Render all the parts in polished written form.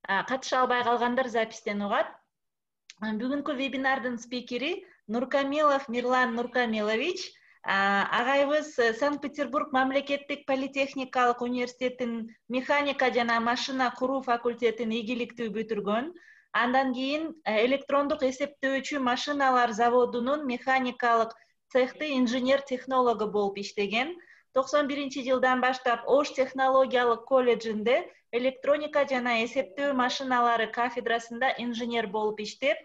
катыша албай калгандар запистен угат. Бүгүнкү вебинардын спикери Нуркамилов Мирлан Нуркамилович. Агайыбыз Санкт-Петербург мамлекеттик политехникалык университетинин механика жана машина куруу факультетин ийгиликтүү бүтүргөн. Андан кийин электрондук эсептөөчү машиналар заводунун механикалык цехти инженер-технологу болуп иштеген. 91-жылдан баштап Ош технологиялык колледжинде электроника жана эсептөө машиналары кафедрасында инженер болуп иштеп,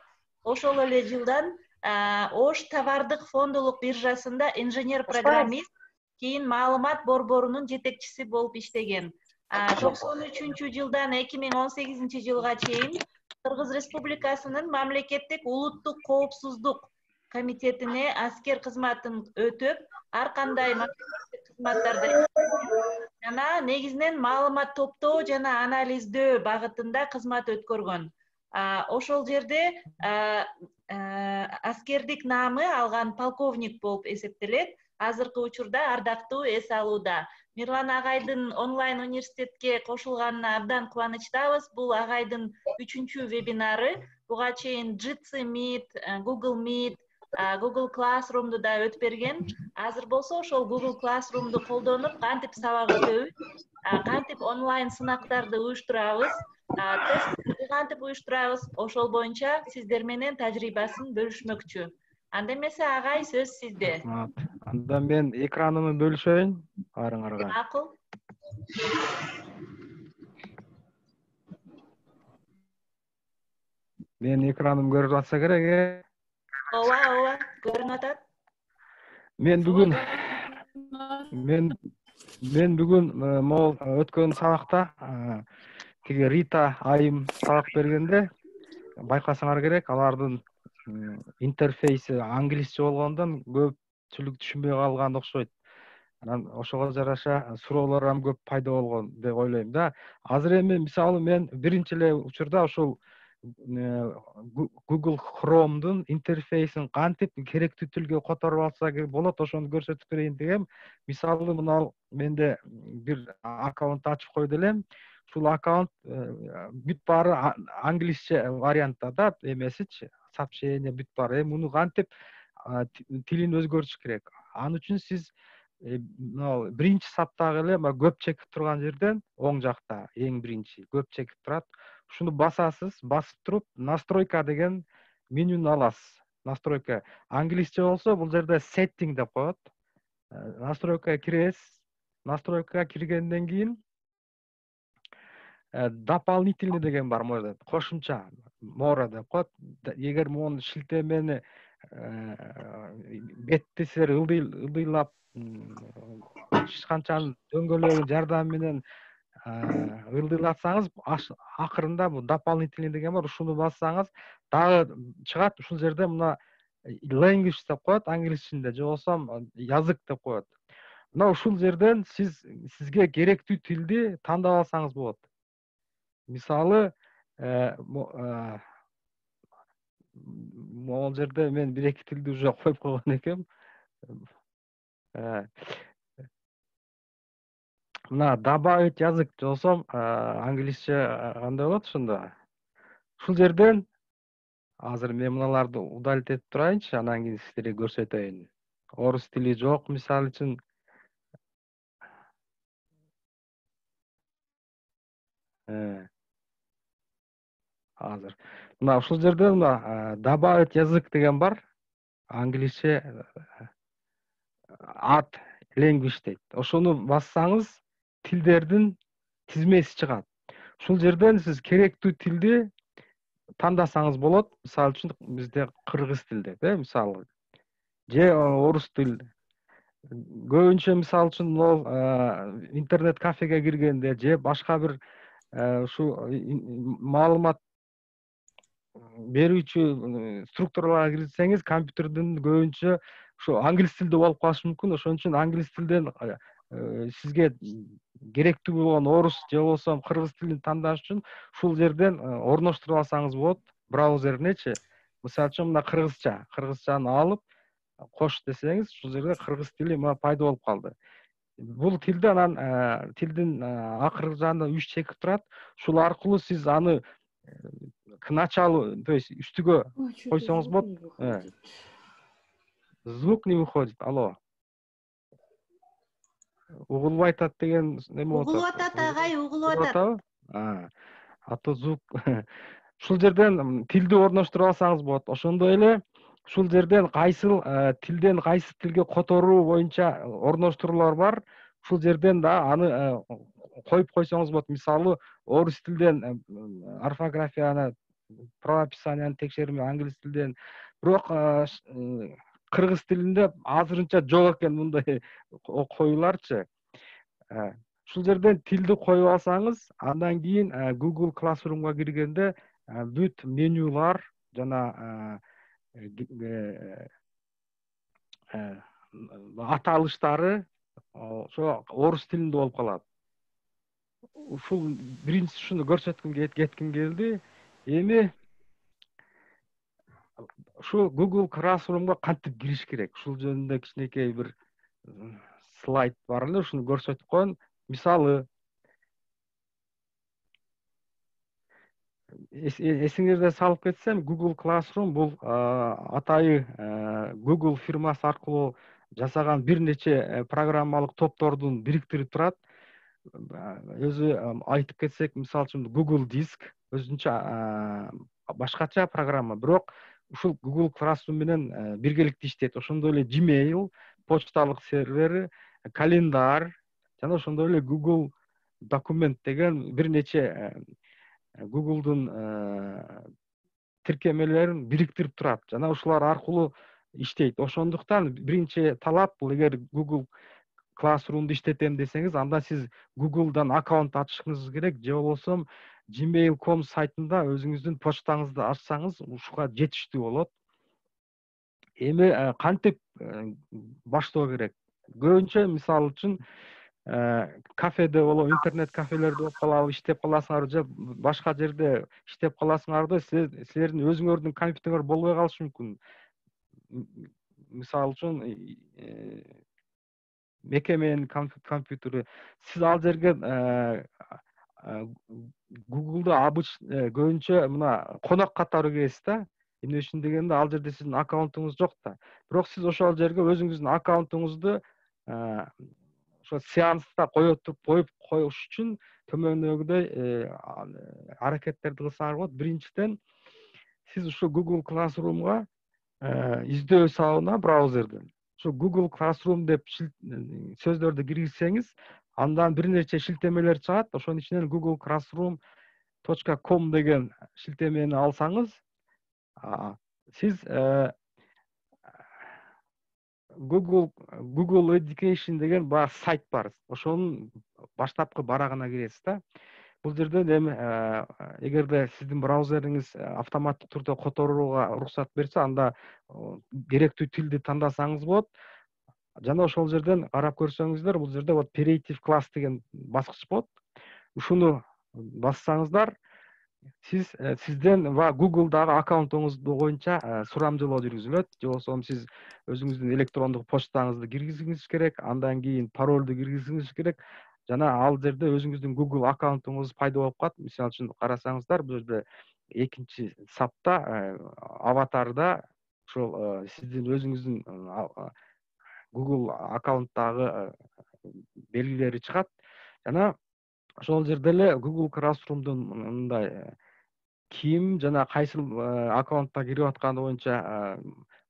ошол эле жылдан Ош товардык фондулук биржасында инженер-программист, кийин маалымат борборунун жетекчиси болуп иштеген. 93-жылдан 2018-жылга чейин Кыргыз Республикасынын мамлекеттик улуттук коопсуздук комитетине аскер кызматын өтөп, ар кандай кызматтарда жана негизинен маалымат топтоо жана анализдөө багытында кызмат өткөргөн. Ошол жерде аскердик наамы алган полковник болуп эсептелет. Азыркы учурда ардактуу эс алууда. Мирлан агайдын онлайн университетке кошулганына абдан кубанычтабыз. Бул агайдын 3-чү вебинары. Буга чейин Jitsi Meet, Google Meet, Google Classroom'ду да өтүп берген. Азыр болсо ошол Google Classroom'ду колдонуп, кантип сабак өтөбүз, кантип онлайн сынактарды уюштурабыз, тестти кантип уюштурабыз, ошол боюнча сиздер менен тажрыйбасын бөлүшмөкчү. Анда эмесе агай, сөз сизде. Анда мен экранымды бөлүшөйүн арыңарга. Макул. Мен экраным көрүп атса керек. Ооба, көрүнүп атат. Мен бүгүн могул өткөн сабакта тиги Рита айым сабак бергенде байкасаңар керек, алардын интерфейси англисче болгондон көпчүлүк түшүнбөй калган окшойт. Анан ошого жараша суроолор ham көп пайда болгон деп ойлойм да. Азыр эми мисалы мен биринчи эле учурда ошол Google Chrome'дун интерфейсин кантип керектүү тилге которуп алса болот, ошону көрсөтүп берейин дегем. Мисалы мына менде бир аккаунт ачып койду элем. Ушул аккаунт бүт баары англисче вариантта да, эмесичи, сообщение бүт баары. Муну кантип тилин өзгөртүш керек? Ал үчүн сиз биринчи саптагы эле көп чекип турган жерден оң жакта эң биринчи көп чекип турат. Ушуну басасыз, басып туруп настройка деген менюну аласыз. Настройка англисче болсо бул жерде setting деп коет. Настройкага киресиз. Настройкага киргенден кийин дополнительный деген бар, может, кошумча, more деп коет. Эгер могу шилтемени бетти силер ылдыйлап ишканчанын дөңгөлөгүнүн жардамы менен ылдыйлатсаңыз, акырында бул дополнительный деген бар, ушуну бассаңыз дагы чыгат. Ушул жерде мына language деп коет англисчинде, же болсо язык деп коет. Мына ушул жерден сизге керектүү тилди тандап алсаңыз болот. Мисалы, могул жерде мен бир-эки тилди уже коюп койгон экенмин. Мына добавить язык же болсо англисче кандай болот ошондо. Ушул жерден азыр мен мыналарды удалить этип турайынчы, анан кийин сиздерге көрсөтөйүн. Орус тили жок, мисалы үчүн. Азыр. Мына ушул жерде мына добавить язык деген бар. Англисче add language дейт. Ошону бассаңыз, тилдердин тизмеси чыгат. Ушул жерден сиз керектүү тилди тандасаңыз болот. Мисалы үчүн бизде кыргыз тил деп, мисалы. Же орус тил. Көбүнчө мисалы үчүн интернет кафеге киргенде же башка бир ушу маалымат берүүчү структураларга кирсеңиз, компьютердин көбүнчө ушу англис тилде болуп калышы мүмкүн. Ошон үчүн англис тилден сизге керектүү болгон орус же болсо кыргыз тилин тандаш үчүн ушул жерден орноштуруп алсаңыз болот, браузеринечи. Мисалы үчүн мына кыргызчаны алып кош десеңиз, ушул жерде кыргыз тили пайда болуп калды. бул тилде анан тилдин акыркы жагында 3 чекит турат. Ушул аркылуу сиз аны к началу, то есть үстүгө койсоңуз болот. Звук не выходит. Алло. Угулуп атат деген неме болот. Угулуп атат агай, угулуп атат. А то звук. Ушул жерден тилди орноштуруп алсаңыз болот. Ошондой эле ушул жерден кайсыл тилден кайсы тилге которуу боюнча орноштуруулар бар. Ушул жерден да аны коюп койсоңуз болот. Мисалы, орус тилден орфографияны, правописанияны текшериме, англис тилден. Бирок кыргыз тилинде азырынча жок экен мындай коюларчы. Ушул жерден тилди коюп алсаңыз, андан кийин Google Classroom'га киргенде бүт менюлар жана аталыштары ошо орус тилинде болуп калат. Ушул биринчи ушуну көрсөткүм кетким келди. Эми ушул Google Classroom'га кантип кириш керек? Ушул жөнүндө кичинекей бир слайд бар эле, ушуну көрсөтүп коеюн. Мисалы, эсиңерде салып кетсем, Google Classroom бул атайы Google фирмасы аркылуу жасаган бир нече программалык топтордун бириктирип турат. Өзү айтып кетсек, мисалы үчүн Google Диск өзүнчө башкача программа, бирок ушул Google Classroom менен биргеликте иштейт. Ошондой эле Gmail, почталык сервери, календарь жана ошондой эле Google документ деген бир нече Google'дун тиркемелерин бириктирип турат жана ушулар аркылуу иштейт. Ошондуктан биринчи талап бул, эгер Google Classroom'ду иштетем десеңиз, анда сиз Google'дан аккаунт ачышыңыз керек, же болбосо gmail.com сайтында өзүңүздүн почтаңызды ачсаңыз ушуга жетиштүү болот. Эми кантип баштоо керек? Көбүнчө мисалы үчүн кафеде болобу, интернет кафелерде болуп калабы, иштеп каласыңар, же башка жерде иштеп каласыңарда, силердин өзүңөрдүн компьютериңер болбой калышы мүмкүн. Мисалы үчүн мекеменин компьютери. Сиз ал жерге Google'да көбүнчө мына конок катары киресиз да. Эмне үчүн дегенде, ал жерде сиздин аккаунтуңуз жок да. Бирок сиз ошол жерге өзүңүздүн аккаунтуңузду ошо сеанста коюп коюш үчүн төмөндөгүдөй аракеттерди кылсаңар болот. Биринчиден, сиз ушул Google Classroom'га издөө сабына браузерден ошо Google Classroom деп сөздөрдү киргизсеңиз, андан бир нече шилтемелер чыгат. Ошонун ичинен Google Classroom.com деген шилтемени алсаңыз, сиз Google Education деген баягы сайт бар. Ошонун баштапкы барагына киресиз да. Бул жерден эми эгерде сиздин браузериңиз автоматтык түрдө которууга уруксат берсе, анда керектүү тилди тандасаңыз болот. Жана ошол жерден карап көрсөңүздөр, бул жерде вот Creative Class деген баскыч болот. Ушуну бассаңыздар, сизден Google'дагы аккаунтуңуз боюнча сурамжылоо жүргүзүлөт. Же болбосо сиз өзүңүздүн электрондук почтаңызды киргизишиңиз керек, андан кийин паролду киргизишиңиз керек. Жана ал жерде өзүңүздүн Google аккаунтуңуз пайда болуп калат. Мисалы үчүн карасаңыздар, бул жерде экинчи сапта аватарда ошол сиздин өзүңүздүн Google аккаунттагы белгилери чыгат. Жана ошол жерде эле Google Classroom'дун мындай ким жана кайсы аккаунтка кирип атканы боюнча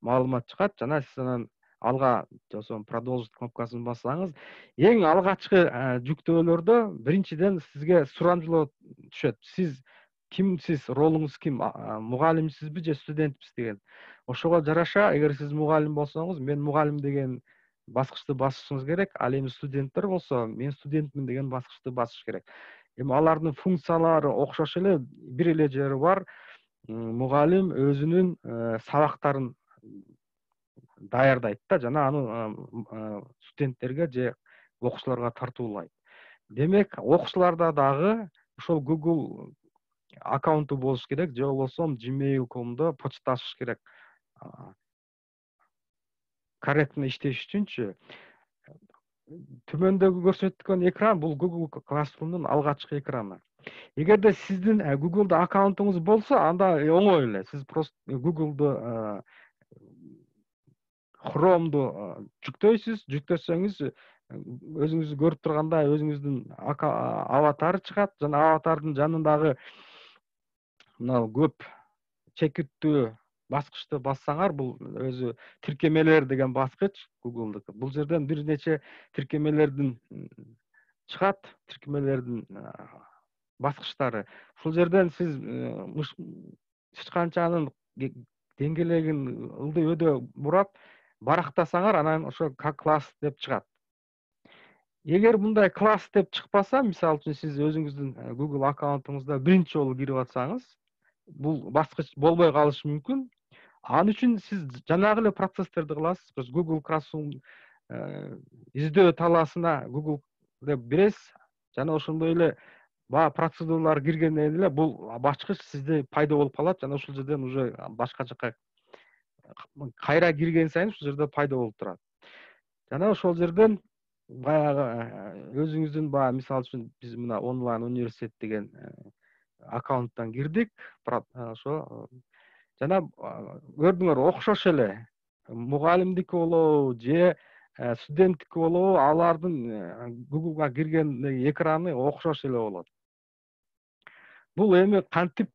маалымат чыгат. Жана сиз анан алга жосом продолжить кнопкасын бассаңыз, эң алгачкы жүктөөлөрдө биринчиден сизге сурамжылоо түшөт. Сиз кимсиз, ролуңуз ким? Мугалимсизби же студентпиз деген. Ошого жараша, эгер сиз мугалим болсоңуз, мен мугалим деген баскычты басышыңыз керек. Ал эми студенттер болсо, мен студентмин деген баскычты басыш керек. Эми алардын функциялары окшош эле, бир эле жери бар. Мугалим өзүнүн сабактарын даярдайт да, жана аны студенттерге же окуучуларга тартуулайт. Демек, окуучуларда дагы ошол Google аккаунту болуш керек, же болбосо gmail.com'до почташыш керек. Корректно иштеш үчүнчү. төмөндөгү көрсөткөн экран бул Google Classroom'дун алгачкы экраны. Эгерде сиздин Google'да аккаунтуңуз болсо, анда оңой эле. Сиз просто Google'ду Chrome'ду жүктөйсүз. Жүктөсөңүз өзүңүз көрүп тургандай өзүңүздүн аватары чыгат. Жана аватардын жанындагы мына көп чекиттүү баскычты бассаңар, бул өзү тиркемелер деген баскыч Google'дыкы. Бул жерден бир нече тиркемелердин чыгат, тиркемелердин баскычтары. Ушул жерден сиз ычканчанын деңгээлегин ылдый өдө бурап барактасаңар, анан ошо класс деп чыгат. Эгер мындай класс деп чыкпаса, мисалы үчүн сиз өзүңүздүн Google аккаунтуңузда биринчи жолу кирип атсаңыз, бул баскыч болбой калышы мүмкүн. Ал үчүн сиз жанагы эле процесстерди кыласыз. Google Classroom издөө талаасына Google деп биресиз, жана ошондой эле баягы процедуралар киргенден эле бул бачкыч сизде пайда болуп калат, жана ошол жерден уже башка жака кайра кирген сайын ушул жерде пайда болуп турат. Жана ошол жерден баягы өзүңүздүн баягы мисалы үчүн биз мына онлайн университет деген аккаунттан кирдик. Ошо жана көрдүңөр, окшош эле мугалимдики болобу же студенттики болобу, алардын Google'га кирген экраны окшош эле болот. Бул эми кантип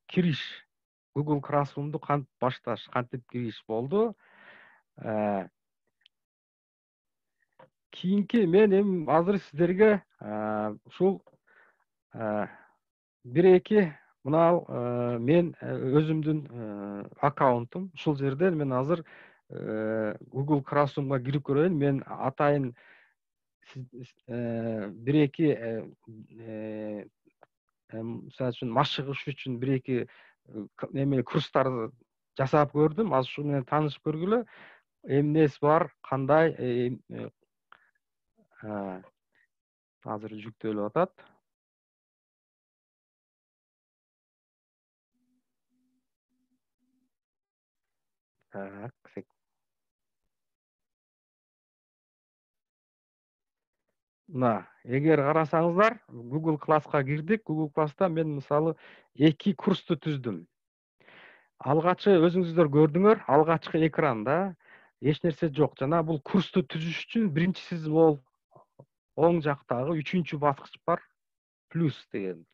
кириш, Google Classroom'ду кантип башташ, кантип кириш болду. Кийинки мен эми азыр сиздерге ушул бир-эки мына мен өзүмдүн аккаунтум. Ушул жерден мен азыр Google Classroom'га кирип көрөйүн. Мен атайын бир-эки мисалы үчүн машыгыш үчүн бир-эки эме курстарды жасап көрдүм. Азыр ушу менен таанышып көргүлө. Эмнеси бар, кандай азыр жүктөлүп атат. Мына, эгер карасаңыздар, Google Class'ка кирдик. Google Class'та мен мисалы 2 курсту түздүм. Алгачкы өзүңүздөр көрдүңөр, алгачкы экранда эч нерсе жок. Жана бул курсту түзүш үчүн биринчи сиз бул оң жактагы 3-чү баскыч бар, плюс деген.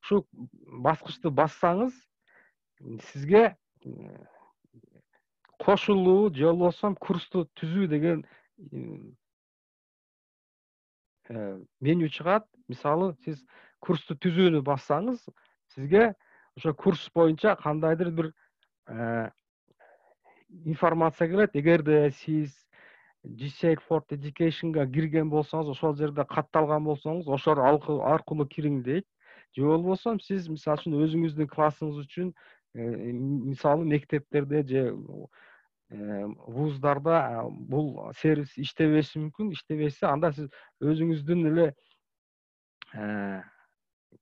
Ушу баскычты бассаңыз, сизге кошулуу же болбосо курсту түзүү деген меню чыгат. Мисалы, сиз курсту түзүүнү бассаңыз, сизге ошо курс боюнча кандайдыр бир информация келет. Эгерде сиз GSAID for Education'га кирген болсоңуз, ошол жерде катталган болсоңуз, ошол аркылуу кириң дейт. Же болбосо сиз мисалы үчүн өзүңүздүн классыңыз үчүн мисалы мектептерде же вуздарда бул сервис иштебеши мүмкүн. Иштебесе, анда сиз өзүңүздүн эле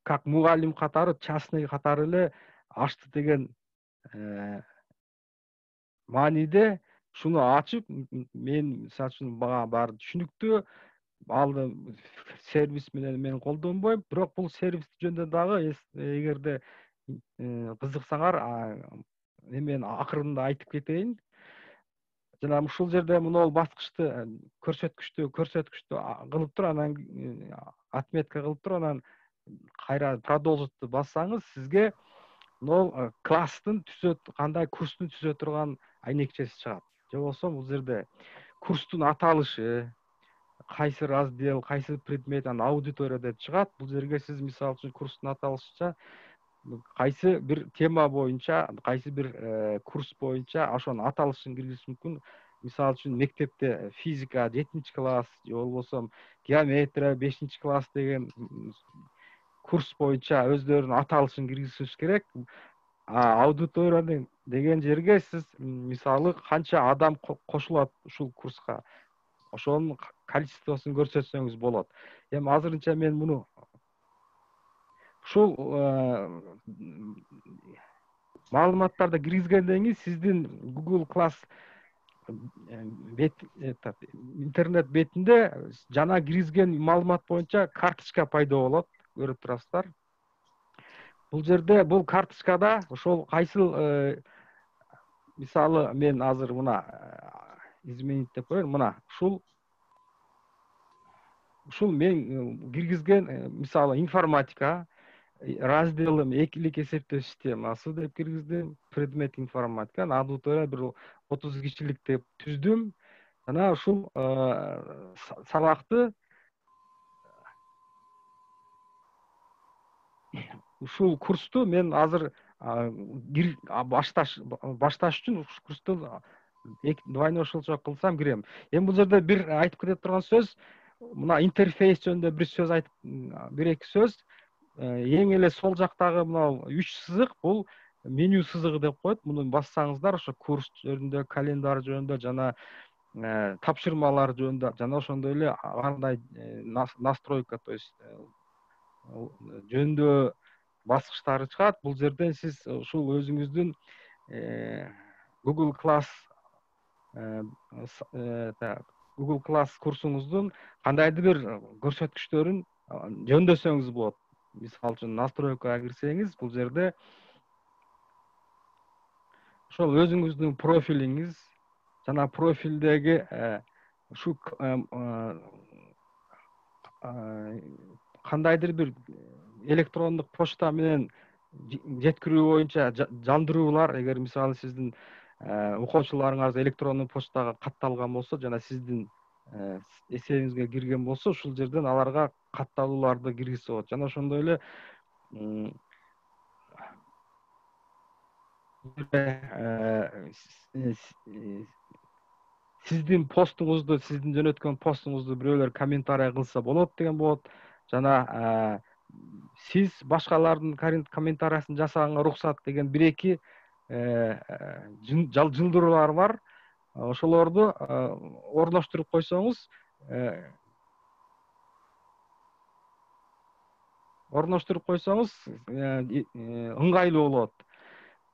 как мугалим катары, частный катары эле ачты деген мааниде шуну ачып, мен мисалы үчүн баары түшүнүктүү, алды сервис менен мен колдонбойм, бирок бул сервис жөнүндө дагы эгерде кызыксаңар, мен акырында айтып кетейин. Жана ушул жерде мына баскычты көрсөткүчтү кылып туруп, анан отметка кылып туруп, анан кайра продолжитты бассаңыз, сизге мына класстын кандай курстун түзө турган айнекчеси чыгат. Же болбосо бул жерде курстун аталышы, кайсы раздел, кайсы предмет, анан аудитория деп чыгат. Бул жерге сиз мисалы үчүн курстун аталышыча кайсы бир тема боюнча, кайсы бир курс боюнча ошонун аталышын киргизиш мүмкүн. Мисалы үчүн мектепте физика 7-чи класс, же болбосо геометрия 5-чи класс деген курс боюнча өздөрүнүн аталышын киргизиш керек. Аудитория деген жерге сиз мисалы канча адам кошулат ушул курска, ошонун количествосун көрсөтсөңүз болот. Эми азырынча мен муну ушул маалыматтарды киргизгенден кийин сиздин Google Class интернет бетинде жана киргизген маалымат боюнча карточка пайда болот, көрүп турасыздар. Бул жерде бул карточкада ошол кайсыл мисалы мен азыр мына изменить деп коеюн, мына ушул мен киргизген мисалы информатика разделим экилик эсептөө системасы деп киргиздим, предмет информатика, аудитория бир 30 кишилик деп түздүм. Жана ушул сабакты ушул курсту мен азыр башташ үчүн ушул курсту двойной ошолчо кылсам кирем. Эми бул жерде бир айтып кете турган сөз, мына интерфейс жөнүндө бир сөз айтып, бир эки сөз. Эң эле сол жактагы мына 3 сызык бул меню сызыгы деп коет. Муну бассаңыздар ошо курс жөнүндө, календарь жөнүндө жана тапшырмалар жөнүндө жана ошондой эле кандай настройка, то есть жөнүндө баскычтары чыгат. Бул жерден сиз ушул өзүңүздүн Google Class курсуңуздун кандайдыр бир көрсөткүчтөрүн жөндөсөңүз болот. Мисалы үчүн настройкага кирсеңиз, бул жерде ошол өзүңүздүн профилиңиз жана профилдеги ушу кандайдыр бир электрондук почта менен жеткирүү боюнча жандыруулар, эгер мисалы сиздин окуучуларыңыз электрондук почтага катталган болсо жана сиздин эсебиңизге кирген болсо, ушул жерден аларга катталууларды киргизсе болот. Жана ошондой эле сиздин постуңузду, сиздин жөнөткөн постуңузду бирөөлөр комментарий кылса болот деген болот. Жана сиз башкалардын комментарийsin жасаганга уруксат деген бир эки жылдыруулар бар. Ошолорду орноштуруп койсоңуз, ыңгайлуу болот.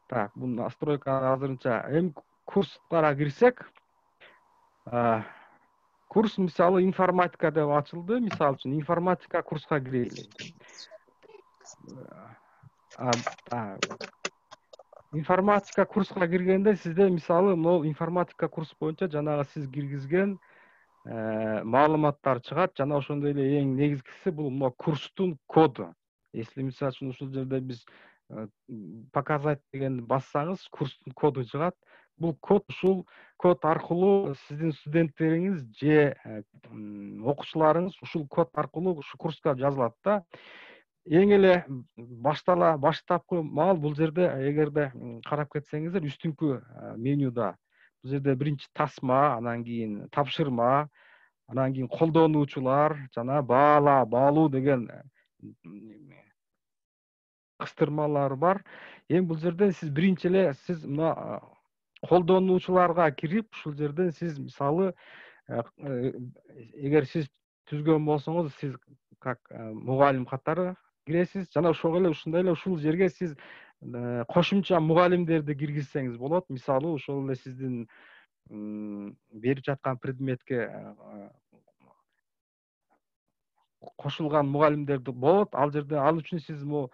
Так, бул настройка азырынча. Эми курстарга кирсек, курс мисалы информатика деп ачылды. Мисалы үчүн информатика курска кирели. Информатика курска киргенде сизде мисалы могу информатика курс боюнча жанагы сиз киргизген маалыматтар чыгат. Жана ошондой эле эң негизгиси бул мына курстун коду. Если мисалы үчүн ушул жерде биз показать деген бассаңыз, курстун коду чыгат. Бул код, ушул код аркылуу сиздин студенттериңиз же окуучуларыңыз ушул код аркылуу ушу курска жазылат да. Эң эле баштапкы маал бул жерде эгерде карап кетсеңиздер, үстүңкү менюда бул жерде биринчи тасма, анан кийин тапшырма, анан кийин колдонуучулар жана баалуу деген кыстырмалар бар. Эми бул жерден сиз биринчи эле сиз мына колдонуучуларга кирип, ушул жерден сиз мисалы эгер сиз түзгөн болсоңуз, сиз как мугалим катары киресиз. Жана ошого эле ушундай эле ушул жерге сиз кошумча мугалимдерди киргизсеңиз болот. Мисалы ошол эле сиздин берип жаткан предметке кошулган мугалимдерди болот. Ал жерде ал үчүн сиз могу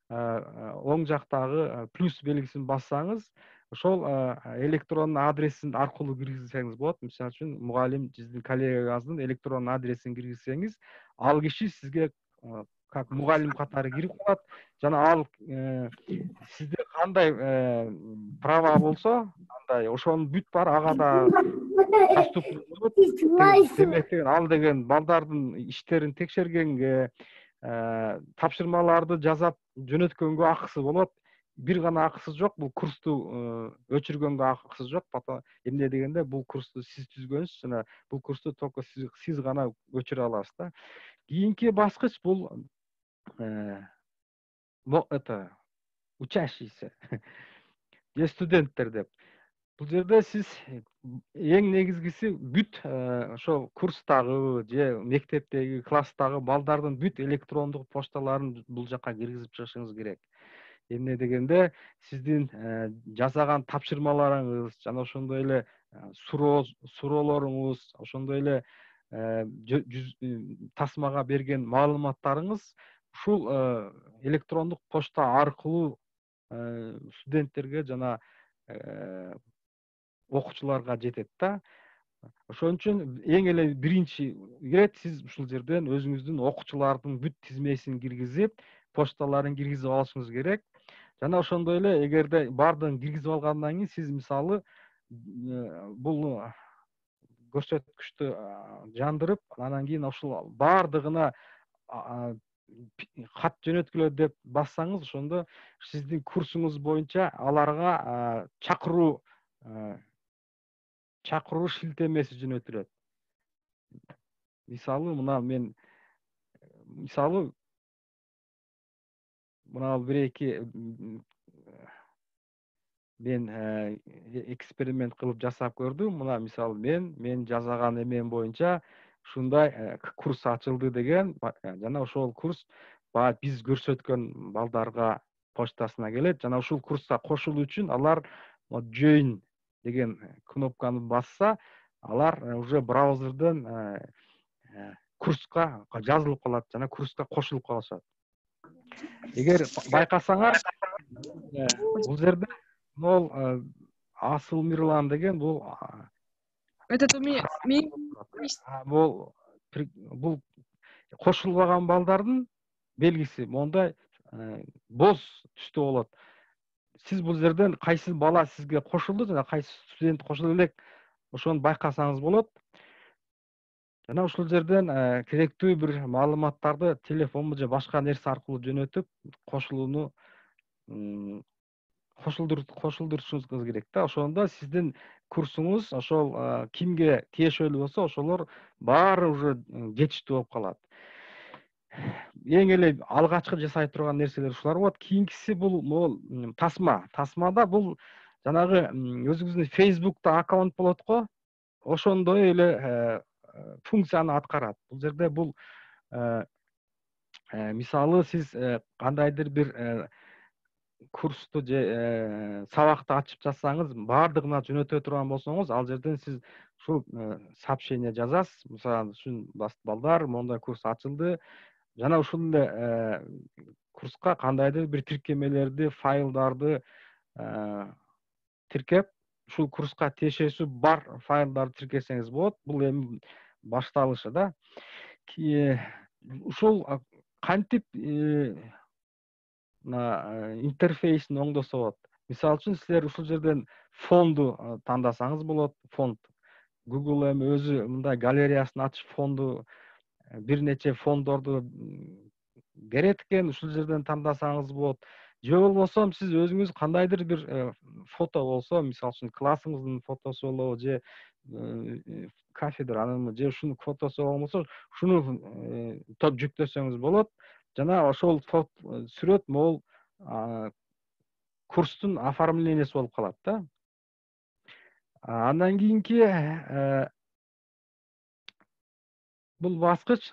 оң жактагы плюс белгисин бассаңыз, ошол электронун адресин аркылуу киргизсеңиз болот. Мисалы үчүн мугалим сиздин коллегаңыздын электронун адресин киргизсеңиз, ал киши сизге как мугалим катары кирип калат. Жана ал сизде кандай права болсо, андай ошонун бүт бар ага да доступный болот. Демек деген ал деген балдардын иштерин текшергенге, тапшырмаларды жасап жөнөткөнгө акысы болот. Бир гана акысы жок, бул курсту өчүргөнгө акысы жок. Эмне дегенде бул курсту сиз түзгөнсүз, жана бул курсту только сиз гана өчүрө аласыз да. Кийинки баскыч бул учащийся же студенттер деп. Бул жерде сиз эң негизгиси бүт ошол курстагы же мектептеги класстагы балдардын бүт электрондук почталарын бул жака киргизип чыгышыңыз керек. Эмне дегенде сиздин жасаган тапшырмаларыңыз жана ошондой эле суроолоруңуз, ошондой эле тасмага берген маалыматтарыңыз ушул электрондук почта аркылуу студенттерге жана окуучуларга жетет да. Ошон үчүн эң эле биринчи ирет сиз ушул жерден өзүңүздүн окуучулардын бүт тизмесин киргизип, почталарын киргизип алышыңыз керек. Жана ошондой эле эгерде баардыгын киргизип алгандан кийин сиз мисалы бул көрсөткүчтү жандырып, анан кийин ушул баардыгына кат жөнөткүлө деп бассаңыз, ошондо сиздин курсуңуз боюнча аларга чакыруу шилтемеси жөнөтүлөт. Мисалы мына бир эки мен эксперимент кылып жасап көрдүм. Мына мисалы мен жасаган эмем боюнча ушундай курс ачылды деген жана ошол курс баягы биз көрсөткөн балдарга почтасына келет. Жана ушул курска кошулуу үчүн алар join деген кнопканы басса, алар уже браузерден курска жазылып калат жана курска кошулуп калышат. Эгер байкасаңар, бул жерде могул Асыл Мирлан деген бул бул кошулбаган балдардын белгиси. Мондай боз түстө болот. Сиз бул жерден кайсы бала сизге кошулду жана кайсы студент кошуло элек, ошону байкасаңыз болот. Жана ушул жерден керектүү бир маалыматтарды телефонго же башка нерсе аркылуу жөнөтүп, кошулууну кошулдурушуңуз керек да. Ошондо сиздин курсуңуз ошол кимге тиешелүү болсо, ошолор баары уже жетиштүү болуп калат. Эң эле алгачкы жасай турган нерселер ушулар болот. Кийинкиси бул могул тасма. Тасмада бул жанагы өзүңүздүн Facebook'та аккаунт болот го, ошондой эле функцияны аткарат. Бул жерде бул мисалы сиз кандайдыр бир курсту же сабакты ачып жатсаңыз, баардыгына жөнөтө турган болсоңуз, ал жерден сиз ушул сообщение жазасыз. Мисалы үчүн балдар, моундай курс ачылды. Жана ушул эле курска кандайдыр бир тиркемелерди, файлдарды тиркеп, ушул курска тиешеси бар файлдарды тиркесеңиз болот. Бул эми башталышы да. Ушул кантип интерфейсин оңдосо болот. Мисалы үчүн силер ушул жерден фонду тандасаңыз болот. Фонд. Google эми өзү мындай галереясын ачып фонду бир нече фондорду берет экен. Ушул жерден тандасаңыз болот. Же болбосо сиз өзүңүз кандайдыр бир фото болсо, мисалы үчүн классыңыздын фотосу болобу, же кафедранын, же ушунун фотосу болмосо, ушуну жүктөсөңүз болот. Жана ошол сүрөт могул курстун оформлениясы болуп калат да. Андан кийинки бул баскыч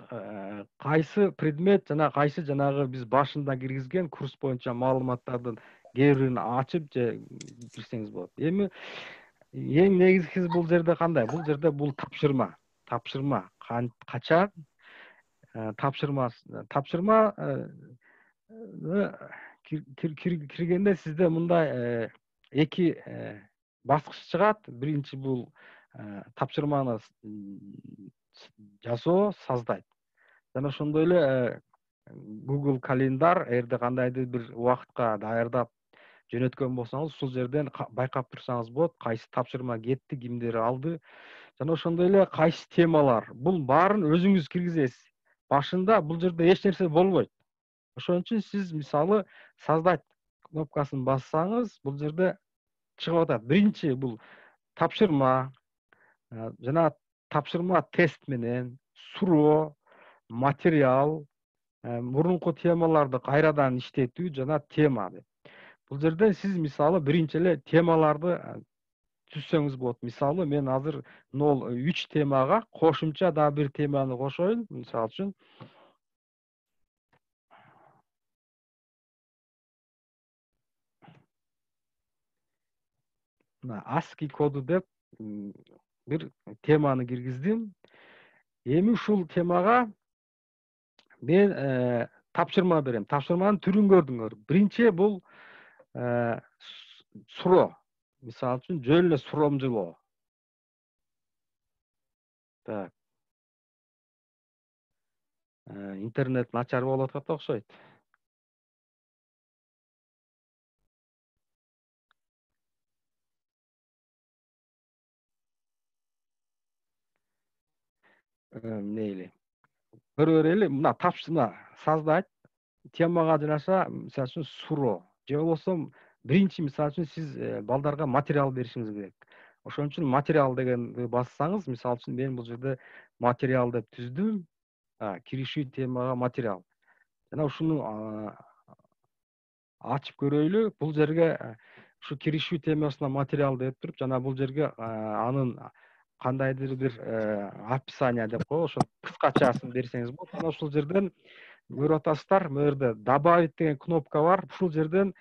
кайсы предмет жана кайсы жанагы биз башында киргизген курс боюнча маалыматтардын кээ бирин ачып же кирсеңиз болот. Эми эң негизгиси бул жерде кандай? Бул жерде бул тапшырма. Тапшырма качан тапшырма киргенде сизде мындай эки баскыч чыгат. Биринчи бул тапшырманы жасоо, создать. Жана ошондой эле Google календар, эгерде кандайдыр бир убакытка даярдап жөнөткөн болсоңуз, ушул жерден байкап турсаңыз болот, кайсы тапшырма кетти, кимдер алды. Жана ошондой эле кайсы темалар. Бул баарын өзүңүз киргизесиз. Башында бул жерде эч нерсе болбойт. Ошон үчүн сиз мисалы создать кнопкасын бассаңыз, бул жерде чыгып атат. Биринчи бул тапшырма, жана тапшырма тест менен, суроо, материал, мурунку темаларды кайрадан иштетүү жана тема деп. Бул жерде сиз мисалы биринчи эле темаларды түзсөңүз болот. Мисалы мен азыр 3 темага кошумча дагы бир теманы кошоюн. Мисалы үчүн мына ASCII коду деп бир теманы киргиздим. Эми ушул темага мен тапшырма берем. Тапшырманын түрүн көрдүңөр. Биринчи бул суроо. Мисалы үчүн жөн эле суромжулоо. Так. Интернет начар болуп атат окшойт. Мейли. Көрө берели. Мына тапшырма саздайт. Темага жараша, мисалы үчүн суроо. Же болбосо биринчи мисалы үчүн сиз балдарга материал беришиңиз керек. Ошон үчүн материал дегенди бассаңыз, мисалы үчүн мен бул жерде материал деп түздүм. Киришүү темага материал. Жана ушуну ачып көрөйлү. Бул жерге ушу киришүү темасына материал деп туруп, жана бул жерге анын кандайдыр бир описание деп коебу, ошо кыскачасын берсеңиз болот. Жана ушул жерден көрүп атасыздар, мына жерде добавить деген кнопка бар. Ушул жерден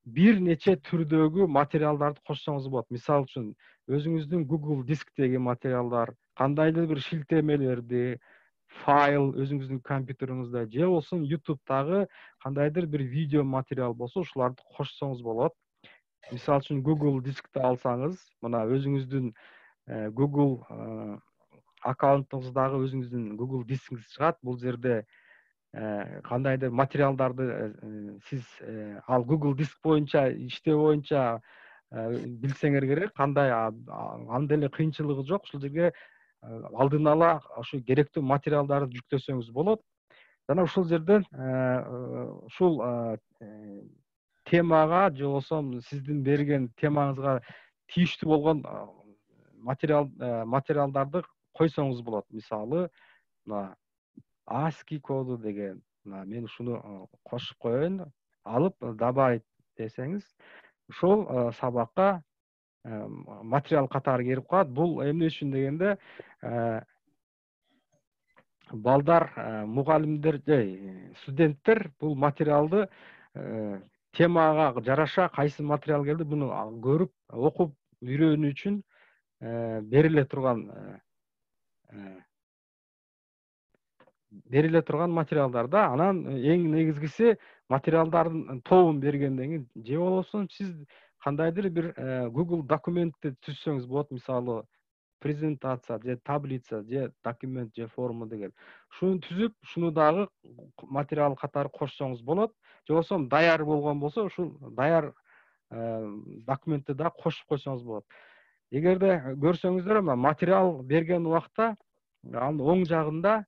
бир нече түрдөгү материалдарды кошсоңуз болот. Мисалы үчүн өзүңүздүн Google дисктеги материалдар, кандайдыр бир шилтемелерди, файл өзүңүздүн компьютериңизде, же болбосо YouTube'дагы кандайдыр бир видео материал болсо, ушуларды кошсоңуз болот. Мисалы үчүн Google дискти алсаңыз, мына өзүңүздүн Google аккаунтуңуздагы өзүңүздүн Google дискиңиз чыгат. Бул жерде кандайдыр материалдарды сиз ал Google диск боюнча иштөө боюнча билсеңер керек, кандай анда эле кыйынчылыгы жок. Ушул жерге алдын ала ошо керектүү материалдарды жүктөсөңүз болот. Жана ушул жерден ушул темага же болбосо сиздин берген темаңызга тийиштүү болгон материалдарды койсоңуз болот. Мисалы, мына ASCII коду деген, мына мен ушуну кошуп коеюн, алып добавить десеңиз, ушул сабакка материал катары кирип калат. Бул эмне үчүн дегенде, балдар, мугалимдер же студенттер бул материалды темага жараша кайсы материал келди, буну көрүп, окуп үйрөнүү үчүн бериле турган материалдар да. Анан эң негизгиси материалдардын тобун бергенден кийин, же болбосо сиз кандайдыр бир Google документти түзсөңүз болот. Мисалы, презентация же таблица же документ же форма деген. Ушуну түзүп, ушуну дагы материал катары кошсоңуз болот. Же болбосо даяр болгон болсо, ушул даяр документти да кошуп койсоңуз болот. Эгерде көрсөңүздөр, материал берген убакта анын оң жагында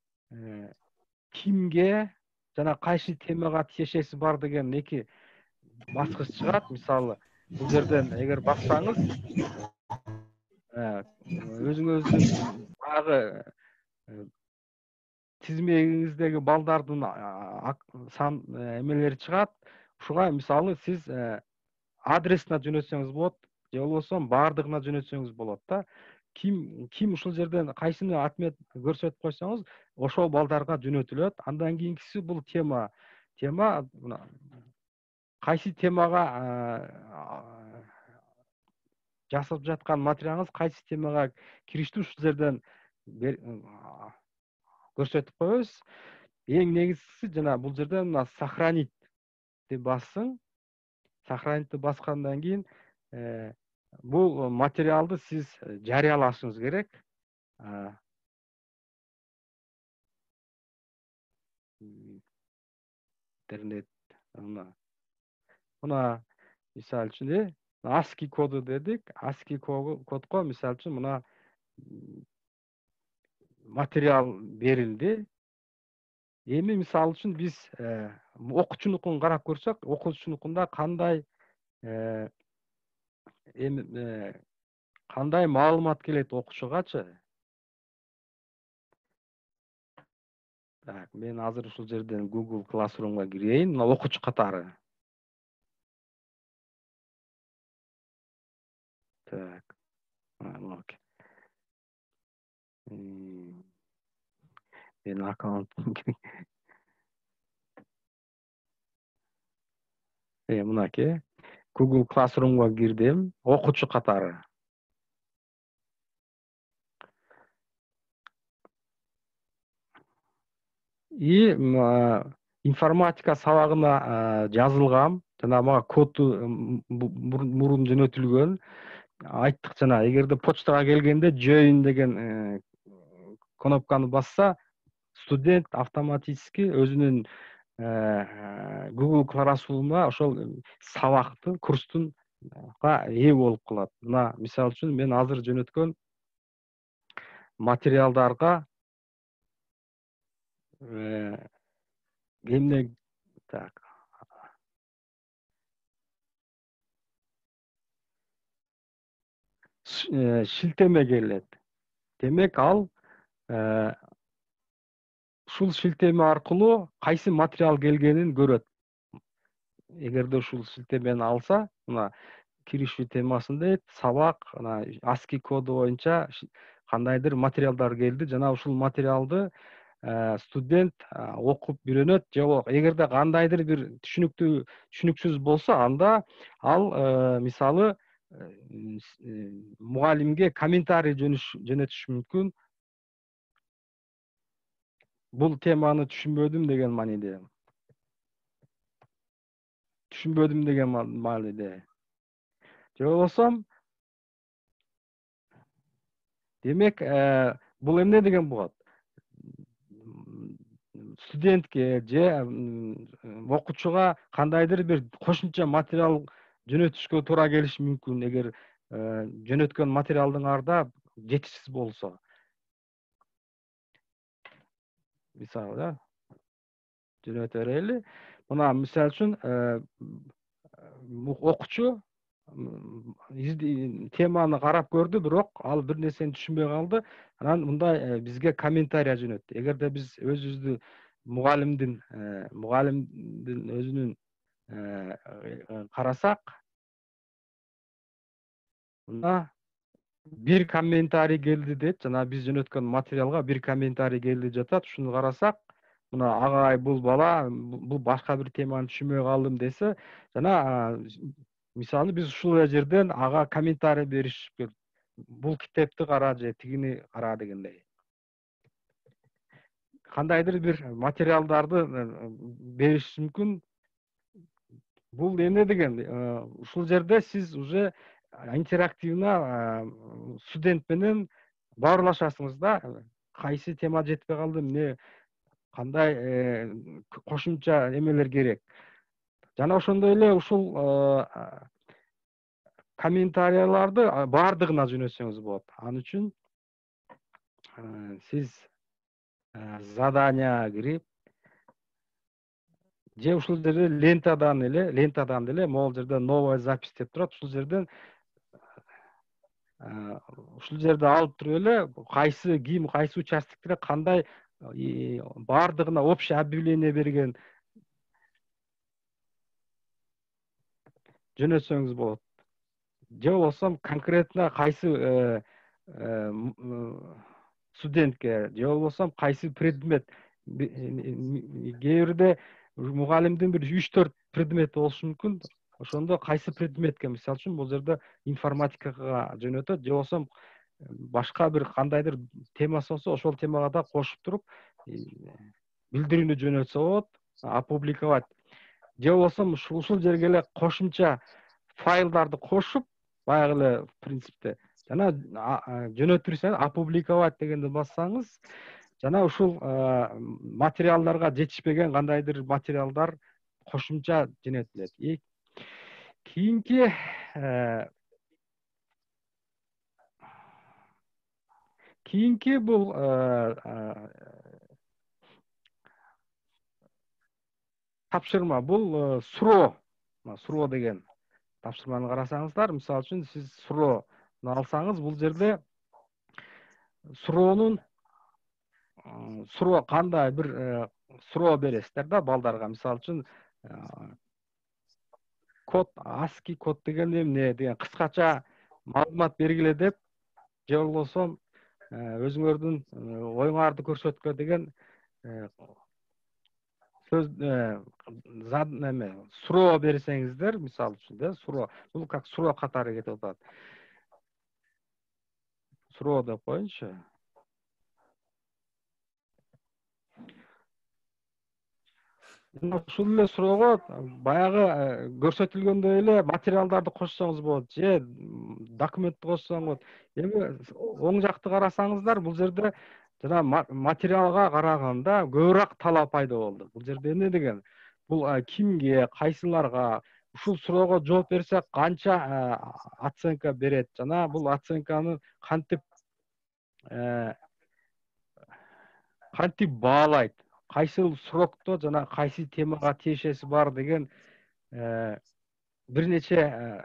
кимге жана кайсы темага тиешеси бар деген эки баскыч чыгат. Мисалы, бул жерден эгер бассаңыз, өзүңүздүн багы тизмегиңиздеги балдардын сан эмелери чыгат. Ушуга мисалы сиз адресине жөнөтсөңүз болот, же болбосо баардыгына жөнөтсөңүз болот да. Ким ушул жерден кайсыны отмет көрсөтүп койсоңуз, ошол балдарга жөнөтүлөт. Андан кийинкиси бул тема. Тема кайсы темага жасап жаткан материалыңыз кайсы темага кириштүү, ушул жерден көрсөтүп коебуз. Эң негизгиси жана бул жерден мына сохранитти бассың. Сохранитти баскандан кийин бул материалды сиз жарыялашыңыз керек. Интернет мына мисалы үчүн ASCII коду дедик. ASCII кодко мисалы үчүн мына материал берилди. Эми мисалы үчүн биз окуучунукун карап көрсөк, окуучунукунда кандай кандай маалымат келет окуучугачы? Так, мен азыр ушул жерден Google Classroom'га кирейин, мына окуучу катары. Так. Окей. Мен аккаунт мынакей. Google Classroom'га кирдим, окуучу катары. И информатика сабагына жазылгам. Жана мага коду мурун жөнөтүлгөн. Айттык жана эгерде почтага келгенде join деген кнопканы басса, студент автоматически өзүнүн Google Classroom'а ошол сабактын, курстун ээ болуп калат. Мына мисалы үчүн мен азыр жөнөткөн материалдарга эмне так шилтеме келет. Демек ал ушул шилтеме аркылуу кайсы материал келгенин көрөт. Эгерде ушул шилтемени алса, мына киришүү темасында сабак, ASCII коду боюнча кандайдыр материалдар келди, жана ушул материалды студент окуп үйрөнөт, же эгерде кандайдыр бир түшүнүксүз болсо, анда ал мисалы мугалимге комментарий жөнөтүшү мүмкүн. Бул теманы түшүнбөдүм деген мааниде. Же болбосо демек бул эмне деген болот? Студентке же окуучуга кандайдыр бир кошумча материал жөнөтүшкө туура келиши мүмкүн, эгер жөнөткөн материалдын арда жетишсиз болсо. Мисалы, жөнөтө берели. Мына мисалы үчүн окуучу теманы карап көрдү, бирок ал бир нерсени түшүнбөй калды. Анан мындай бизге комментарий жөнөттү. Эгерде биз өзүбүздү мугалимдин өзүнүн карасак, мына бир комментарий келди дейт, жана биз жөнөткөн материалга бир комментарий келди жатат. Ушуну карасак, мына агай бул бала бул башка бир теманы түшүнбөй калдым десе, жана мисалы биз ушул жерден ага комментарий беришип, бул китепти кара же тигини кара дегендей. Кандайдыр бир материалдарды бериш мүмкүн. Бул эмне деген? Ушул жерде сиз уже интерактивно студент менен баарлашасыңыз да. Кайсы тема жетпей калды, эмне, кандай кошумча эмелер керек. Жана ошондой эле ушул комментарияларды баардыгына жөнөтсөңүз болот. Ал үчүн сиз заданияга кирип, же ушул жерде лентадан деле могул жерде новая запись деп турат. Ушул жерде алып туруп эле кайсы участоктерге кандай баардыгына общий объявление берген жөнөтсөңүз болот. Же болбосо конкретно кайсы студентке, же болбосо кайсы предмет, кээ бирде мугалимдин бир 3-4 предмети болушу мүмкүн. Ошондо кайсы предметке, мисалы үчүн бул жерде информатикага жөнөтөт, же болбосо башка бир кандайдыр темасы болсо, ошол темага да кошуп туруп билдирүүнү жөнөтсө болот, опубликовать. Же болбосо ушул жерге эле кошумча файлдарды кошуп, баягы эле принципте, жана жөнөтүрсөңүз, опубликовать дегенди бассаңыз, жана ушул материалдарга жетишпеген кандайдыр материалдар кошумча жөнөтүлөт. Кийинки бул тапшырма, бул суроо деген тапшырманы карасаңыздар, мисалы үчүн сиз суроону алсаңыз, бул жерде суроо кандай бир суроо бересиздер да балдарга. Мисалы үчүн код, ASCII код деген эмне деген кыскача маалымат бергиле деп, же болбосо өзүңөрдүн оюңарды көрсөткүлө деген сөз суроо берсеңиздер, мисалы үчүн да, суроо, бул как суроо катары кетип атат. Суроо деп коеюнчу. Ушул эле суроого баягы көрсөтүлгөндөй эле материалдарды кошсоңуз болот, же документти кошсоңуз болот. Эми оң жакты карасаңыздар, бул жерде жана материалга караганда көбүрөөк талап пайда болду. Бул жерде эмне деген? Бул кимге, кайсыларга ушул суроого жооп берсе канча оценка берет жана бул оценканы кантип баалайт, кайсыл срокто жана кайсы темага тиешеси бар деген бир нече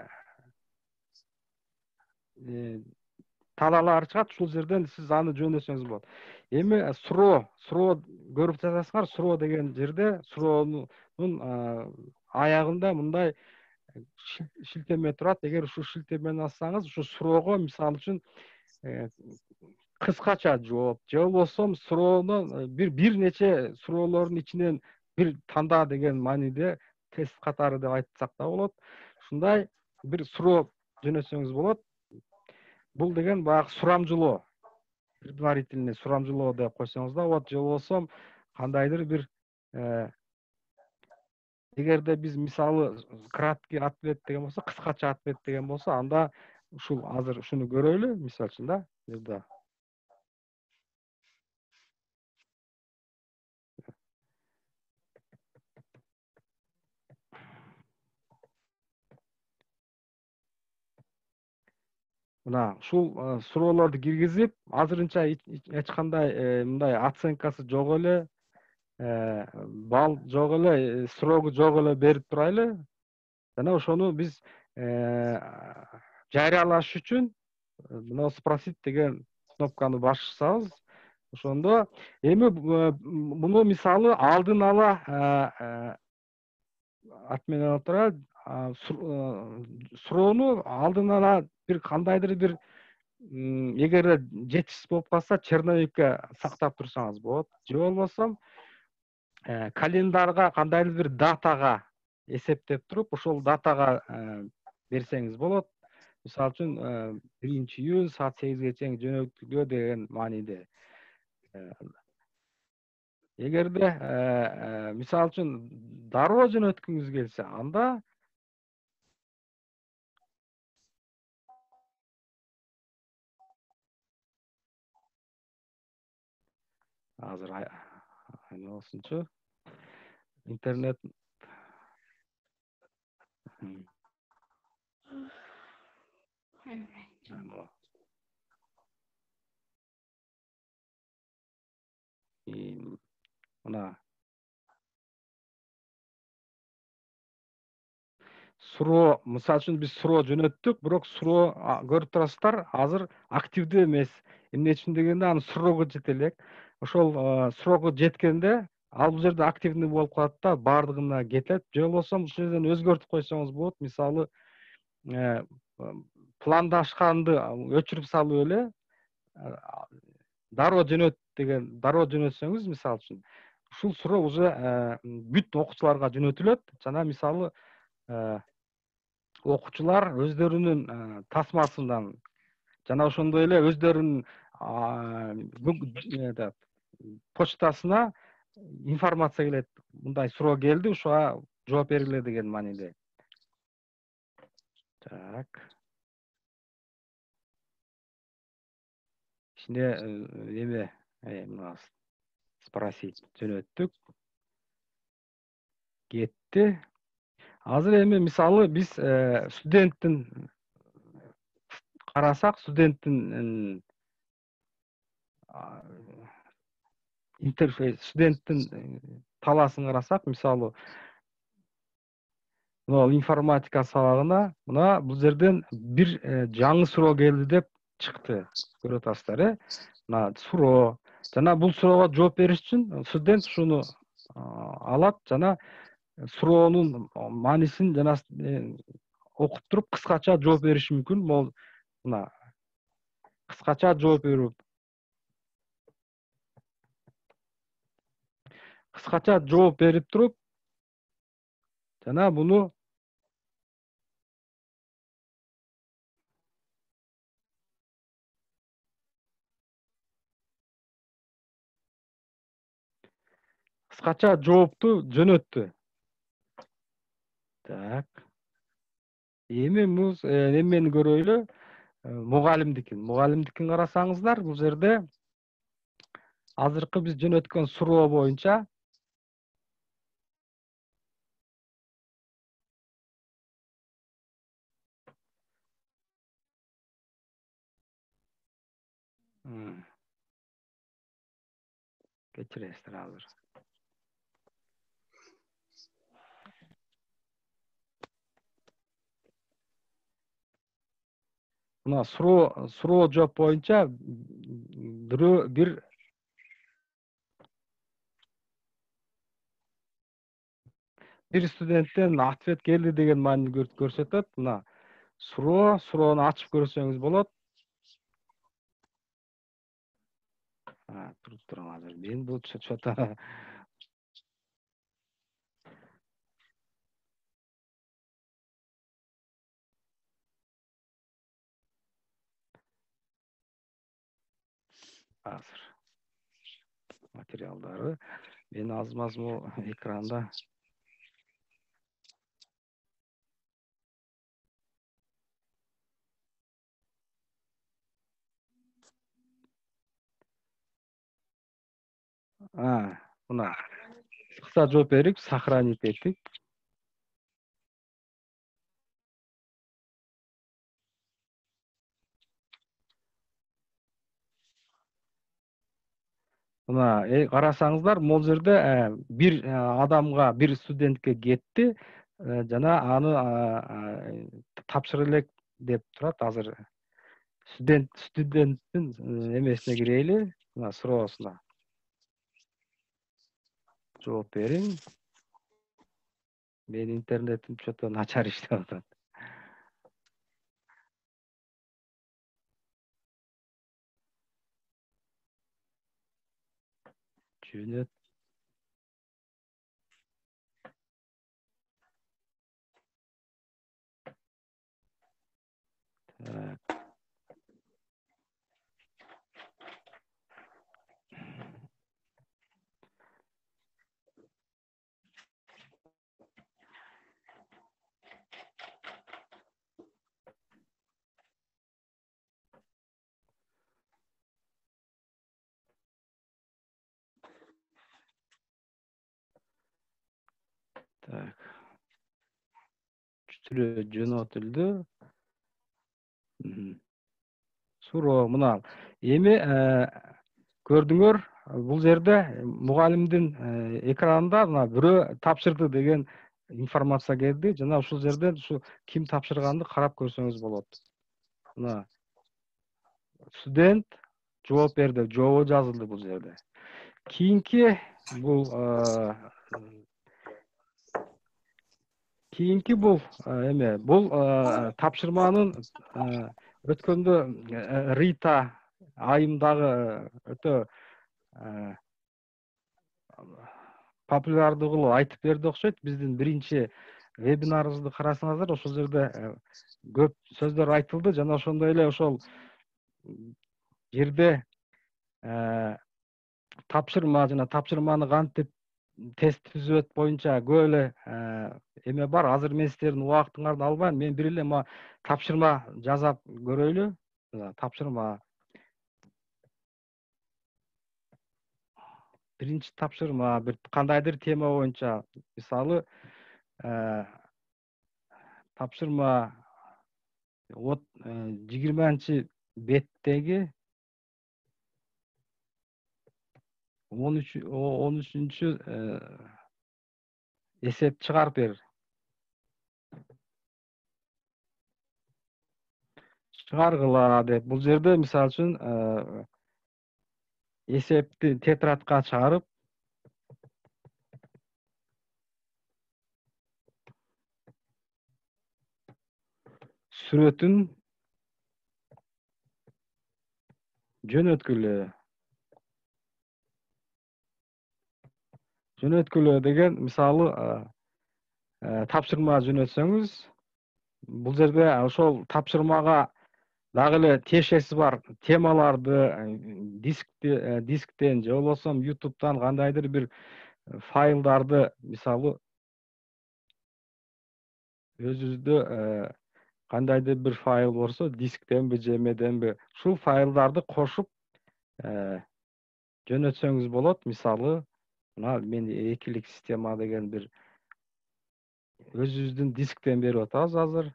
талаалар чыгат. Ушул жерден сиз аны жөндөсөңүз болот. Эми суроо көрүп жатасыңар. Суроо деген жерде суроонун аягында мындай шилтеме турат. Эгер ушул шилтемени бассаңыз, ушу суроого мисалы үчүн кыскача жооп, же болбосо суроону бир нече суроолордун ичинен бир танда деген мааниде тест катары деп айтсак да болот. Ушундай бир суроо жөнөтсөңүз болот. Бул деген баягы сурамжылоо, предварительный сурамжылоо деп койсоңуз да болот. Же болбосо кандайдыр бир эгерде биз мисалы краткий ответ деген болсо, кыскача ответ деген болсо, анда ушул азыр ушуну көрөлү, мисалы үчүн да, жерде. Мына ушул суроолорду киргизип, азырынча эч кандай мындай оценкасы жок эле, балл жок эле, срогу жок эле берип турайлы. Жана ошону биз жарыялаш үчүн мына спросить деген кнопканы бассабыз, ошондо эми муну мисалы алдын ала отмена отурат. Суроону алдын ала бир кандайдыр бир эгер жетишсиз болуп калса, черновикке сактап турсаңыз болот. Же болбосо календарга кандайдыр бир датага эсептеп туруп, ошол датага берсеңиз болот. Мисалы үчүн 1-июнь саат 8ге чейин жөнөтүлгө деген мааниде. Эгерде мисалы үчүн дароо жөнөткүңүз келсе, анда азыр айналсынчы интернет мына суроо, мисалы үчүн биз суроо жөнөттүк, бирок суроо көрүп турасыздар, азыр активдүү эмес. Эмне үчүн дегенде, анын срогу жете элек. Ошол срогу жеткенде, ал бул жерде активный болуп калат да, баардыгына кетет. Же болбосо ушул жерден өзгөртүп койсоңуз болот. Мисалы, пландашканды өчүрүп салып эле дароо жөнөт деген, дароо жөнөтсөңүз, мисалы үчүн, ушул суроо уже бүт окуучуларга жөнөтүлөт. Жана мисалы окуучулар өздөрүнүн тасмасынан жана ошондой эле өздөрүнүн почтасына информация келет. Мындай суроо келди, ушуга жооп бергиле деген мааниде. Так. Ичинде эме мына спросить жөнөттүк. Кетти. Азыр эми мисалы биз студенттин карасак, студенттин интерфейс, студенттин талаасын карасак, мисалы мына информатика сабагына мына бул жерден бир жаңы суроо келди деп чыкты. Көрүп атасыздар, мына суроо. Жана бул суроого жооп бериш үчүн студент ушуну алат жана суроонун маанисин жана окуп туруп кыскача жооп бериши мүмкүн. Могул мына кыскача жооп берип, кыскача жооп берип туруп жана буну кыскача жоопту жөнөттү. Так. Эми муз эмени көрөйлү. Мугалимдикин карасаңыздар, бул жерде азыркы биз жөнөткөн суроо боюнча кечиресиздер азыр. Мына суроо жооп боюнча бир студенттен ответ келди деген маанини көрсөтөт. Мына суроону ачып көрсөңүз болот. Туруп турам азыр. Мен бул чөтө азыр материалдары мен азму экранда мына кыска жооп берип сохранить эттик. Мына карасаңыздар, могул жерде бир адамга, бир студентке кетти, жана аны тапшыра элек деп турат. Азыр студенттин эмесине кирейли, мына суроосуна жооп бериң. Менин интернетим чөтө начар иштеп атат. Жөнөт. Так. Жөнөтүлдү. Суроо мына. Эми көрдүңөр, бул жерде мугалимдин экранында мына бирөө тапшырды деген информация келди. Жана ушул жерден ким тапшырганды карап көрсөңүз болот. Мына студент жооп берди, жообу жазылды бул жерде. Кийинки бул эме, бул тапшырманын өткөндө Рита айымдагы өтө популярдуу кылып айтып берди окшойт. Биздин биринчи вебинарыбызды карасаңыздар, ошол жерде көп сөздөр айтылды, жана ошондой эле ошол жерде тапшырма жана тапшырманы кантип тест түзөт боюнча көп эле эме бар. Азыр мен сиздердин убактыңарды албайм. Мен бир эле тапшырма жасап көрөйлү. Тапшырма. Биринчи тапшырма бир кандайдыр тема боюнча, мисалы, тапшырма 20-беттеги 13 эсеп чыгарып бер. Чыгаргыла деп. Бул жерде мисалы үчүн эсепти тетрадка чыгарып, сүрөтүн жөнөткүлө. жөнөткүлө деген мисалы тапшырма жөнөтсөңүз, бул жерде ошол тапшырмага дагы эле тиешеси бар темаларды дисктен же болбосо YouTube'дан кандайдыр бир файлдарды, мисалы өзүбүздө кандайдыр бир файл болсо, дисктенби же эмеденби, ушул файлдарды кошуп жөнөтсөңүз болот. Мисалы, мына мен экилик система деген бир өзүбүздүн дисктен берип атабыз азыр.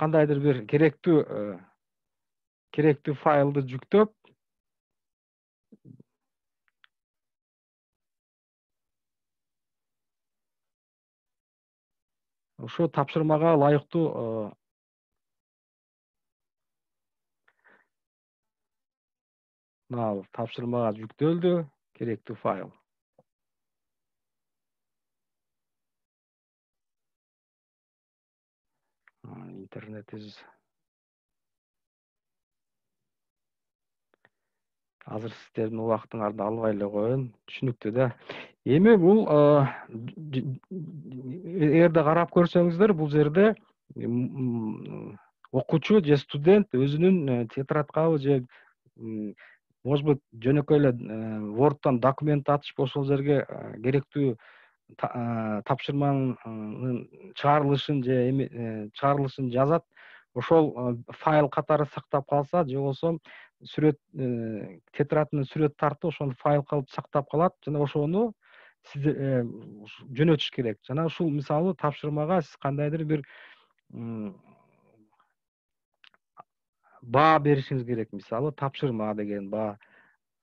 Кандайдыр бир керектүү файлды жүктөп, ошо тапшырмага ылайыктуу мына тапшырмага жүктөлдү керектүү файл. Интернетибиз азыр сиздердин убактыңарды албай эле коеюн, түшүнүктүү да. Эми бул эгерде карап көрсөңүздөр, бул жерде окуучу же студент өзүнүн тетрадкабы же может быть жөнөкөй эле Word'тон документ ачып ошол жерге керектүү тапшырманын чыгарылышын же чыгарылышын жазат. Ошол файл катары сактап калса, же болбосо сүрөт тетрадынын сүрөт тартып ошону файл кылып сактап калат жана ошону сиз жөнөтүш керек. Жана ушул мисалы тапшырмага сиз кандайдыр бир баа беришиңиз керек. Мисалы тапшырма деген баа,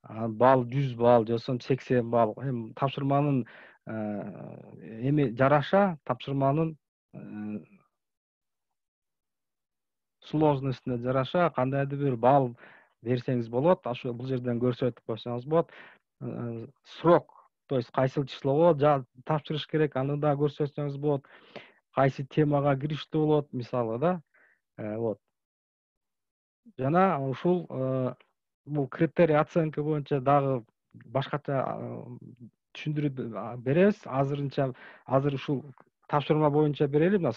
балл 100 балл же болбосо 80 балл. Эми тапшырманын эми жараша тапшырманын сложностуна жараша кандайдыр бир балл берсеңиз болот. Ошо бул жерден көрсөтүп койсоңуз болот. Срок, то есть кайсыл числого тапшырыш керек, аны да көрсөтсөңүз болот. Кайсы темага кириштүү болот, мисалы да. Вот. Жана ушул бул критерий оценка боюнча дагы башкача түшүндүрүп беребиз. Азыр ушул тапшырма боюнча берели. Мына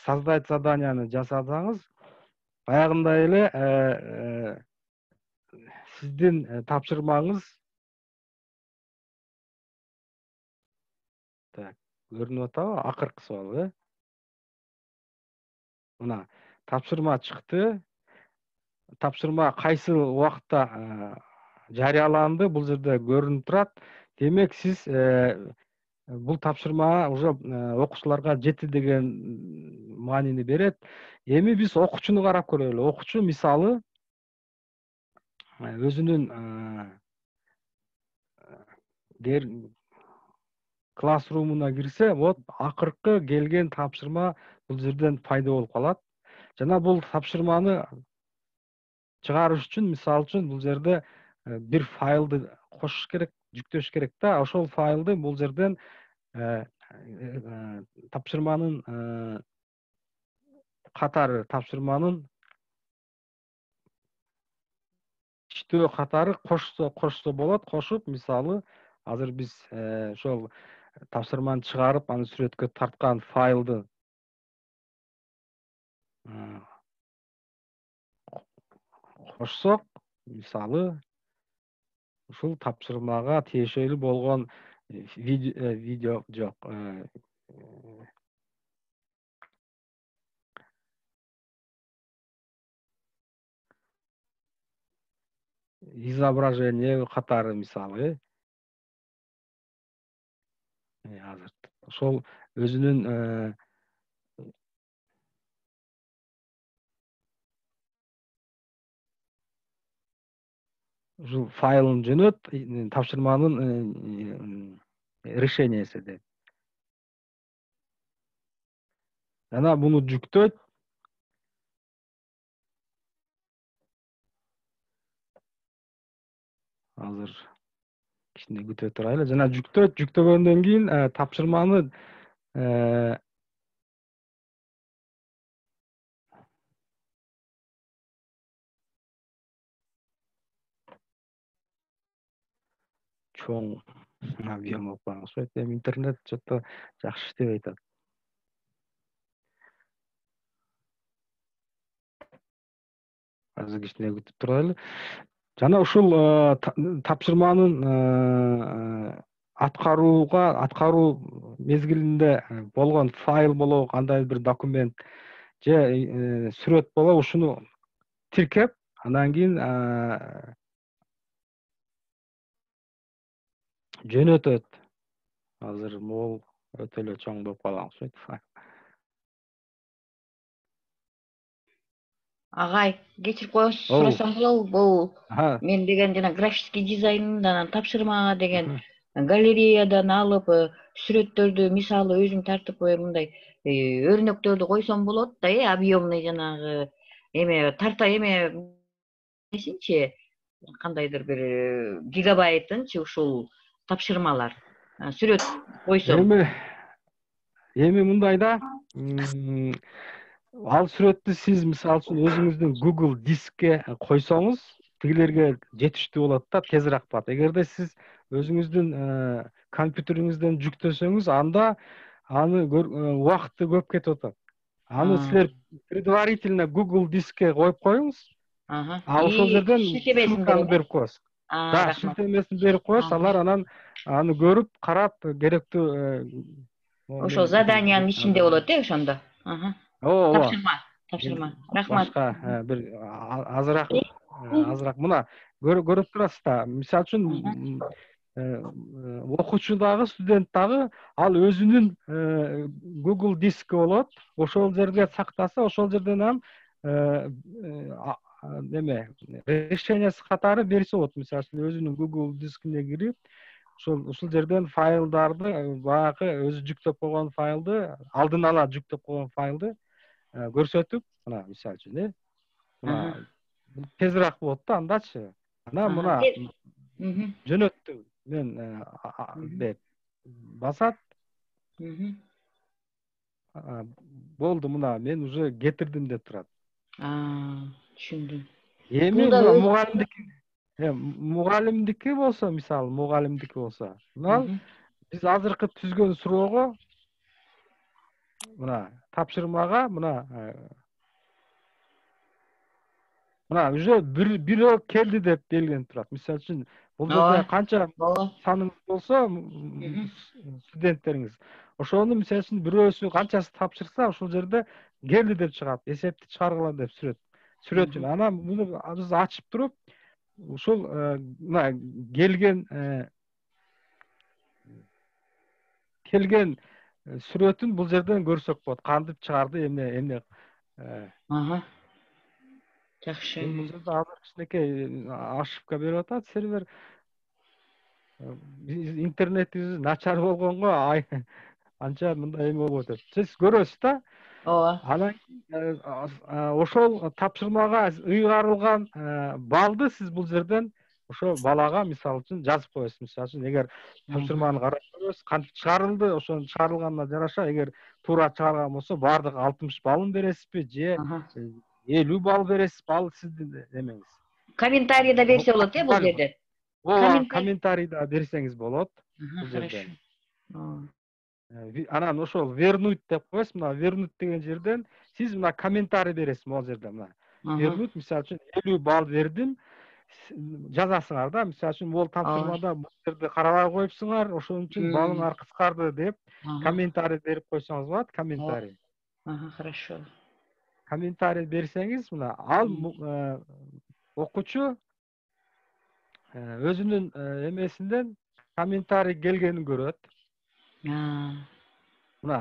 создать заданияны жасасаңыз, баягындай эле сиздин тапшырмаңыз көрүнүп атабы? Акыркы суал, Мына тапшырма чыкты. Тапшырма кайсы убакытта жарыяланды, бул жерде көрүнүп турат. Демек, сиз бул тапшырма уже окуучуларга жетти деген маанини берет. Эми биз окуучуну карап көрөлү. Окуучу мисалы өзүнүн класс румуна кирсе, вот акыркы келген тапшырма бул жерден пайда болуп калат. Жана бул тапшырманы чыгарыш үчүн, мисалы үчүн, бул жерде бир файлды кошуш керек, жүктөш керек да. Ошол файлды бул жерден тапшырманын катары, тапшырманын иштөө катары кошсо болот. Кошуп, мисалы, азыр биз ошол тапшырманы чыгарып, аны сүрөткө тарткан файлды кошсок, мисалы, ушул тапшырмага тиешелүү болгон видео жок, изображение катары, мисалы, азыр ошол өзүнүн ушул файлын жөнөт, тапшырманын решениясы деп. Жана буну жүктөйт. азыр кичине күтө турайлы. Жана жүктөгөндөн кийин тапшырманы чоң объем алып барган окшойт. Эми интернет что-то жакшы иштебей атат. Азыр кичине күтүп турайлы. Жана ушул тапшырманын аткаруу мезгилинде болгон файл болобу, кандайдыр бир документ же сүрөт болобу, ушуну тиркеп, андан кийин жөнөтөт. Азыр могул өтө эле чоң болуп калган окшойт. Агай, кечирип коесуз, сурасам болобу? Бул мен деген жана графический дизайндан тапшырмага деген галереядан алып сүрөттөрдү, мисалы өзүм тартып мындай өрнөктөрдү койсом болот да, объемный жанагы эме тарта эмесинчи, кандайдыр бир гигабайтынчы ушул тапшырмалар сүрөт койсом. Эми мындай да, ал сүрөттү сиз мисалы үчүн өзүңүздүн Google дискке койсоңуз, тигилерге жетиштүү болот да, тезирээк болот. Эгерде сиз өзүңүздүн компьютериңизден жүктөсөңүз, анда аны убакыты көп кетип атат. Аны силер предварительно Google дискке коюп коюңуз. Ошол жерден ссылканы берип коесуз. Да, шилтемесин берип коесуз, алар анан аны көрүп, карап, керектүү ошол заданиянын ичинде болот ошондо. Тапшырма. Рахмат. Башка бир азыраак мына көрүп турасыз да. Мисалы үчүн окуучу дагы, студент дагы ал өзүнүн Google диски болот. Ошол жерге сактаса, ошол жерден решениясы катары берсе болот. Мисалы үчүн өзүнүн Google дискине кирип, ушул жерден файлдарды, баягы өзү жүктөп койгон файлды, алдын ала жүктөп койгон файлды көрсөтүп, мына мисалы үчүн, мына тезирээк болот да андачы. Анан мына жөнөттүм мен деп басат. Болду, мына мен уже кетирдим деп турат. Түшүндүм. Эми мугалимдики болсо, мисалы мугалимдики болсо, мына биз азыркы түзгөн суроого, мына тапшырмага, мына уже бирөө келди деп белгиленип турат. Мисалы үчүн, бул жерде канча саныңыз болсо, студенттериңиз, ошону мисалы үчүн бирөөсү канчасы тапшырса, ошол жерде келди деп чыгат, эсепти чыгаргыла деп сүрөтчүн. Анан муну биз ачып туруп, ушул мына келген сүрөтүн бул жерден көрсөк болот. Кантип чыгарды, эмне. Жакшы. Бул жерде азыр кичинекей ошибка берип атат сервер. Интернетибиз начар болгонго анча мындай эме болуп атат. Сиз көрөсүз да? Ооба. Анан ошол тапшырмага ыйгарылган балды сиз бул жерден ошо балага мисалы үчүн жазып коесуз. Мисалы үчүн, эгер тапшырманы карап көрөсүз, кантип чыгарылды, ошонун чыгарылганына жараша, эгер туура чыгарган болсо, бардыгы 60 балын бересизби же 50 балл бересиз, ал сиздин эмеңиз. Комментарий да берсе болот бул жерде. Ооба, комментарий да берсеңиз болот бул жерден. Анан ошол вернуть деп коесуз. Мына вернуть деген жерден сиз мына комментарий бересиз могул жерде. Мына вернуть, мисалы үчүн 50 балл бердим, жазасыңар да. Мисалы үчүн, бул тапшырмада бул жерде карабай коюпсуңар, ошон үчүн балыңар кыскарды деп комментарий берип койсоңуз болот. Комментарий. Хорошо. Комментарий берсеңиз, мына ал окуучу өзүнүн эмесинден комментарий келгенин көрөт. Мына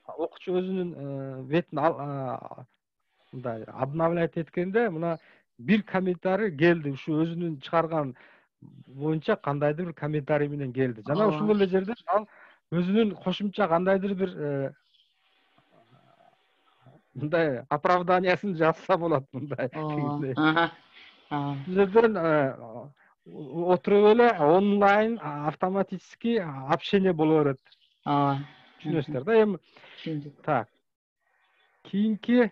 окуучу өзүнүн бетин мындай обновлять эткенде, мына бир комментарий келди, ушу өзүнүн чыгарган боюнча кандайдыр бир комментарий менен келди. Жана ушул эле жерден ал өзүнүн кошумча кандайдыр бир мындай оправданиясын жазса болот, мындай. Бул жерден отуруп эле онлайн автоматически общение боло берет. Түшүнөсүздөр да? Эми Түшүндүк. так. Кийинки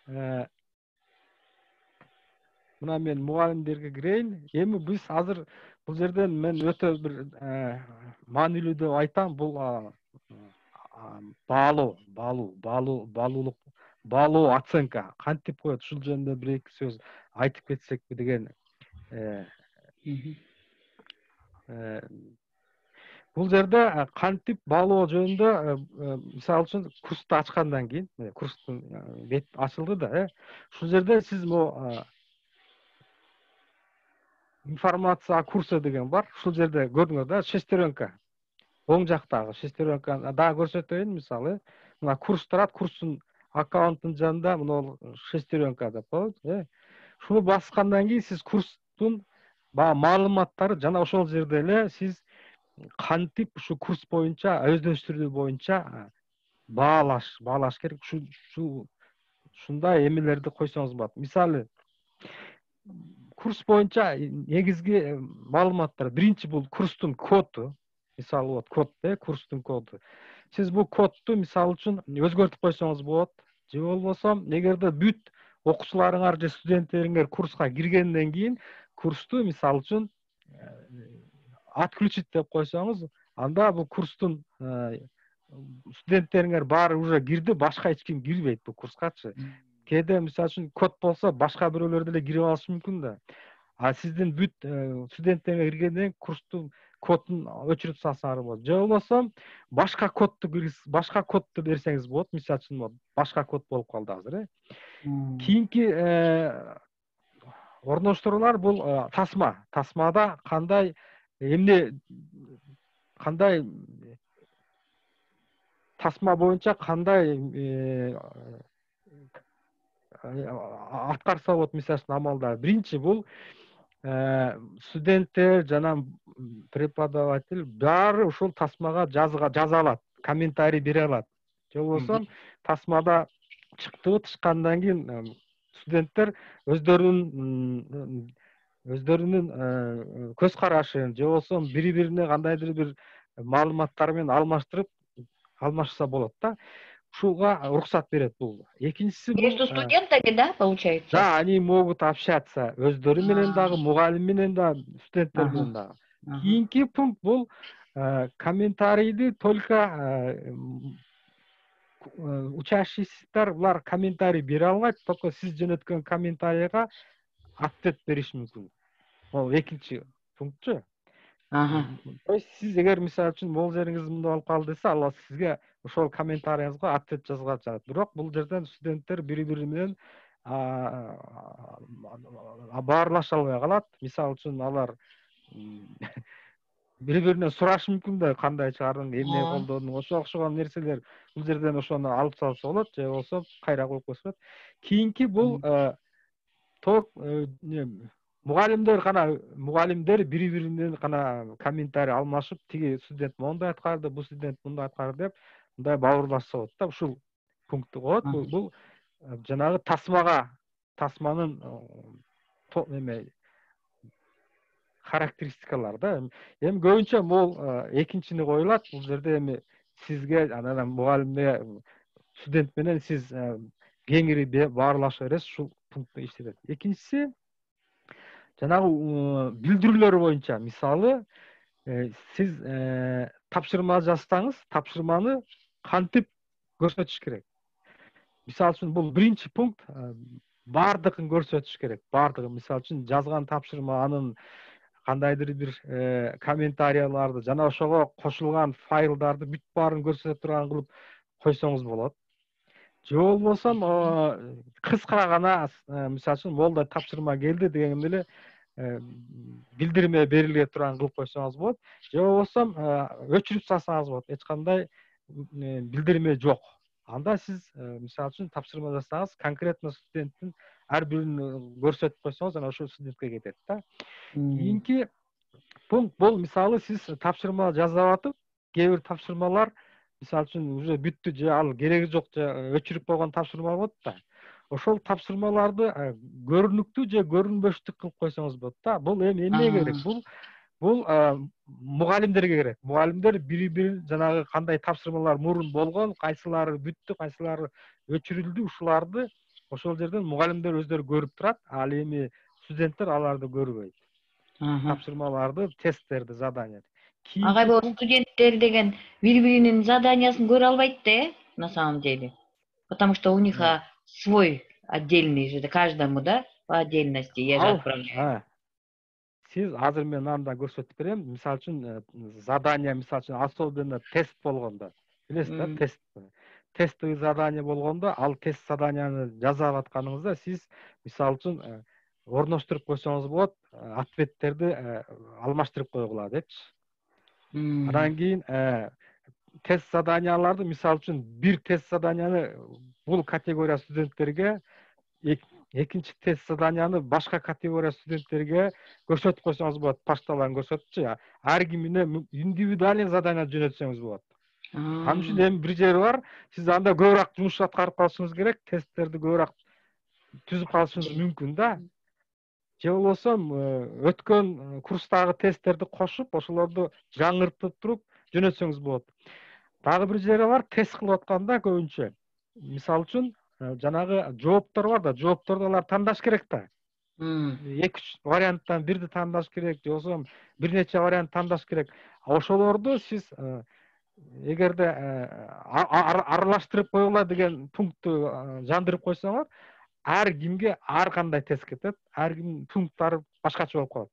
мына мен мугалимдерге кирейин. Эми биз азыр бул жерден мен өтө бир маанилүү деп айтам. Бул баалоо оценка кантип коет, ушул жөнүндө бир эки сөз айтып кетсекпи деген. Бул жерде кантип баалоо жөнүндө мисалы үчүн курсту ачкандан кийин, курстун бет ачылды да, ушул жерде сиз информация курсы деген бар. Ушул жерде көрдүңөр да, шестеренка. Оң жактагы шестеренканы дагы көрсөтөйүн, мисалы. Мына курс турат, курстун аккаунттун жанында мына шестеренка деп коет. Шуну баскандан кийин сиз курстун маалыматтары жана ошол жерде эле сиз кантип ушу курс боюнча, өздөштүрүү боюнча баалаш керек. Ушундай эмелерди койсоңуз болот. Мисалы, курс боюнча негизги маалыматтар. Биринчи бул курстун коду. Мисалы вот код, курстун коду. Сиз бул кодду мисалы үчүн өзгөртүп койсоңуз болот. Же болбосо, эгерде бүт окуучуларыңар же студенттериңер курска киргенден кийин курсту мисалы үчүн отключить деп койсоңуз, анда бул курстун студенттериңер баары уже кирди, башка эч ким кирбейт бул курскачы. Кээде мисалы үчүн код болсо башка бирөөлөр деле кирип алышы мүмкүн да. А сиздин бүт студенттериңер киргенден кийин курстун кодун өчүрүп салсаңар болот. Же болбосо башка кодду берсеңиз болот. Мисалы үчүн башка код болуп калды азыр. Кийинки орноштуруулар бул тасма. Тасмада кандай тасма боюнча кандай аткарса болот, мисалы үчүн амалдар. Биринчи бул студенттер жана преподаватель баары ушул тасмага жаза алат, комментарий бере алат. Же болбосо тасмада чыккандан кийин студенттер өздөрүнүн көз карашын же болбосо бири-бирине кандайдыр бир маалыматтар менен алмашса болот да. Ушуга уруксат берет бул. Экинчиси Между студентами, да, получается? Да, они могут общаться өздөрү менен дагы, мугалим менен дагы, студенттер менен дагы. Кийинки пункт бул комментарийди только учащиеся булар комментарий бере албайт, только сиз жөнөткөн комментарийга ответ бериш мүмкүн. Бул экинчи пунктчу. То есть сиз эгер мисалы үчүн могул жериңиз мындай болуп калды десе, ал сизге ошол комментарийиңизге ответ жазган жатат. Бирок бул жерден студенттер бири-бири менен баарлаша албай калат. Мисалы үчүн алар бири-биринен сурашы мүмкүн да, кандай чыгардың, эмне колдодуң, ошо окшогон нерселер бул жерден ошону алып салса болот, же болбосо кайра коюп койсо болот. Кийинки бул мугалимдер бири-биринен гана комментарий алмашып, тиги студент мондай аткарды, бул студент мындай аткарды деп, мындай бауырлашса болот да. Ушул пунктту коет. Бул жанагы тасманын характеристикалар да. Эми көбүнчө могул экинчини коюлат. Бул жерде эми сизге анан мугалимге, студент менен сиз кеңири баарлаша бересиз, ушул пунктты иштетет. Экинчиси жанагы билдирүүлөр боюнча, мисалы, сиз тапшырма жазсаңыз, тапшырманы кантип көрсөтүш керек. Мисалы үчүн бул биринчи пункт, бардыгын көрсөтүш керек. Бардыгы, мисалы үчүн жазган тапшырма, анын кандайдыр бир комментарияларды жана ошого кошулган файлдарды бүт баарын көрсөтө турган кылып койсоңуз болот. Же болбосо кыска гана, мисалы үчүн молда тапшырма келди деген эле билдирме бериле турган кылып койсоңуз болот. Же болбосо өчүрүп салсаңыз болот. Эч кандай билдирме жок. Анда сиз мисалы үчүн тапшырма жасасаңыз, конкретно студенттин ар бирин көрсөтүп койсоңуз, анан ошол студентке кетет да. Кийинки пункт бул, мисалы, сиз тапшырма жазып атып, кээ бир тапшырмалар мисалы үчүн уже бүттү, же ал кереги жок, же өчүрүп койгон тапшырма болот да. ошол тапшырмаларды көрүнүктүү же көрүнбөштүк кылып койсоңуз болот да. Бул эми эмнеге керек? Бул мугалимдерге керек. Мугалимдер бири-бирин жанагы кандай тапшырмалар мурун болгон, кайсылары бүттү, кайсылары өчүрүлдү, ушуларды ошол жерден мугалимдер өздөрү көрүп турат. Ал эми студенттер аларды көрбөйт. Тапшырмаларды, тесттерди, заданияны. Агай бул студенттер деген бири-биринин заданиясын көрө албайт да, на самом деле. Потому что у них свой отдельный же, каждому, да, по отдельности я же отправляю. Сиз азыр мен анда көрсөтүп берем. Мисалы үчүн задание, мисалы үчүн особенно тест болгондо, билесиз да, тест. Тестовый задание болгондо, ал тест заданияны жазып атканыңызда сиз мисалы үчүн орноштуруп койсоңуз болот, ответтерди алмаштырып койгула депчи. Андан кийин тест заданияларды мисалы үчүн бир тест заданияны бул категория студенттерге, экинчи тест заданияны башка категория студенттерге көрсөтүп койсоңуз болот, почталарын көрсөтүпчү. Ар кимине индивидуальный задание жөнөтсөңүз болот. Анын үчүн эми бир жери бар, сиз анда көбүрөөк жумуш аткарып калышыңыз керек, тесттерди көбүрөөк түзүп калышыңыз мүмкүн да. Же болбосо өткөн курстагы тесттерди кошуп, ошолорду жаңыртып туруп жөнөтсөңүз болот. Дагы бир жери бар, тест кылып атканда көбүнчө мисалы үчүн жанагы жооптор бар да, жоопторду алар тандаш керек да. 2-3 варианттан бирди тандаш керек, же болбосо бир нече вариант тандаш керек. Ошолорду сиз эгерде аралаштырып койгула деген пунктту жандырып койсоңор, ар кимге ар кандай тест кетет, ар кимдин пункттары башкача болуп калат.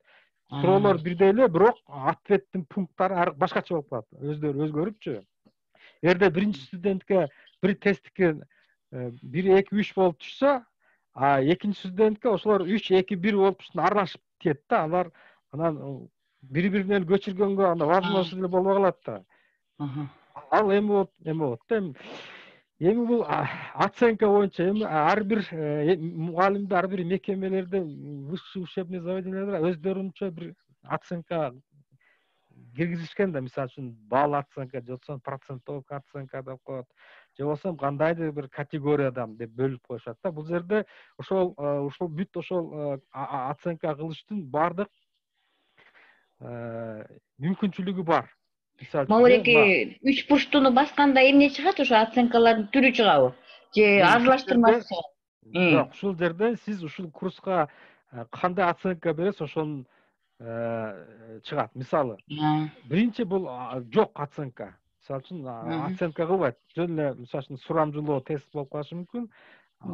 Суроолор бирдей эле, бирок ответтин пункттары башкача болуп калат, өздөрү өзгөрүпчү. Эгерде биринчи студентке бир тесттики 1-2-3 болуп түшсө, экинчи студентке ошолор 3-2-1 болуп аралашып тиет да. Алар анан бири-биринен көчүргөнгө анда возможность эле болбой калат да. Ал эми болот да. Эми бул оценка боюнча эми ар бир мугалимдер, ар бир мекемелерде, высший учебный заведениялар өздөрүнчө бир оценка киргизишкен да. Мисалы үчүн балл оценка, же болбосо процентовка оценка деп коет, же болбосо кандайдыр бир категориядан деп бөлүп коюшат да. Бул жерде ошол бүт ошол оценка кылыштын баардык мүмкүнчүлүгү бар. Могулеки 3 бурчтуну басканда эмне чыгат? Ошо оценкалардын түрү чыгабы? Же аралаштырмасы? Жок, ушул жерден сиз ушул курска кандай оценка бересиз, ошонун чыгат. Мисалы, биринчи бул жок оценка. Мисалы үчүн оценка кылбайт. Жөн эле мисалы үчүн сурамжылоо тест болуп калышы мүмкүн.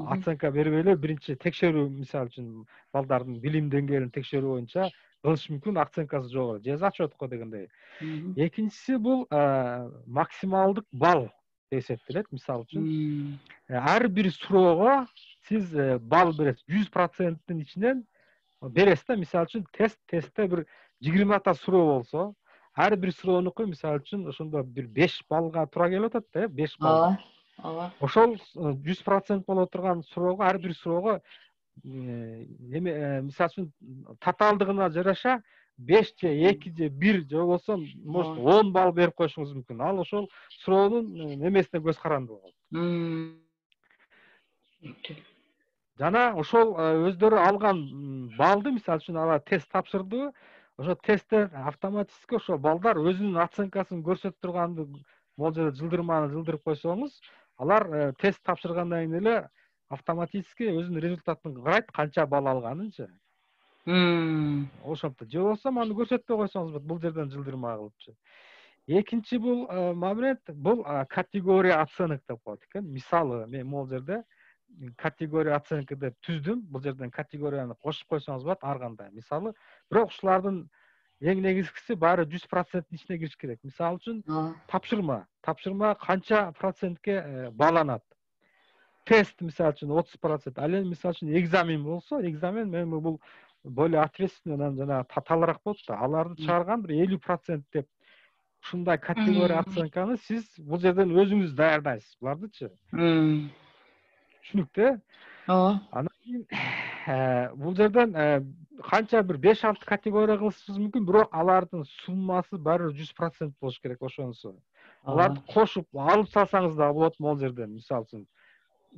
Оценка бербей эле биринчи текшерүү, мисалы үчүн балдардын билим деңгээлин текшерүү боюнча кылышы мүмкүн, оценкасы жогору, же зачетко дегендей. Экинчиси бул максималдык балл деп эсептелет. Мисалы үчүн ар бир суроого сиз балл бересиз. 100%-тин ичинен бересиз да. Мисалы үчүн тестте бир 20 суроо болсо, ар бир суроонуку мисалы үчүн ошондо бир 5 баллга туура келип атат да, 5 балл. Ошол 100% боло турган суроого, ар бир суроого мисалы үчүн татаалдыгына жараша 5 же 2 же 1 же болбосо может 10 балл берип коюшуңуз мүмкүн. Ал ошол суроонун немесине көз каранды болот. Жана ошол өздөрү алган баллды, мисалы үчүн алар тест тапшырды, ошо тесттен автоматически ошол балдар өзүнүн оценкасын көрсөтүп турганды могул жерде жылдырманы жылдырып койсоңуз, алар тест тапшыргандан кийин эле автоматически өзүнүн результатын карайт, канча балл алганынчы. Ошондо же болбосо аны көрсөтпөй койсоңуз болот, бул жерден жылдырма кылыпчы. Экинчи бул момент, бул категория оценок деп коет экен. Мисалы, мен могул жерде категория оценка деп түздүм. Бул жерден категорияны кошуп койсоңуз болот ар кандай. Мисалы, бирок ушулардын эң негизгиси баары 100%-тин ичине кириш керек. Мисалы үчүн тапшырма канча процентке бааланат. Тест мисалы үчүн 30%. Ал эми мисалы үчүн экзамен болсо, экзамен эми бул более ответственный, жана татаалыраак болот да. Аларды чыгарган бир 50% деп ушундай категория оценканы сиз бул жерден өзүңүз даярдайсыз булардычы. Түшүнүктүү? Анан кийин бул жерден канча бир 5-6 категория кылышыңыз мүмкүн, бирок алардын суммасы баары 100% болуш керек ошонусу. Аларды кошуп алып салсаңыз да болот могул жерден, мисалы үчүн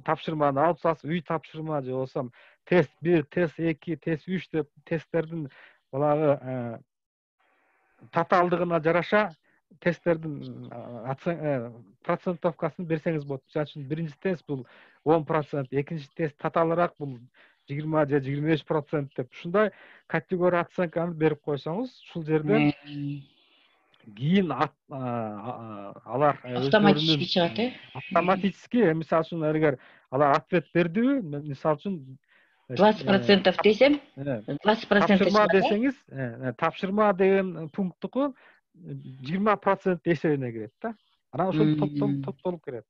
тапшырманы алып салсыз, үй тапшырма же болбосо тест 1, тест 2, тест 3 деп тесттердин баягы татаалдыгына жараша тесттердин процентовкасын берсеңиз болот. Мисалы үчүн биринчи тест бул 10%, экинчи тест татаалыраак бул 20 же 25% деп ушундай категория оценканы берип койсоңуз, ушул жерден кийин алар автоматически чыгат, автоматически, мисалы үчүн эгер алар ответ бердиби, мисалы үчүн 20% десем, 20% тапшырма десеңиз, тапшырма деген пункттуку 20% эсебине кирет да. Анан ошол топтолуп кирет.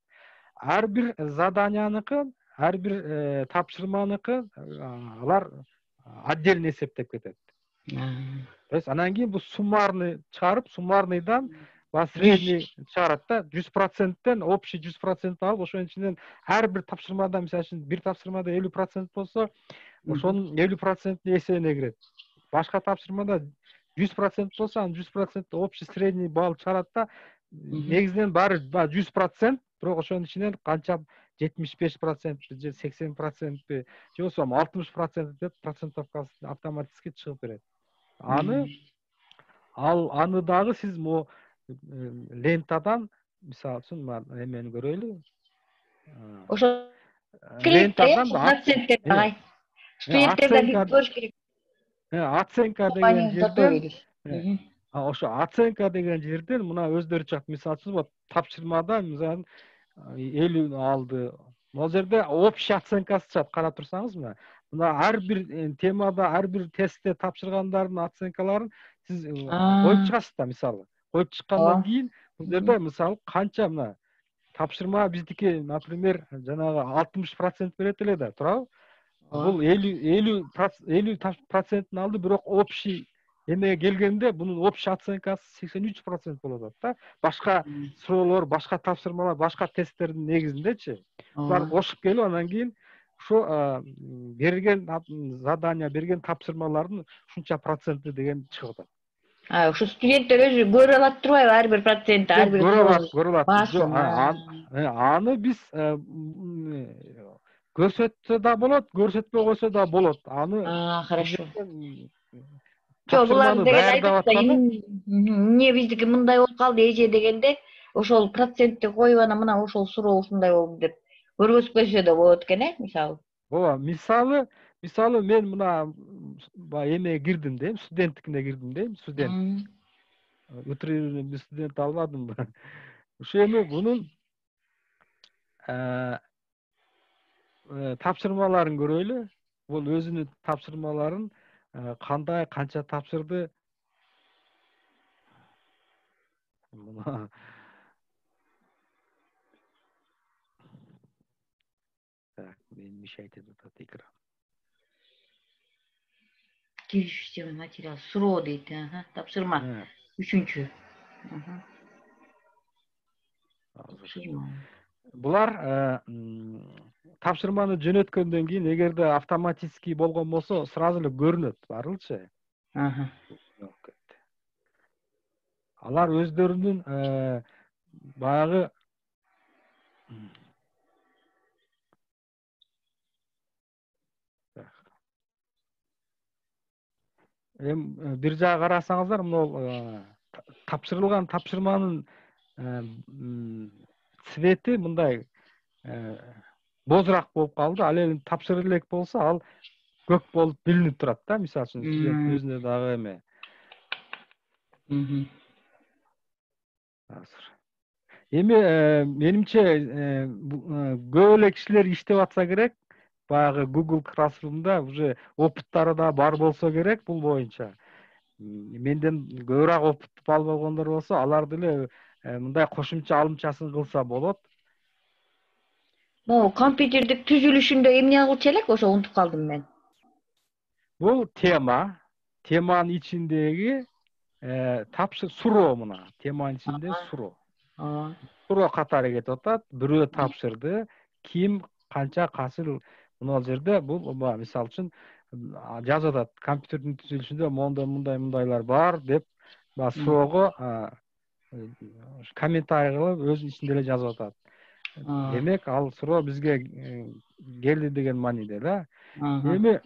Ар бир заданияныкы, ар бир тапшырманыкы алар отдельно эсептеп кетет. То есть анан кийин бул суммарный чыгарып, суммарныйдан средний чыгарат да. 100%тен общий 100% алып, ошонун ичинен ар бир тапшырмада, мисалы үчүн бир тапшырмада 50% болсо, ошонун 50% эсебине кирет. Башка тапшырмада 100% болсо, анын 100% общий средний балл чыгарат да. Негизинен баары 100%, бирок ошонун ичинен канча 75% же 80% же болбосо 60% деп процентовкасы автоматически чыгып берет. Аны дагы сиз могу лентадан, мисалы үчүн эмени көрөлү. Ошо лентадан проценттер агай. Студенттерден көрүш керек. Оценка деген жерден, ошо оценка деген жерден мына өздөрү чыгат. Мисалы үчүн тапшырмада мисалы 50 алды. Могу жерде общий оценкасы чыгат, карап турсаңыз мына ар бир темада, ар бир тестте тапшыргандардын оценкаларын сиз коюп чыгасыз да, мисалы. Коюп чыккандан кийин бул жерде мисалы канча мына тапшырма биздики, например, жанагы 60% берет эле да, туурабы? Бул 50% алды, бирок общий эмеге келгенде бунун общий оценкасы 83% болуп атат да. Башка суроолор, башка тапшырмалар, башка тесттердин негизиндечи. Булар кошуп келип, анан кийин ошо берилген задания, берилген тапшырмалардын ушунча проценти деген чыгып атат. Ошо студенттер өзү көрө алат турбайбы, ар бир процентти, ар бир көрө алат. Аны биз көрсөтсө да болот, көрсөтпөй койсо да болот. Аны хорошо. Жок, булар деген айтат да, эмне биздики мындай болуп калды эже дегенде, ошол процентти коюп анан мына ошол суроо ушундай болду деп көргөзүп койсо да болот экен, мисалы. Ооба, мисалы мен мына баягы эмеге кирдим дейм, студенттикине кирдим дейм, студент. Утрированный студент албадымбы? Ошо эми бунун тапшырмаларын көрөлү. Бул өзүнүн тапшырмаларын кандай, канча тапшырды. Так, мен мешать этип атат экран. Кириш система материал суроо дейт, тапшырма. Үчүнчү. Булар тапшырманы жөнөткөндөн кийин, эгерде автоматический болгон болсо, сразу эле көрүнөт баарылчы. Алар өздөрүнүн баягы бир жагы карасаңыздар, мына тапшырылган тапшырманын цвети мындай бозураак болуп калды. Ал эми тапшырып элек болсо, ал көк болуп билинип турат да, мисалы үчүн студент өзүнө дагы эме. Эми менимче көп эле кишилер иштеп атса керек. Баягы Google Classroom'да уже опыттары да бар болсо керек бул боюнча. Менден көбүрөөк опыт албагандар болсо, алар деле мындай кошумча алымчасын кылса болот. Могу компьютердик түзүлүшүндө эмне кылчу элек, ошо унутуп калдым мен. Бул теманын ичиндеги суроо мына. Теманын ичинде суроо. Суроо катары кетип атат. Бирөө тапшырды, ким, канча, качыл. Мына жерде бул мисалы үчүн жазып атат. Компьютердин түзүлүшүндө мындайлар бар деп суроого комментарий кылып өзүнүн ичинде эле жазып атат. демек ал суроо бизге келди деген мааниде да. Эми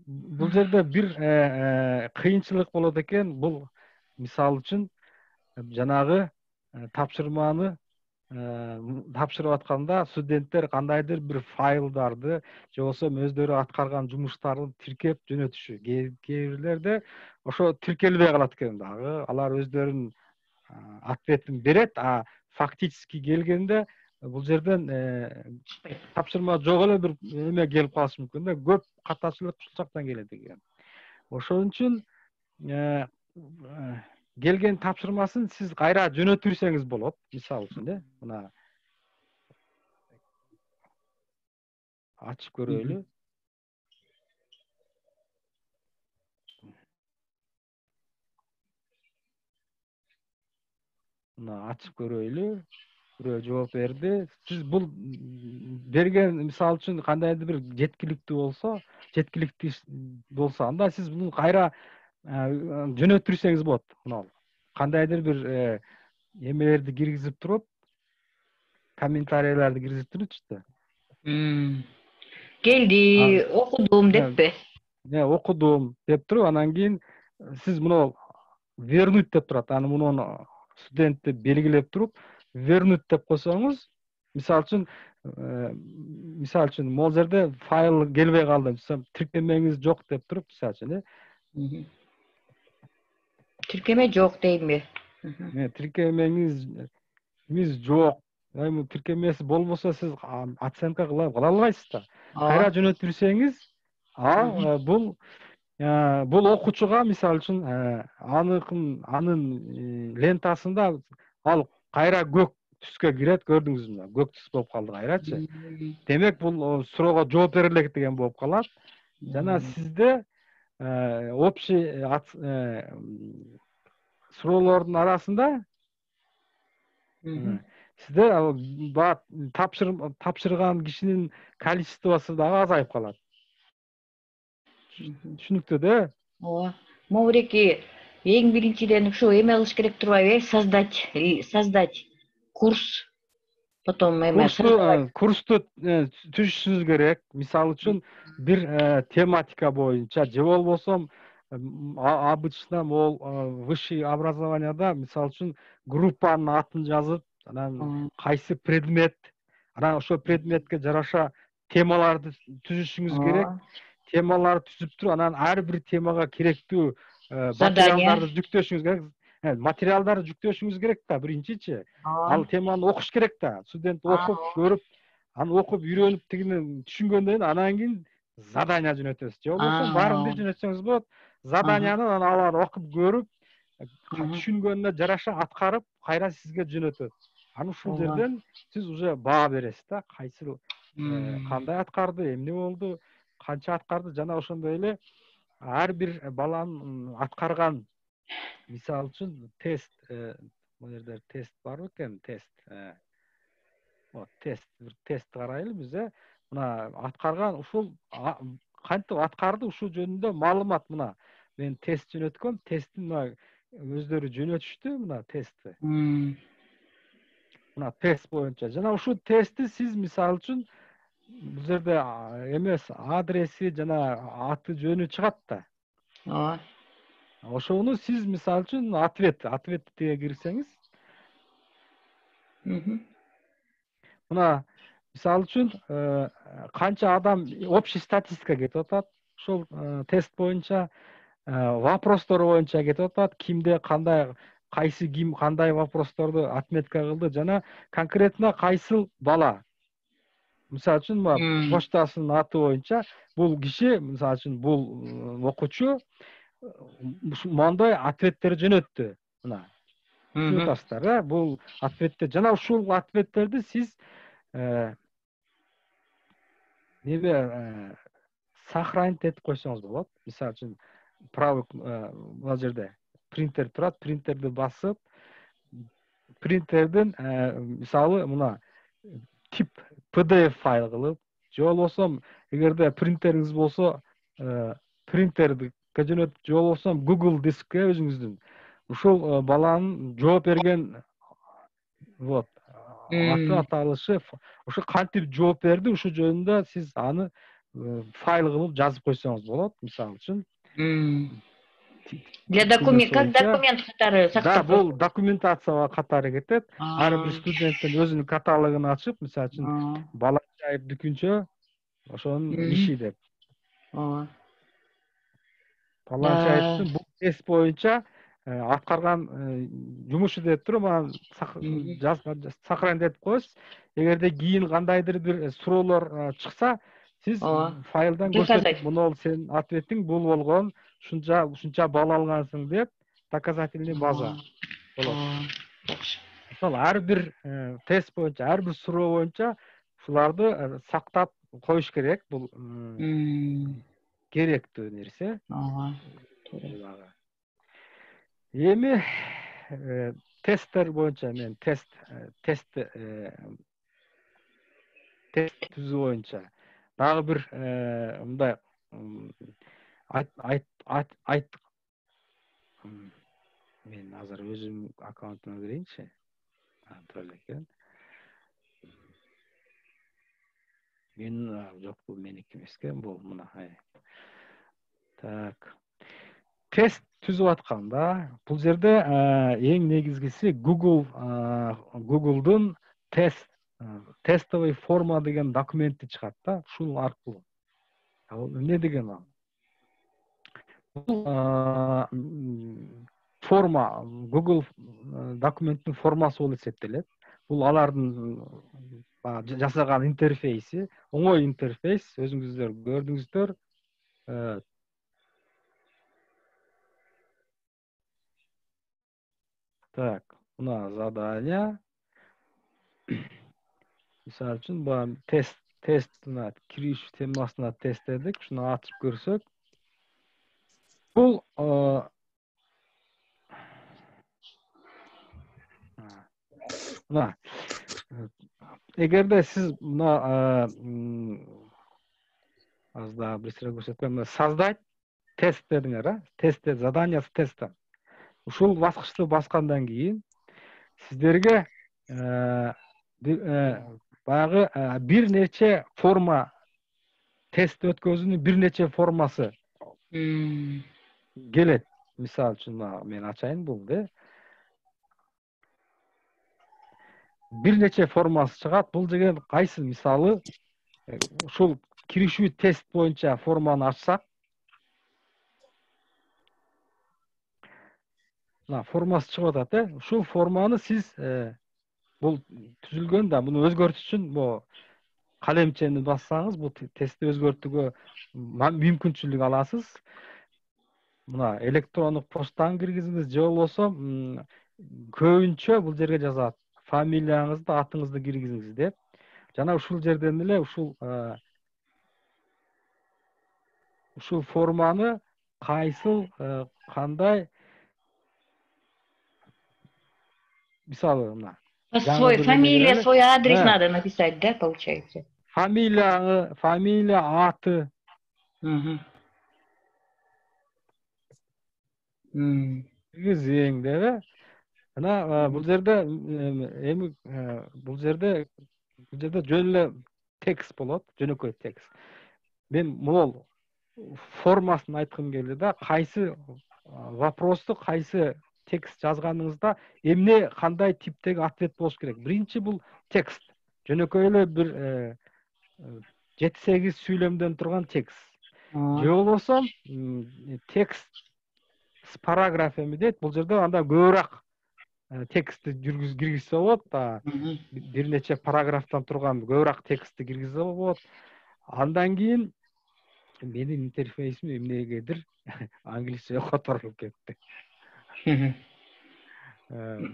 бул жерде бир кыйынчылык болот экен. Бул мисалы үчүн жанагы тапшырманы тапшырып атканда студенттер кандайдыр бир файлдарды же болбосо өздөрү аткарган жумуштарды тиркеп жөнөтүшү. Кээ бирлерде ошо тиркелбей калат экен дагы. Алар өздөрүнүн ответин берет, а фактически келгенде бул жерден тапшырма жок эле бир эме келип калышы мүмкүн да. Көп катачылык ушул жактан келет экен. Ошон үчүн келген тапшырмасын сиз кайра жөнөтүрсеңиз болот. Мисалы үчүн мына ачып көрөлү. Мына ачып көрөлү. Бирөө жооп берди. Сиз бул берген мисалы үчүн кандайдыр бир жеткиликтүү болсо, анда сиз муну кайра жөнөтүрсеңиз болот. Мына кандайдыр бир эмелерди киргизип туруп, комментарийлерди киргизип турчу да. Келди, окудум деппи? Окудум деп туруп, анан кийин сиз муну вернуть деп турат. Аны муну студентти белгилеп туруп, вернуть деп койсоңуз, мисалы үчүн могул жерде файл келбей калды, тиркемеңиз жок деп туруп, мисалы үчүн тиркеме жок дейби? Тиркемеңиз жок. Эми тиркемеси болбосо сиз оценка кыла албайсыз да. Кайра жөнөтүрсеңиз, бул окуучуга мисалы үчүн анын лентасында ал кайра көк түскө кирет, көрдүңүзбү? Көк түс болуп калды кайрачы. Демек бул суроого жооп бере элек деген болуп калат. Жана сизде общий суроолордун арасында сизде тапшырган кишинин количествосу дагы азайып калат. Түшүнүктүү да? Ооба. Могуреки эң биринчиден ушу эме кылыш керек турбайбы? Создать курс. Потом курсту түзүшүңүз керек. Мисалы үчүн бир тематика боюнча же болбосо обычно могул высший образованияда мисалы үчүн группанын атын жазып, анан кайсы предмет, анан ошол предметке жараша темаларды түзүшүңүз керек. Темаларды түзүп туруп, анан ар бир темага керектүү материалдарды жүктөшүңүз керек. Материалдарды жүктөшүңүз керек да биринчичи. Ал теманы окуш керек да. Студент окуп, көрүп, аны окуп, үйрөнүп тигини түшүнгөндөн кийин анан кийин задания жөнөтөсүз. Же болбосо баарын бир жөнөтсөңүз болот. Заданияны анан алар окуп көрүп, түшүнгөнүнө жараша аткарып, кайра сизге жөнөтөт. Анан ушул жерден сиз уже баа бересиз да. Кайсы кандай аткарды, эмне болду, канча аткарды, жана ошондой эле ар бир баланын аткарган, мисалы үчүн тест, бул жерде тест барбы экен? Тест карайлы биз. Мына аткарган ушул кантип аткарды, ушул жөнүндө маалымат. Мына мен тест жөнөткөм, тесттин мына өздөрү жөнөтүштү, мына тестти. Мына тест боюнча. Жана ушул тестти сиз мисалы үчүн бул жерде эмес, адреси жана аты жөнү чыгат да. Ооба. Ошону сиз мисалы үчүн ответке кирсеңиз, мына мисалы үчүн канча адам общий статистика кетип атат, ошол тест боюнча, вопростор боюнча кетип атат, кимде кандай, кайсы ким кандай вопросторду отметка кылды, жана конкретно кайсыл бала. Мисалы үчүн почтасынын аты боюнча бул киши, мисалы үчүн бул окуучу мондой ответтер жөнөттү. Мына түшүнүп атасыздар да? Бул ответтер, жана ушул ответтерди сиз сохранить этип койсоңуз болот. Мисалы үчүн правый бул жерде принтер турат, принтерди басып, принтердин мисалы мына тип PDF файл кылып, же болбосо эгерде принтериңиз болсо, принтерди жөнөтүп, же болбосо Google дискке өзүңүздүн ушул баланын жооп берген Вот. Аты аталышы ошо кантип жооп берди, ушул жөнүндө сиз аны файл кылып жазып койсоңуз болот, мисалы үчүн. Для документ, как документ катары сактап. Да, бул документация катары кетет. Ар бир студенттин өзүнүн каталогун ачып, мисалы үчүн Балачаев Дүкүнчө ошонун иши деп. Балачаевдин бул тест боюнча аткарган жумушу деп туруп, анан сохранить коесуз. Эгерде кийин кандайдыр бир суроолор чыкса, сиз файлдан көрсөтүп, мына сенин ответиң бул болгон, ушунча балл алгансың деп доказательный база болот. Мисалы, ар бир тест боюнча, ар бир суроо боюнча ушуларды сактап коюш керек. Бул керектүү нерсе. Эми тесттер боюнча мен тест түзүү боюнча дагы бир мындай мен азыр өзүм аккаунтума кирейинчи. Тура экен. Мен жок, бул меники эмес экен, бул мына. Так. Тест түзүп атканда, бул жерде эң негизгиси Google'дун тестовый форма деген документти чыгат да, ушул аркылуу. Ал эмне деген ал? Бул форма, Google документтин формасы болуп эсептелет. Бул алардын жасаган интерфейси, оңой интерфейс, өзүңүздөр көрдүңүздөр. Так, мына задание. Мисалы үчүн, бул тестина кириш темасына тест дедик, шуну ачып көрсөк. Бул мына эгерде сиз мына азда бир көрсөткөн создать тест дедиңер, тест задание с тестом. Ушул баскычты баскандан кийин сиздерге баягы бир нече форма, тест өткөзүүнүн бир нече формасы келет. Мисалы үчүн мен ачайын булду. Бир нече формасы чыгат. Бул деген кайсы? Мисалы, ушул киришүү тест боюнча форманы ачсак, формасы чыгып атат, Ушул форманы сиз бул түзүлгөн да, муну өзгөртүш үчүн калемчени бассаңыз, бул тестти өзгөртүүгө мүмкүнчүлүк аласыз. Мына электрондук почтаны киргизиңиз, же болбосо көбүнчө бул жерге жазат фамилияңызды, атыңызды киргизиңиз деп. Жана ушул жерден эле ушул форманы кайсыл, кандай, мисалы мына свой фамилия, свой адрес надо написать, да, получается? Фамилия, аты. Киргизиң деп. Ana bu жерде жөн эле текст болот, жөнөкөй текст. Мен могул формасын айткым келди да, кайсы вопросту, кайсы текст жазганыңызда эмне, кандай типтеги ответ болуш керек. Биринчи бул текст. Жөнөкөй эле бир 7-8 сүйлөмдөн турган текст. Же болбосо текст с параграфами дейт. Бул жерде анда көбүрөөк текстти киргизсе болот, бир нече параграфтан турган көбүрөөк текстти киргизсе болот. Андан кийин менин интерфейсим эмнегедир англисче которулуп кетти.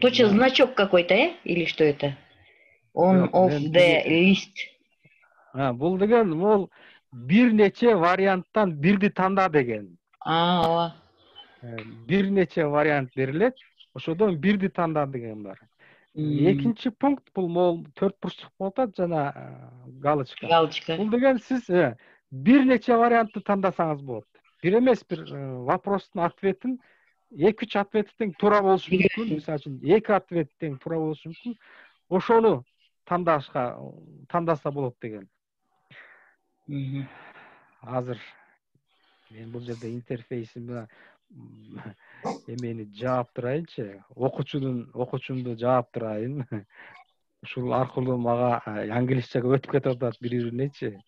Точно значок какой-то, или что это? On of the list. Бул деген мол бир нече варианттан бирди танда деген. Ооба. Бир нече вариант берилет. Ошодон бирди танда деген бар. Экинчи пункт бул мол 4 бурчтук болот жана галочка. Бул деген сиз бир нече вариантты тандасаңыз болот. Бир эмес, бир вопростун ответин 2-3 ответи тең туура болушу мүмкүн. Мисалы үчүн 2 ответ тең туура болушу мүмкүн. ошону тандаса болот деген. Азыр мен бул жерде интерфейсимди эмени жаап турайынчы, окуучумду жаап турайын. Ушул аркылуу мага англисчеге өтүп кетип атат бири-биринечи.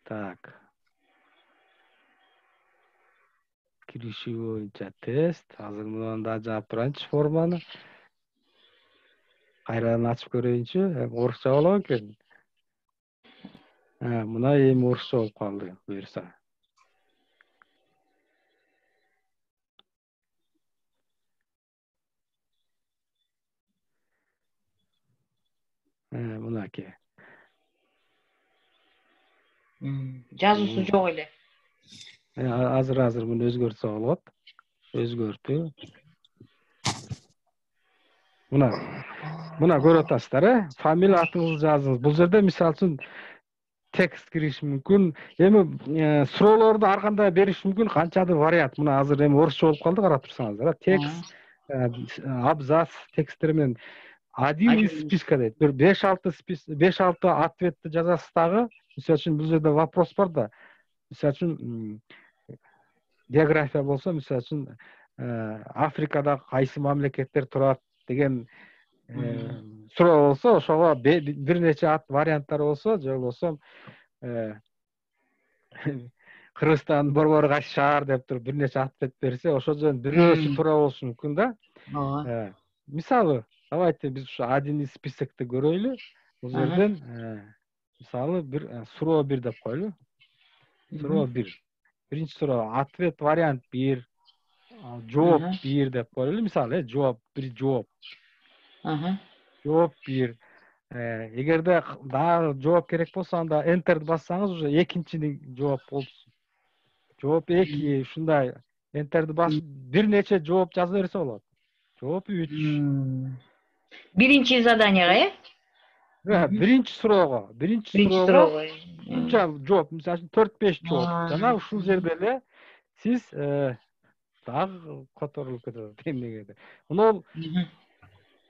Так. Кириши боюнча тест. Азыр мындан да жаап турайынчы форманы. Кайрадан ачып көрөйүнчү. Орусча болобу экен? Мына эми орусча болуп калды, буюрса. Мынаки. Жазуусу жок эле. Азыр муну өзгөртсө болот. Өзгөртүү. Мына көрүп атасыздар, фамилия атыңызды жазыңыз. Бул жерде мисалы үчүн текст кириши мүмкүн. Эми суроолорду ар кандай бериш мүмкүн, канчадыр вариант. Мына азыр эми орусча болуп калды, карап турсаңыздар. Текст, абзац тексттер менен один из списка дейт. Бир 5-6 ответти жазасыз дагы. Мисалы үчүн бул жерде вопрос бар да. Мисалы үчүн география болсо, мисалы үчүн Африкада кайсы мамлекеттер турат деген суроо болсо, ошого бир нече варианттар болсо, же болбосо Кыргызстандын борбору кайсы шаар деп туруп бир нече ответ берсе, ошол жерден бирөөсү туура болушу мүмкүн да. Мисалы, давайте биз ушу один из списокти көрөйлү. Бул жерден мисалы бир суроо 1 деп коелу. Суроо 1. Биринчи суроо ответ вариант 1, жооп 1 деп коелу. Мисалы, жооп 1 жооп. Жооп 1. Эгерде дагы жооп керек болсо, анда enter'ди бассаңыз, уже экинчини жооп болду. Жооп 2, ушундай enter'ди басып бир нече жооп жаза берсе болот. Жооп 3. Биринчи заданияга, биринчи суроого. Унча жооп, мисалы 4-5 жооп. Жана ушул жерде эле сиз дагы которулуп кетет эмнегеде. Мына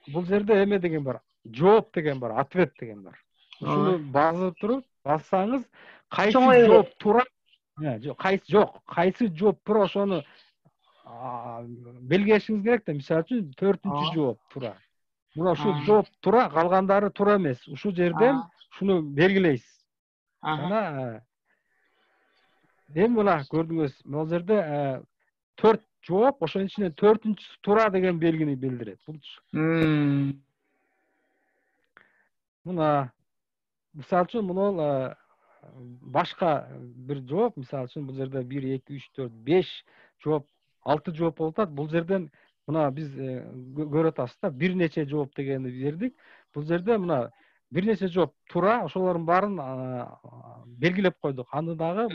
бул жерде эме деген бар. Жооп деген бар, ответ деген бар. Ушуну басып туруп, бассаңыз, кайсы жооп туура, кайсы жооп туура, ошону белгилешиңиз керек да. Мисалы үчүн 4-чү жооп туура. Мына ушул жооп туура, калгандары туура эмес. Ушул жерден шуну белгилейсиз. Жана эми мына көрдүңүз, бул жерде 4 жооп, ошонун ичинен 4-чүсү туура деген белгини билдирет. Мына мисалы үчүн мына башка бир жооп, мисалы үчүн бул жерде 1, 2, 3, 4, 5 жооп, 6 жооп болуп атат. Бул жерден мына биз көрүп атасыз да, бир нече жооп дегенди бердик. Бул жерде мына бир нече жооп туура, ошолордун баарын белгилеп койдук. Аны дагы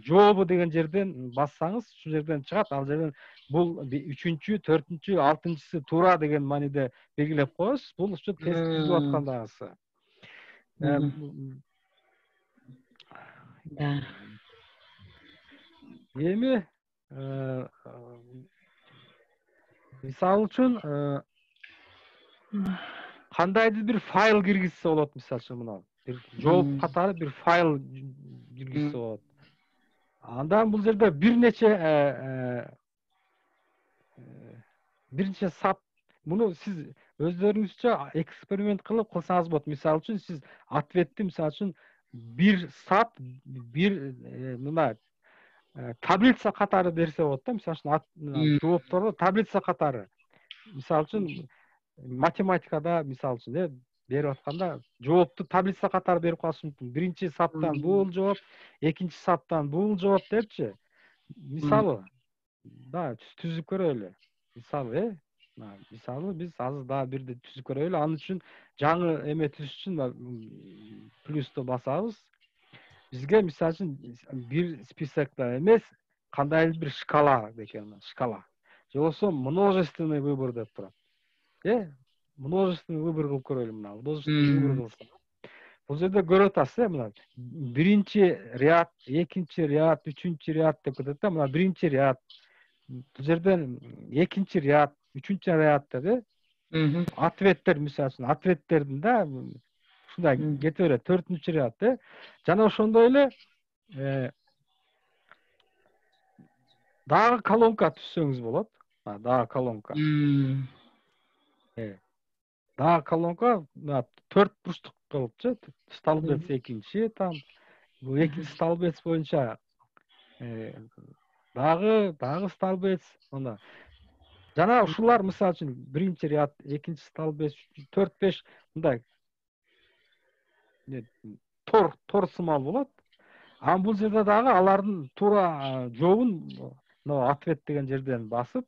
жообу деген жерден бассаңыз, ушул жерден чыгат. Ал жерден бул 3-чү, 4-чү, 6-чысы туура деген мааниде белгилеп коесуз. Бул ушу тест түзүп аткандагысы. Эми мисалы үчүн кандайдыр бир файл киргизсе болот. Мисалы үчүн мына бир жооп катары бир файл киргизсе болот. Андан бул жерде бир нече сап, муну сиз өздөрүңүзчө эксперимент кылсаңыз болот. Мисалы үчүн сиз ответти мисалы үчүн бир сап, бир мына таблица катары берсе болот да. Мисалы үчүн жоопторду таблица катары. Мисалы үчүн математикада мисалы үчүн берип атканда жоопту таблица катары берип калышы мүмкүн. Биринчи саптан бул жооп, экинчи саптан бул жооп депчи. Мисалы да түзүп көрөлү. Мисалы биз азыр дагы бирди түзүп көрөлү. Анын үчүн жаңы эме түзүш үчүн плюсту басабыз. Бизге мисалы үчүн бир списокто эмес, кандайдыр бир шкала экен, шкала. Же болбосо множественный выбор деп турат. Множественный выбор кылып көрөлү мына. Множественный выбор кылсак. Бул жерде көрүп атасыз, мына биринчи ряд, экинчи ряд, үчүнчү ряд деп кетет да. Мына биринчи ряд, бул жерден экинчи ряд, үчүнчү рядда да ответтер, мисалы үчүн ответтердин да ушундай кете берет, 4-ряд да. Жана ошондой эле дагы колонка түзсөңүз болот. Дагы колонка. Дагы колонка 4 бурчтук кылыпчы. Столбец экинчи там. Бул экинчи столбец боюнча дагы столбец, ана жана ушулар мисалы үчүн биринчи ряд, экинчи столбец, 4-5 мындай тор сымал болот. Анан бул жерде дагы алардын туура жообун ответ деген жерден басып,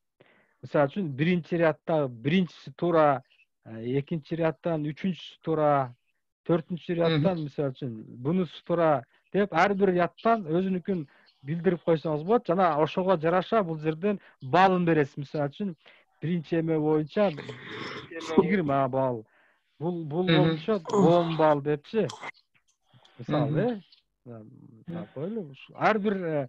мисалы үчүн биринчи рядда биринчиси туура, экинчи ряддан үчүнчүсү туура, 4-ряддан мисалы үчүн бунусу туура деп ар бир ряддан өзүнүкүн билдирип койсоңуз болот. Жана ошого жараша бул жерден балын бересиз. Мисалы үчүн биринчи эме боюнча 20 балл, бул боюнча 10 балл депчи. Мисалы, койлу. Ар бир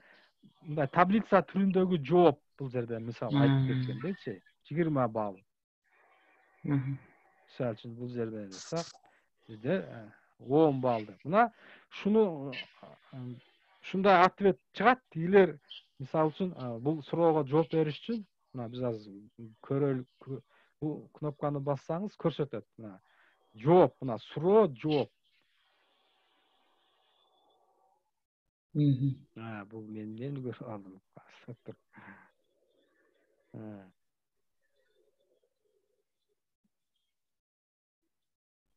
мындай таблица түрүндөгү жооп бул жерде мисалы айтып кеткендечи, 20 балл. Мисалы үчүн бул жерде элесак, бизде 10 балл деп. Мына шуну ушундай ответ чыгат. Илер мисалы үчүн бул суроого жооп бериш үчүн мына биз азыр көрөлүк. Бул кнопканы бассаңыз көрсөтөт. Мына жооп, мына суроо, жооп. Бул мен көрүп алдым.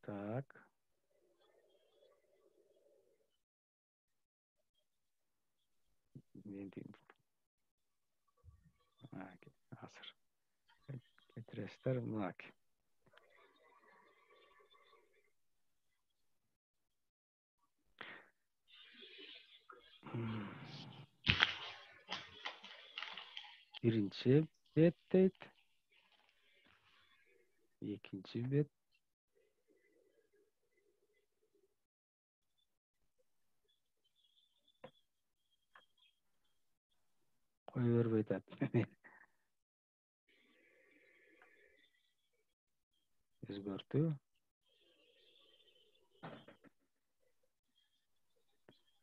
Так. Азыр кетиресиздер, мына. Биринчи бет дейт. Экинчи бет. Кой бербей атат. Өзгөртүү.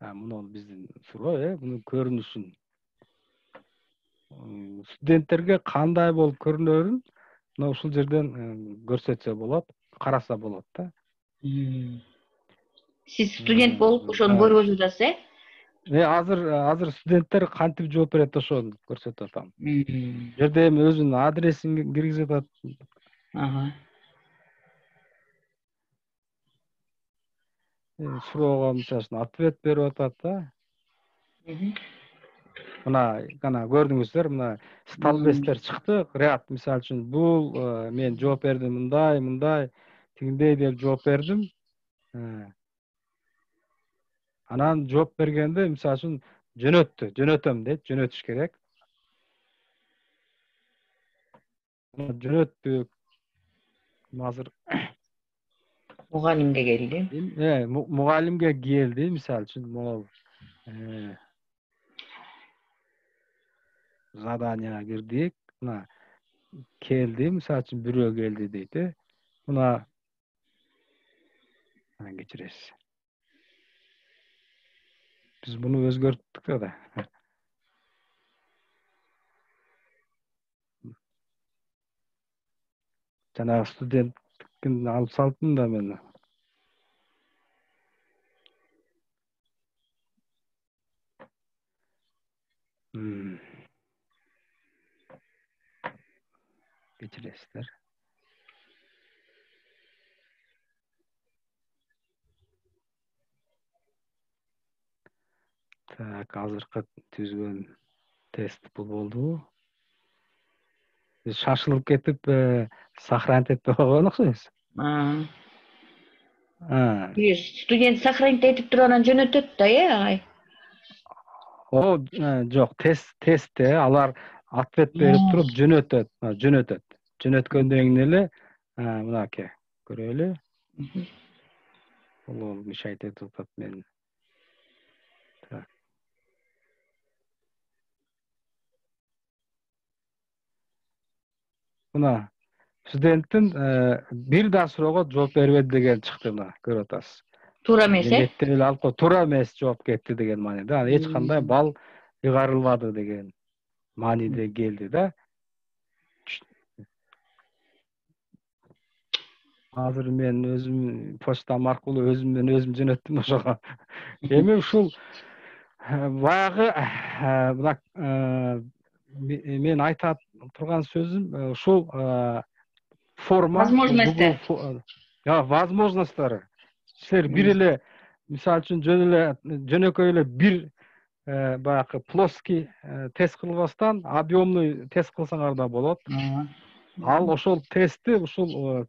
Муну биздин суроо, мунун көрүнүшүн студенттерге кандай болуп көрүнөрүн мына ушул жерден көрсөтсө болот, караса болот да. Сиз студент болуп ошону көрүп атасыз, Азыр студенттер кантип жооп берет ошону көрсөтүп атам. Жерде эми өзүнүн адресин киргизип атат. Суроого мисалы үчүн ответ берип атат да. Мына көрдүңүздөр, мына столбецтер чыкты. Ряд мисалы үчүн бул мен жооп бердим мындай, тигиндей деп жооп бердим. Анан жооп бергенде мисалы үчүн жөнөтөм дейт, жөнөтүш керек. Жөнөттүк. Азыр мугалимге келди. Мугалимге келди, мисалы үчүн могул заданияга кирдик. Мына келди, мисалы үчүн бирөө келди дейт. Мына кечиресиз. Биз буну өзгөрттүк да. Жанагы студенттикин алып салдым да мен. Кечиресиздер. Так, азыркы түзгөн тест бул болду. Биз шашылып кетип, сохранить этпей койгон окшойбуз. Студент сохранить этип туруп анан жөнөтөт да, агай? Жок, тестте алар ответ берип туруп жөнөтөт. Жөнөткөндөн кийин эле мынакей көрөлү. Бул мешать этип атат мен. Так. мына студенттин бир да суроого жооп бербеди деген чыкты, мына көрүп атасыз. Туура эмес, Эметте эле алып туура эмес жооп кетти деген мааниде. Эч кандай балл ыйгарылбады деген мааниде келди да. Азыр мен өзүм почтам аркылуу өзүм жөнөттүм ошого. Эми ушул баягы мына мен айта турган сөзүм ушул форма, возможностьтер. Возможностьтары. Силер бир эле мисалы үчүн жөнөкөй эле бир баягы плоский тест кылбастан объемный тест кылсаңар да болот. Ал ошол тестти ушул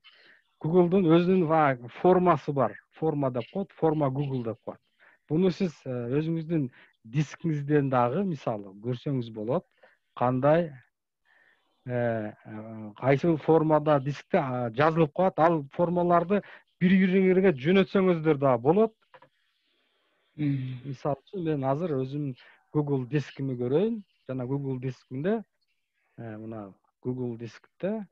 Google'дун өзүнүн формасы бар. Форма деп коет, форма Google деп коет. Буну сиз өзүңүздүн дискиңизден дагы мисалы көрсөңүз болот. Кандай кайсыл формада дискте жазылып коет. Ал формаларды бири-бириңерге жөнөтсөңүздөр да болот. Мисалы үчүн мен азыр өзүм Google дискими көрөйүн. Жана Google дискимде мына Google дискте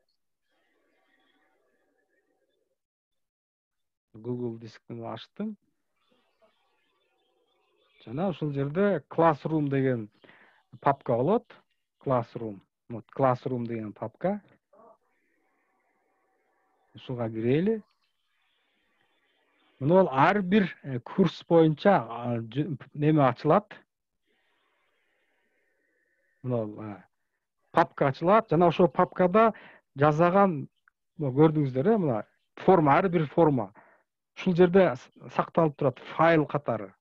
Google дискini ачтым. Жана ушул жерде Classroom деген папка болот. Classroom. Вот Classroom деген папка. Ушуга кирели. Мына ар бир курс боюнча неме ачылат. Мына папка ачылат. Жана ошол папкада жазаган көрдүңүздөр, мына форма, ар бир форма. Ушул жерде сакталып турат файл катары.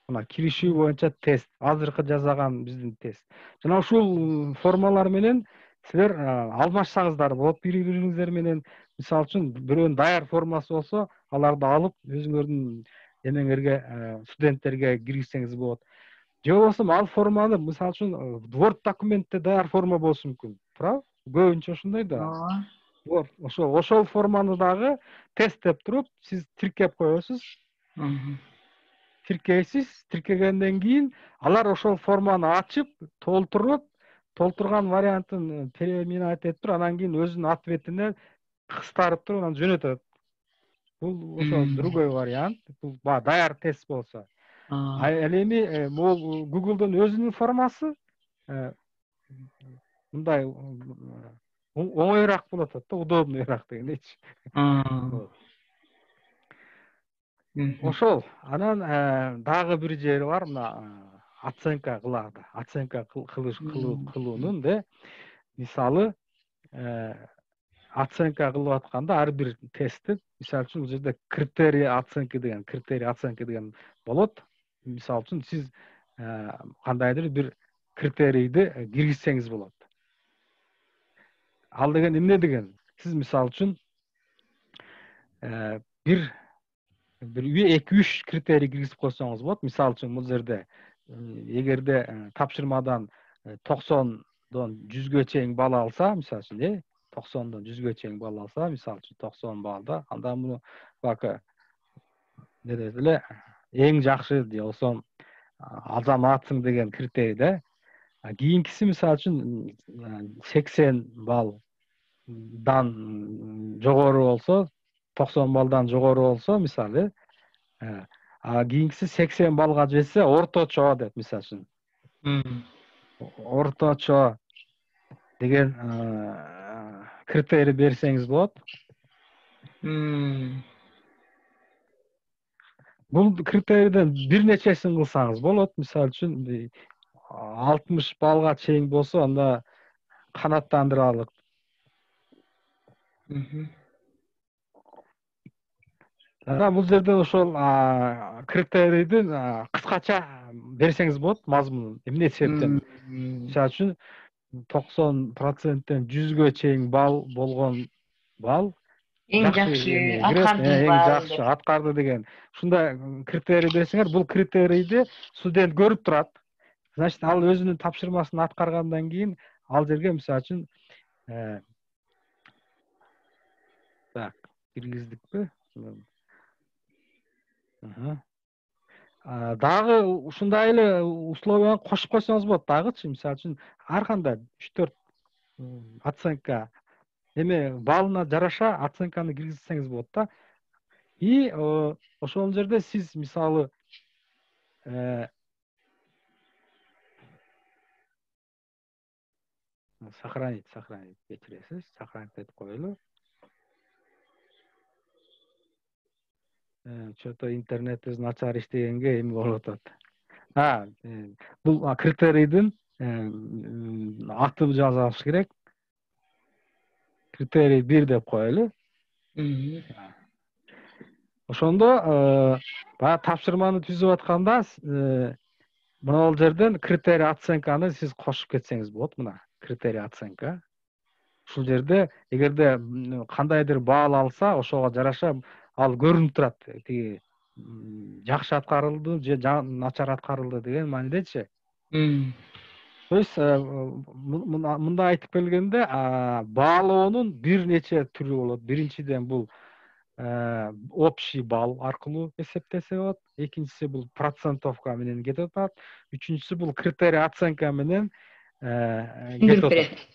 Мына киришүү боюнча тест, азыркы жазаган биздин тест. Жана ушул формалар менен силер алмашсаңыздар болот бири-бириңиздер менен. Мисалы үчүн бирөөнүн даяр формасы болсо, аларды алып өзүңөрдүн эмеңерге, студенттерге киргизсеңиз болот. Же болбосо ал форманы мисалы үчүн Word документте даяр форма болушу мүмкүн. Туурабы? Көбүнчө ошондой да. Ошол форманы дагы тест деп туруп, сиз тиркеп коесуз. Тиркейсиз, тиркегенден кийин алар ошол форманы ачып, толтурган вариантын переминать этип туруп, анан кийин өзүнүн ответине кыстарып туруп анан жөнөтөт. Бул ошо другой вариант. Бул даяр тест болсо. Ал эми бул Google'дун өзүнүн формасы мындай оңоюраак болот да, удобныйраак дегендейчи. Ошол. Анан дагы бир жери бар, мына оценка кылады. Оценка кылуунун да. Мисалы, оценка кылып атканда ар бир тестти, мисалы үчүн, бул жерде критерий оценки деген болот. Мисалы үчүн, сиз кандайдыр бир критерийди киргизсеңиз болот. Ал деген эмне деген? Сиз мисалы үчүн бир 2-3 критерий киргизип койсоңуз болот. Мисалы үчүн бул жерде эгерде тапшырмадан 90дон 100гө чейин балл алса, мисалы үчүн, 90дон 100гө чейин балл алса, мисалы үчүн 90 баллда, анда муну бака не дейт эле, эң жакшы же болсо азаматсың деген критерий да. Кийинкиси мисалы үчүн 80 баллдан жогору болсо, 90 баллдан жогору болсо, мисалы, кийинкиси 80 баллга жетсе, орточо деп, мисалы үчүн. Орточо деген критерий берсеңиз болот. Бул критерийден бир нечесин кылсаңыз болот. Мисалы үчүн 60 баллга чейин болсо, анда канааттандыралык. Бул жерде ошол критерийди кыскача берсеңиз болот, мазмунун. Эмне себептен? Мисалы үчүн 90%тен 100гө чейин балл болгон балл эң жакшы аткарды деген. Ушундай критерий берсеңер, бул критерийди студент көрүп турат. Значит, ал өзүнүн тапшырмасын аткаргандан кийин ал жерге мисалы үчүн так, киргиздикпи? Дагы ушундай эле условияны кошуп койсоңуз болот дагычы. Мисалы үчүн ар кандай 3-4 оценка эме балына жараша оценканы киргизсеңиз болот да. И ошол жерде сиз мисалы сохранить кечиресиз, сохранить этип коелу. Что-то интернетибиз начар иштегенге эме болуп атат. Бул критерийдин атын жазабыз керек. Критерий 1 деп коелу. Ошондо баягы тапшырманы түзүп атканда мына жерден критерий оценканы сиз кошуп кетсеңиз болот. Мына критерий оценка. Ушул жерде эгерде кандайдыр баал алса, ошого жараша ал көрүнүп турат. Тиги жакшы аткарылды же начар аткарылды деген маанидечи. То есть мындай айтып келгенде баалоонун бир нече түрү болот. Биринчиден бул общий балл аркылуу эсептесе болот. Экинчиси бул процентовка менен кетип атат. Үчүнчүсү бул критерий оценка менен кетип атат.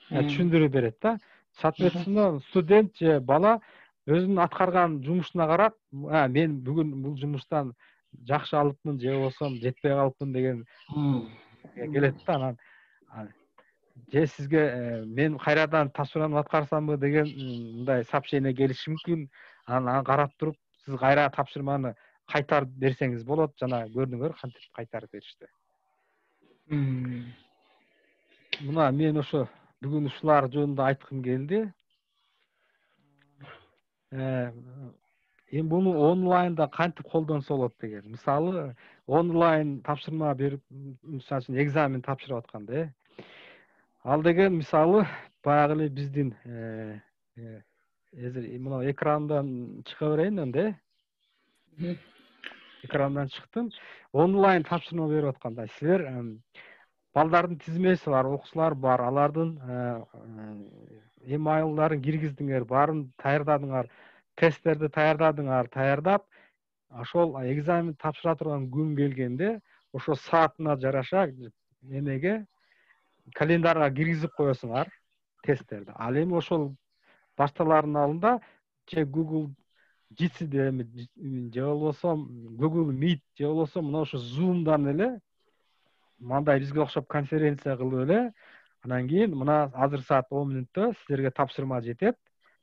Түшүндүрүп берет да. Соответственно, студент же бала өзүнүн аткарган жумушуна карап, мен бүгүн бул жумуштан жакшы алыпмын же болбосо жетпей калыпмын деген келет да. Анан же сизге мен кайрадан тапшырманы аткарсамбы деген мындай сообщение келиши мүмкүн. Анан карап туруп сиз кайра тапшырманы кайтарып берсеңиз болот. Жана көрдүңөр кантип кайтарып беришти. Мына мен ошо бүгүн ушулар жөнүндө айткым келди. Эми буну онлайнда кантип колдонсо болот деген. Мисалы, онлайн тапшырма берип, мисалы үчүн экзамен тапшырып атканда, ал деген мисалы баягы эле биздин мына экрандан чыга берейин энди. Экрандан чыктым. Онлайн тапшырма берип атканда силер балдардын тизмеси бар, окуучулар бар, алардын емайлдарын киргиздиңер, баарын даярдадыңар, тесттерди даярдап, ошол экзамен тапшыра турган күн келгенде, ошо саатына жараша эмеге календарга киргизип коесуңар тесттерди. Ал эми ошол башталардын алдында же Google Jitsi же болбосо Google Meet же болбосо мына ошо Zoom'дан эле мындай бизге окшоп конференция кылып эле, анан кийин мына азыр саат 10 мүнөттө силерге тапшырма жетет.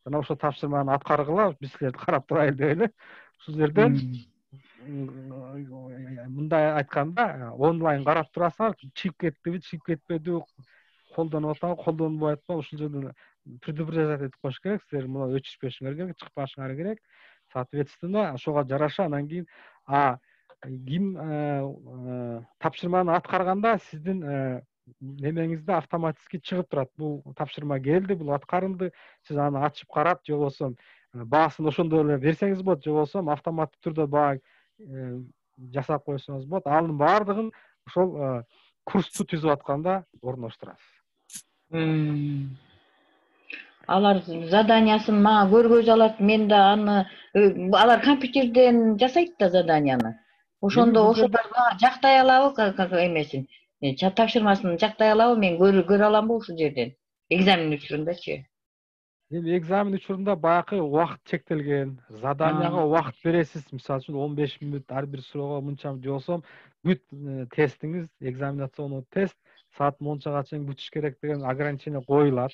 Жана ошо тапшырманы аткаргыла, биз силерди карап турайлы деп эле. Ушул жерден мындай айтканда онлайн карап турасыңар, чыгып кеттиби, чыгып кетпедиби, колдонуп атабы, колдонбой атпабы, ушул жерден предупреждать этип коюш керек. Силер мына өчүшпөшүңөр керек, чыкпашыңар керек. Соответственно, ошого жараша анан кийин ким тапшырманы аткарганда сиздин немеңизде автоматически чыгып турат. Бул тапшырма келди, бул аткарылды. Сиз аны ачып карап, же болбосо баасын ошондой эле берсеңиз болот, же болбосо автоматтык түрдө баа жасап койсоңуз болот. Анын баардыгын ошол курсту түзүп атканда орноштурасыз. Алар заданиясын мага көргөзө алат, мен да аны алар компьютерден жасайт да заданияны. Ошондо ошолор жактай алабы, эмесин, тапшырмасын жактай алабы, мен көрө аламбы ушул жерден? Экзамен учурундачы? Эми экзамен учурунда баягы убакыт чектелген, заданияга убакыт бересиз. Мисалы үчүн 15 мүнөт ар бир суроого мынча же болсо бүт тестиңиз, экзаменационный тест саат мончага чейин бүтүш керек деген ограничение коюлат.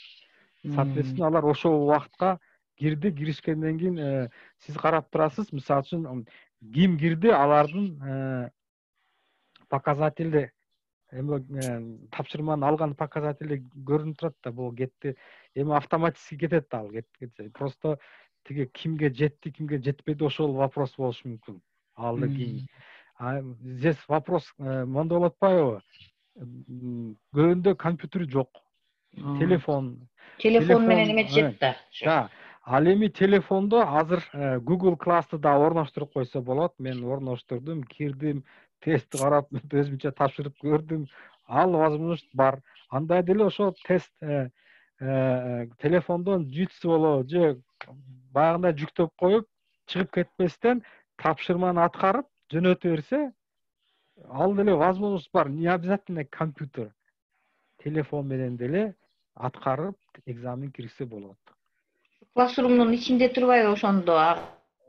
Соответственно, алар ошол убакытка киришкенден кийин сиз карап турасыз. Мисалы үчүн ким кирди, алардын показатели тапшырманы алган показатели көрүнүп турат да, бул кетти. Эми автоматически кетет ал, кетсе. Просто тиги кимге жетти, кимге жетпеди ошол вопрос болушу мүмкүн. Алды ким. Здесь вопрос мондой болуп атпайбы? Көбүндө компьютер жок. Телефон менен эметишет да. Да. Ал эми телефондо азыр Google Class'ты да орноштуруп койсо болот. Мен орноштурдум, кирдим, тестти карап, өзүмчө тапшырып көрдүм. Ал возможность бар. Андай деле ошо тест телефондон Jitsi болобу же баягындай жүктөп коюп, чыгып кетпестен тапшырманы аткарып жөнөтө берсе, ал деле возможность бар. Не обязательно компьютер. Телефон менен деле аткарып экзамен кирсе болот. Классрумдун ичинде турбайбы ошондо?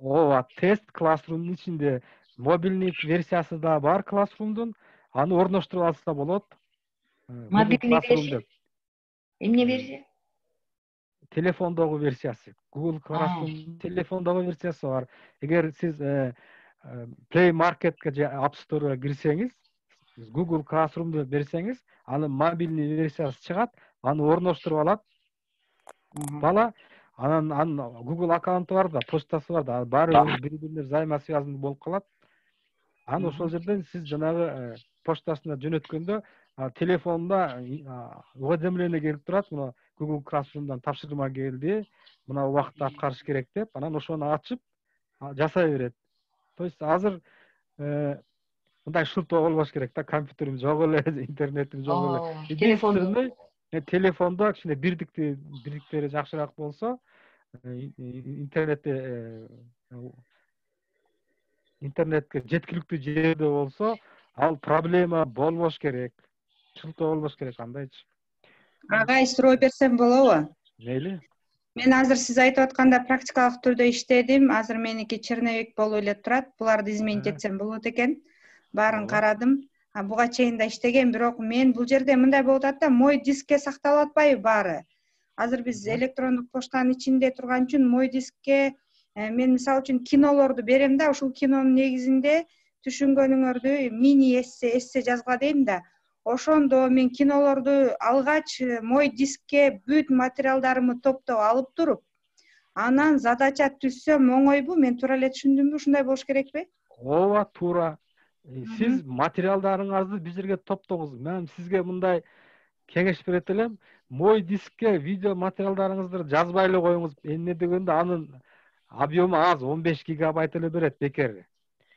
Ооба, тест классрумдун ичинде. Мобильный версиясы да бар классрумдун. Аны орноштуруп алса болот. Google Мобильный Classroom версия? деп. Эмне версия? Телефондогу версиясы. Google Classroom телефондогу версиясы бар. Эгер сиз Play Marketке же App Store'га кирсеңиз, Google Classroom деп берсеңиз, анын мобильный версиясы чыгат, аны орноштуруп алат. Бала анан Google аккаунту бар да, почтасы бар да, баары бири-бирине взаимосвязанный болуп калат. Аны ошол жерден сиз жанагы почтасына жөнөткөндө телефонунда уведомление келип турат. Мына Google Classroom'дан тапшырма келди, мына убакытта аткарыш керек деп, анан ошону ачып жасай берет. То есть азыр мындай шылтоо болбош керек да, компьютерим жок эле, интернетим жок эле. Единственный телефондо кичине бириктери жакшыраак болсо, интернетке жеткиликтүү жерде болсо, ал проблема болбош керек. Шылтоо болбош керек, андайчы. Агай, суроо берсем болобу? Мейли. Мен азыр сиз айтып атканда практикалык түрдө иштедим. Азыр меники черновик болуп эле турат. Буларды изменить этсем болот экен. Баарын карадым. Буга чейин да иштеген, бирок мен бул жерде мындай болуп атат да, мой дискке сакталып атпайбы баары? Азыр биз электрондук поштанын ичинде турган үчүн мой дискке мен мисалы үчүн кинолорду берем да, ушул кинонун негизинде түшүнгөнүңөрдү мини эссе жазгыла дейм да. Ошондо мен кинолорду алгач мой дискке бүт материалдарымы топтоп алып туруп, анан задача түзсөм оңойбу? Мен туура эле түшүндүмбү? Ушундай болуш керекпи? Ооба, туура. Сиз материалдарыңызды бир жерге топтоңуз. Мен сизге мындай кеңеш берет элем. Мой дискке видео материалдарыңызды жазбай эле коюңуз. Эмне дегенде анын объему аз, 15 гигабайт эле берет бекер.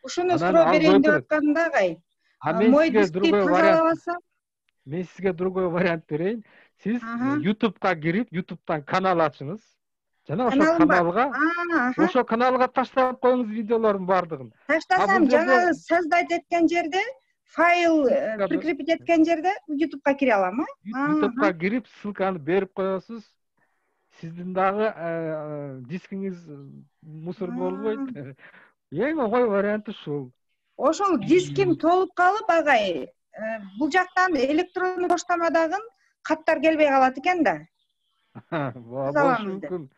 Ушуну суроо берейин деп аткам да, агай. Мой дискти тазалабасам? Мен сизге другой вариант берейин. Сиз YouTube'га кирип, YouTube'дан канал ачыңыз. Жана ошо каналга таштап коюңуз видеолордун баардыгын. Таштасам, жана создать эткен жерде, файл прикрепить эткен жерде YouTube'га кире алам, YouTube'га кирип, ссылканы берип коесуз. Сиздин дагы дискиңиз мусор болбойт. Эң оңой варианты ушул. Ошол диским толуп калып, агай, бул жактан электрондук поштамадагы каттар келбей калат экен да. Болушу мүмкүн.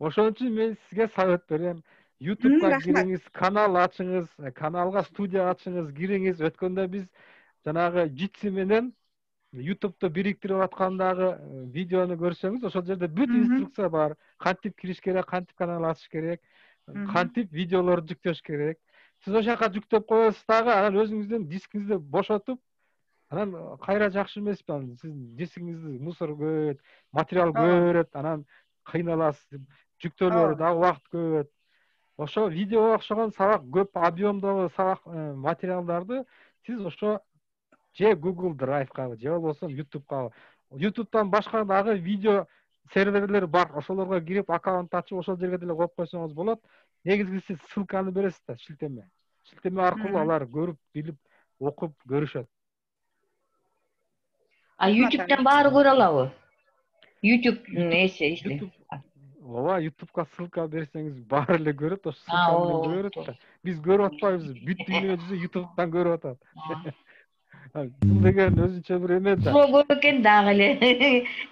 Ошон үчүн мен сизге совет берем. YouTube'га кириңиз, канал ачыңыз, каналга студия ачыңыз, кириңиз. Өткөндө биз жанагы Jitsi менен YouTube'да бириктирип аткандагы видеону көрсөңүз, ошол жерде бүт инструкция бар. Кантип кириш керек, кантип канал ачыш керек, кантип видеолорду жүктөш керек. Сиз ошол жака жүктөп коесуз дагы, анан өзүңүздүн дискиңизди бошотуп, анан кайра жакшы эмеспи? Сиз дискиңизди мусор көбөйөт, материал көбөйөт, анан кыйналасыз, жүктөөлөрү дагы убакыт көбөйөт. Ошо видеого окшогон сабак көп объемдогу сабак материалдарды сиз ошо же Google Drive'га же болбосо YouTube'га, YouTube'дан башка дагы видео серверлер бар. Ошолорго кирип аккаунт ачып, ошол жерге деле коюп койсоңуз болот. Негизгиси сиз ссылканы бересиз да, шилтеме. Шилтеме аркылуу алар көрүп, билип, окуп көрүшөт. YouTube'дан баары көрө алабы? YouTube'нун эси. Ооба, YouTube'га ссылка берсеңиз баары эле көрөт, ошо ссылка менен көрөт да. Биз көрүп атпайбыз, бүт дүйнө жүзү YouTube'дан көрүп атат. Бул деген өзүнчө бир эме да. Суроо көп экен дагы эле.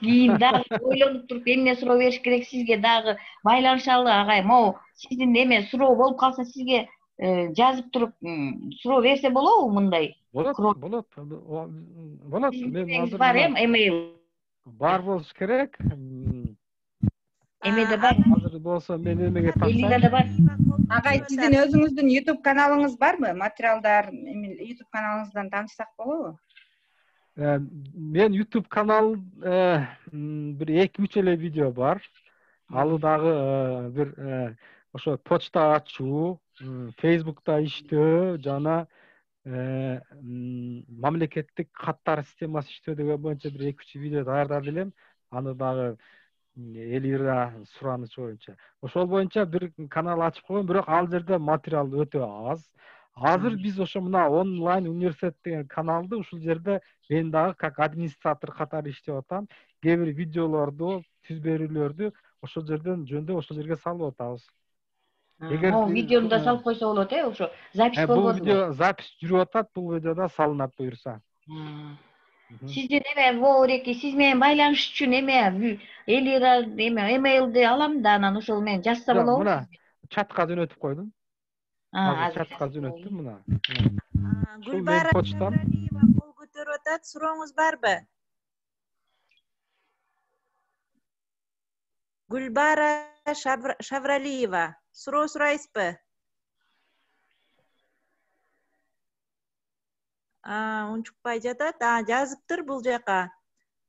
Кийин дагы ойлонуп туруп эмне суроо бериш керек сизге дагы байланышалы, агай. Могу сиздин эме суроо болуп калса сизге жазып туруп суроо берсе болобу мындай? Болот. Мен азыр бар email. Бар болуш керек. Эмеде бар. Азыр болсо мен эмеге тапсам. Элигада бар. Агай, сиздин өзүңүздүн YouTube каналыңыз барбы? Материалдар YouTube каналыңыздан таанышсак болобу? Мен YouTube канал бир 2-3 эле видео бар. Ал дагы бир ошо почта ачуу, Facebook'та иштөө жана мамлекеттик каттар системасы иштөө деген боюнча бир 2-3 видео даярдап элем. Аны дагы Элира сураныч боюнча. Ошол боюнча бир канал ачып койгом, бирок ал жерде материал өтө аз. Азыр биз ошо мына онлайн университет деген каналды ушул жерде мен дагы как администратор катары иштеп атам. Кээ бир видеолорду, түз берүүлөрдү ошол жерден жөндөп ошол жерге салып атабыз. Могу видеону да салып койсо болот, ошо запись болуп бул видео запись жүрүп атат, бул видеода салынат буюрса. Сизден Воореки, сиз менен байланыш үчүн Элира эмейлди алам да, анан ошол менен жазса болобу? Мына чатка жөнөтүп койдум. Азыр чатка жөнөттүм мына. Гүлбара Шавралиева кол көтөрүп атат. Сурооңуз барбы? Гүлбара Шавралиева, суроо сурайсызбы? Унчукпай жатат. Жазыптыр бул жака.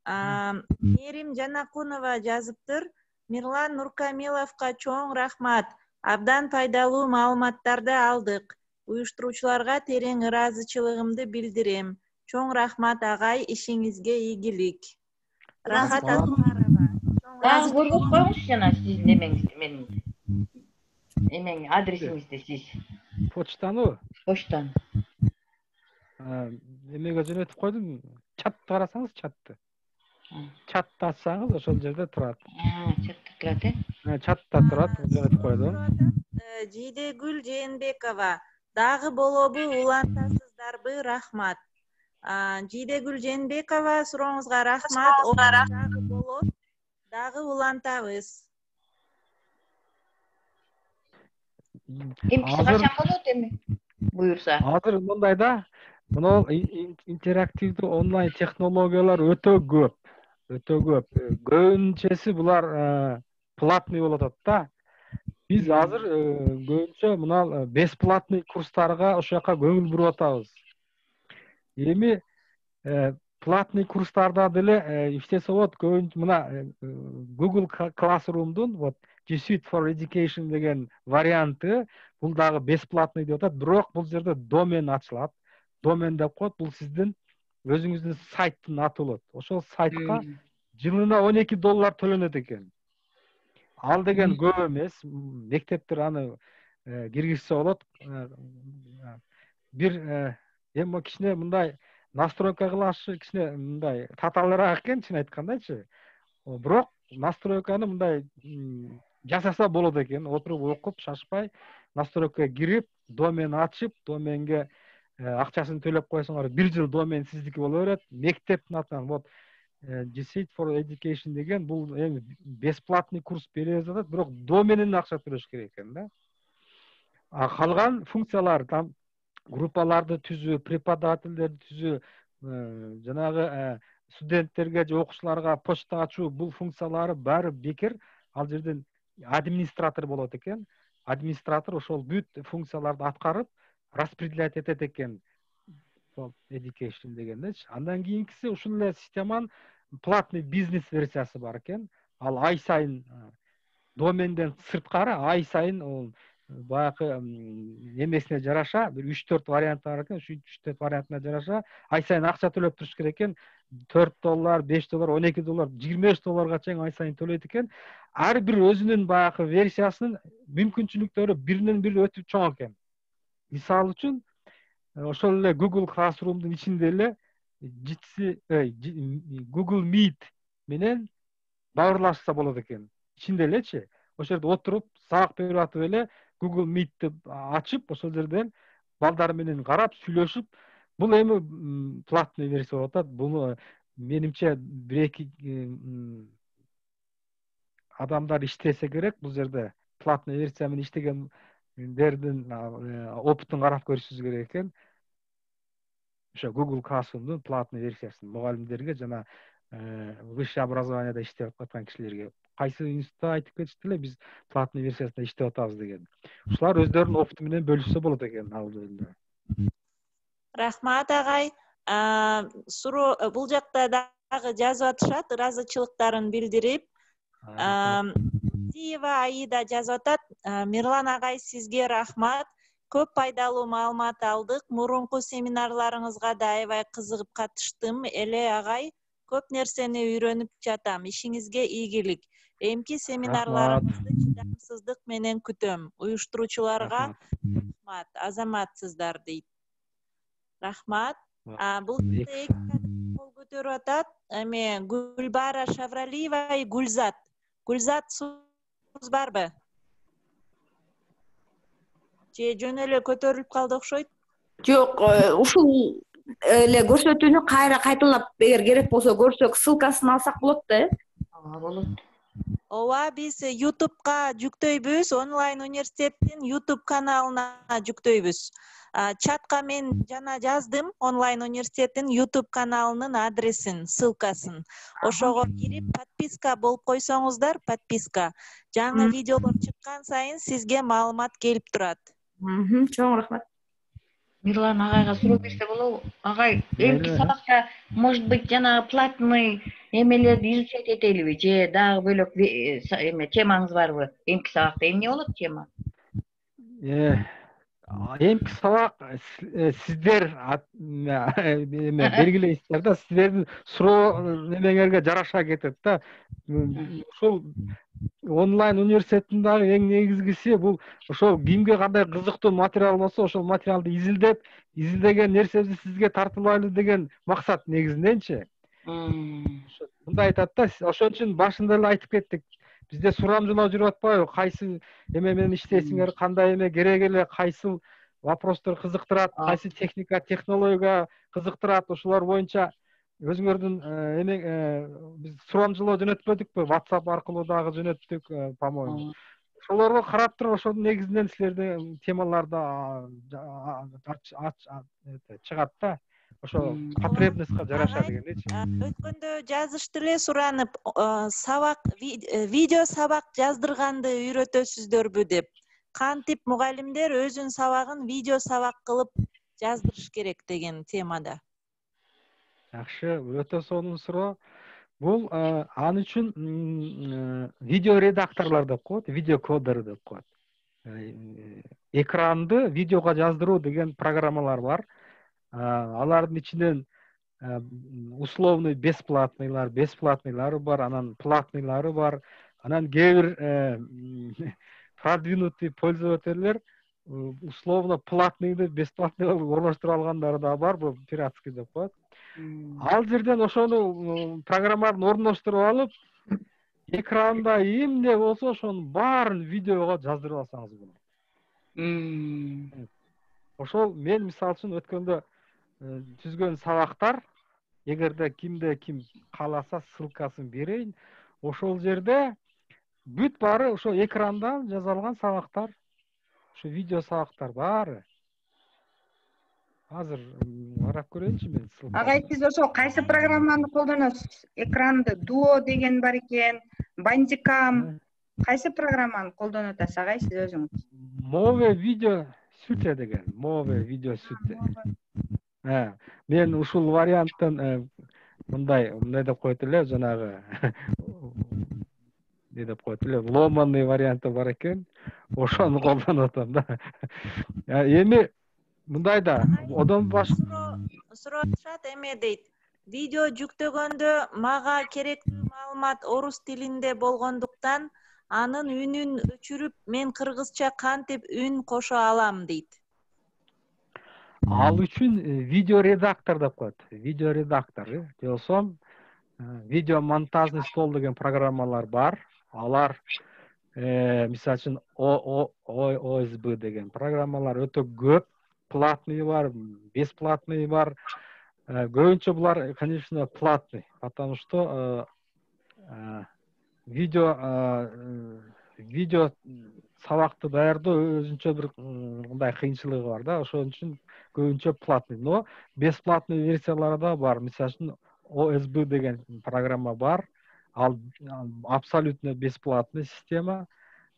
Мерим Жанакунова жазыптыр. Мирлан Нуркамиловго чоң рахмат. Абдан пайдалуу маалыматтарды алдык. Уюштуруучуларга терең ыраазычылыгымды билдирем. Чоң рахмат агай, ишиңизге ийгилик. Рахат Аскарова. Дагы көргөзүп коюңузчу жана сиздин эмеңизди, менин адресиңизди сиз. Почтаныбы? Почтаны. Эмеге жөнөтүп койдум. Чатты карасаңыз, чатты. Чатты ачсаңыз ошол жерде турат. Чатта турат, Чатта турат, жөнөтүп койдум. Жидегүл Жээнбекова, дагы болобу, улантасыздарбы? Рахмат. Жидегүл Жээнбекова, сурооңузга рахмат. Дагы болот, дагы улантабыз. Эмкиси качан болот эми? Буюрса. Азыр мындай да, мына интерактивдүү онлайн технологиялар өтө көп. Көбүнчөсү булар платный болуп атат да. Биз азыр көбүнчө мына бесплатный курстарга ошол жака көңүл буруп атабыз. Эми платный курстарда деле иштесе болот. Көбүнчө мына Google Classroom'дун вот G Suite for Education деген варианты бул дагы бесплатный деп атат. Бирок бул жерде домен ачылат. Домен деп коет, бул сиздин өзүңүздүн сайттын аты болот. Ошол сайтка жылына $12 төлөнөт экен. Ал деген көп эмес. Мектептер аны киргизсе болот. Бир эми кичине мындай настройка кылашы кичине мындай татаалыраак экен, чын айткандачы. Бирок настройканы мындай жасаса болот экен. Отуруп окуп, шашпай, настройкага кирип, домен ачып, доменге акчасын төлөп койсоңор 1 жыл домен сиздики боло берет. Мектептин атынан вот G Suite for Education деген бул эми бесплатный курс бере жатат, бирок доменин акча төлөш керек экен да. Калган функциялар там группаларды түзүү, преподавательдерди түзүү, жанагы студенттерге же окуучуларга почта ачуу, бул функциялары баары бекер. Ал жерден администратор болот экен. Администратор ошол бүт функцияларды аткарып, распределять этет экен. Education дегендечи. Андан кийинкиси ушул эле системанын платный бизнес версиясы бар экен. Ал ай сайын доменден сырткары ай сайын ол баягы эмесине жараша бир 3-4 вариант бар экен. Ушу 3-4 вариантына жараша ай сайын акча төлөп туруш керек экен. $4, $5, $12, $25 чейин ай сайын төлөйт экен. Ар бир өзүнүн баягы версиясынын мүмкүнчүлүктөрү биринен бири өтө чоң экен. Мисалы үчүн ошол эле Google Classroom'дун ичинде эле Google Meet менен баарлашса болот экен. Ичинде элечи. Ошол жерде отуруп, сабак берип атып эле Google Meet'ти ачып, ошол жерден балдар менен карап, сүйлөшүп, бул эми платный версия болуп атат. Буну менимче 1-2 адамдар иштесе керек бул жерде. Платный версия менен иштегендердин опытын карап көрүшүбүз керек экен. Ошо Google Classroom'дун платный версиясын мугалимдерге жана высшее образованияда иштеп аткан кишилерге кайсы институтта айтып кетишти эле, биз платный версиясында иштеп атабыз деген. Ушулар өздөрүнүн опыту менен бөлүшсө болот экен ал жөнүндө. Рахмат агай. Суроо бул жакта дагы жазып атышат, ыраазычылыктарын билдирип. Зиева Аида жазып атат. Мирлан агай, сизге рахмат. Көп пайдалуу маалымат алдык. Мурунку семинарларыңызга да аябай кызыгып катыштым. Эле агай, көп нерсени үйрөнүп жатам. Ишиңизге ийгилик. Эмки семинарларыңызды чыдамсыздык менен күтөм. Уюштуруучуларга рахмат. Азаматсыздар дейт. Рахмат. Бул кол көтөрүп атат. Эми Гүлбара Шавралиева, Гүлзат. Гүлзат, сууңуз барбы? Же жөн эле көтөрүлүп калды окшойт? Жок, ушул эле көрсөтүүнү кайра кайталап эгер керек болсо көрсөк, ссылкасын алсак болот да, Болот. Ооба, биз YouTube'га жүктөйбүз, онлайн университеттин YouTube каналына жүктөйбүз. Чатка мен жана жаздым онлайн университеттин YouTube каналынын адресин, ссылкасын. Ошого кирип подписка болуп койсоңуздар, подписка. Жаңы видеолор чыккан сайын сизге маалымат келип турат. Чоң рахмат. Мирлан агайга суроо берсе болобу? Агай, эмки сабакта, может быть, жана платный эмелерди изучать этелиби, же дагы бөлөк эме темаңыз барбы? Эмки сабакта эмне болот тема? Эмки сабак сиздер эме белгилейсиздер да, сиздердин суроо немеңерге жараша кетет да. Ушул онлайн университеттин дагы эң негизгиси бул ошол кимге кандай кызыктуу материал болсо, ошол материалды изилдеген нерсени сизге тартуулайлы деген максат негизиненчи. Мындай айтат да, ошон үчүн башында эле айтып кеттик. Бизде сурамжылоо жүрүп атпайбы? Кайсы эме менен иштейсиңер, кандай эме керек эле, кайсы вопростор кызыктырат, кайсы техника, технология кызыктырат, ошолор боюнча өзүңөрдүн биз сурамжылоо жөнөтпөдүкпү? WhatsApp аркылуу дагы жөнөттүк, по-моему. Ошолорго карап туруп, ошонун негизинен силердин темаларды чыгат да. Ошо потребностька жараша дегендейчи. Өткөндө жазышты эле суранып, сабак, видео сабак жаздырганды үйрөтөсүздөрбү деп. Кантип мугалимдер өзүнүн сабагын видео сабак кылып жаздырыш керек деген темада. Жакшы, өтө сонун суроо. Бул ал үчүн видео редакторлор деп коет, видео кодер деп коет. Экранды видеого жаздыруу деген программалар бар. Алардын ичинен условный бесплатныйлары бар, анан платныйлары бар. Анан кээ бир продвинутый пользовательдер условно платныйды бесплатныйга орноштуруп алгандары да бар, бул пиратский деп коет. Ал жерден ошону программаны орноштуруп алып, экранда эмне болсо ошонун баарын видеого жаздырып алсаңыз болот. Ошол мен мисалы үчүн өткөндө түзгөн сабактар, эгерде кимде ким кааласа ссылкасын берейин, ошол жерде бүт баары ошо экранда жазылган сабактар, ошо видео сабактар баары. Азыр карап көрөйүнчү мен ссылканы. Агай, сиз ошо кайсы программаны колдоносуз? Экранды Duo деген бар экен, Bandicam. Кайсы программаны колдонуп атасыз агай сиз өзүңүз? Move Video Suite деген, Move Video Suite. Мен ушул варианттан мындай деп коет эле, жанагы не деп коет эле, ломанный варианты бар экен. Ошону колдонуп атам да. Эми мындай да, одон суроотушат эме дейт. Видео жүктөгөндө мага керектүү маалымат орус тилинде болгондуктан анын үнүн өчүрүп, мен кыргызча кантип үн кошо алам дейт. Ал үчүн видео редактор деп коет. Видео редактор, же болсо видео монтажный стол деген программалар бар. Алар мисалы үчүн OSB деген программалар өтө көп. Платный бар, бесплатный бар. Көбүнчө булар, конечно, платный, потому что видео сабакты даярдоо өзүнчө бир мындай кыйынчылыгы бар да, ошон үчүн көбүнчө платный. Но бесплатный версиялары да бар. Мисалы үчүн OSB деген программа бар. Ал абсолютно бесплатный система.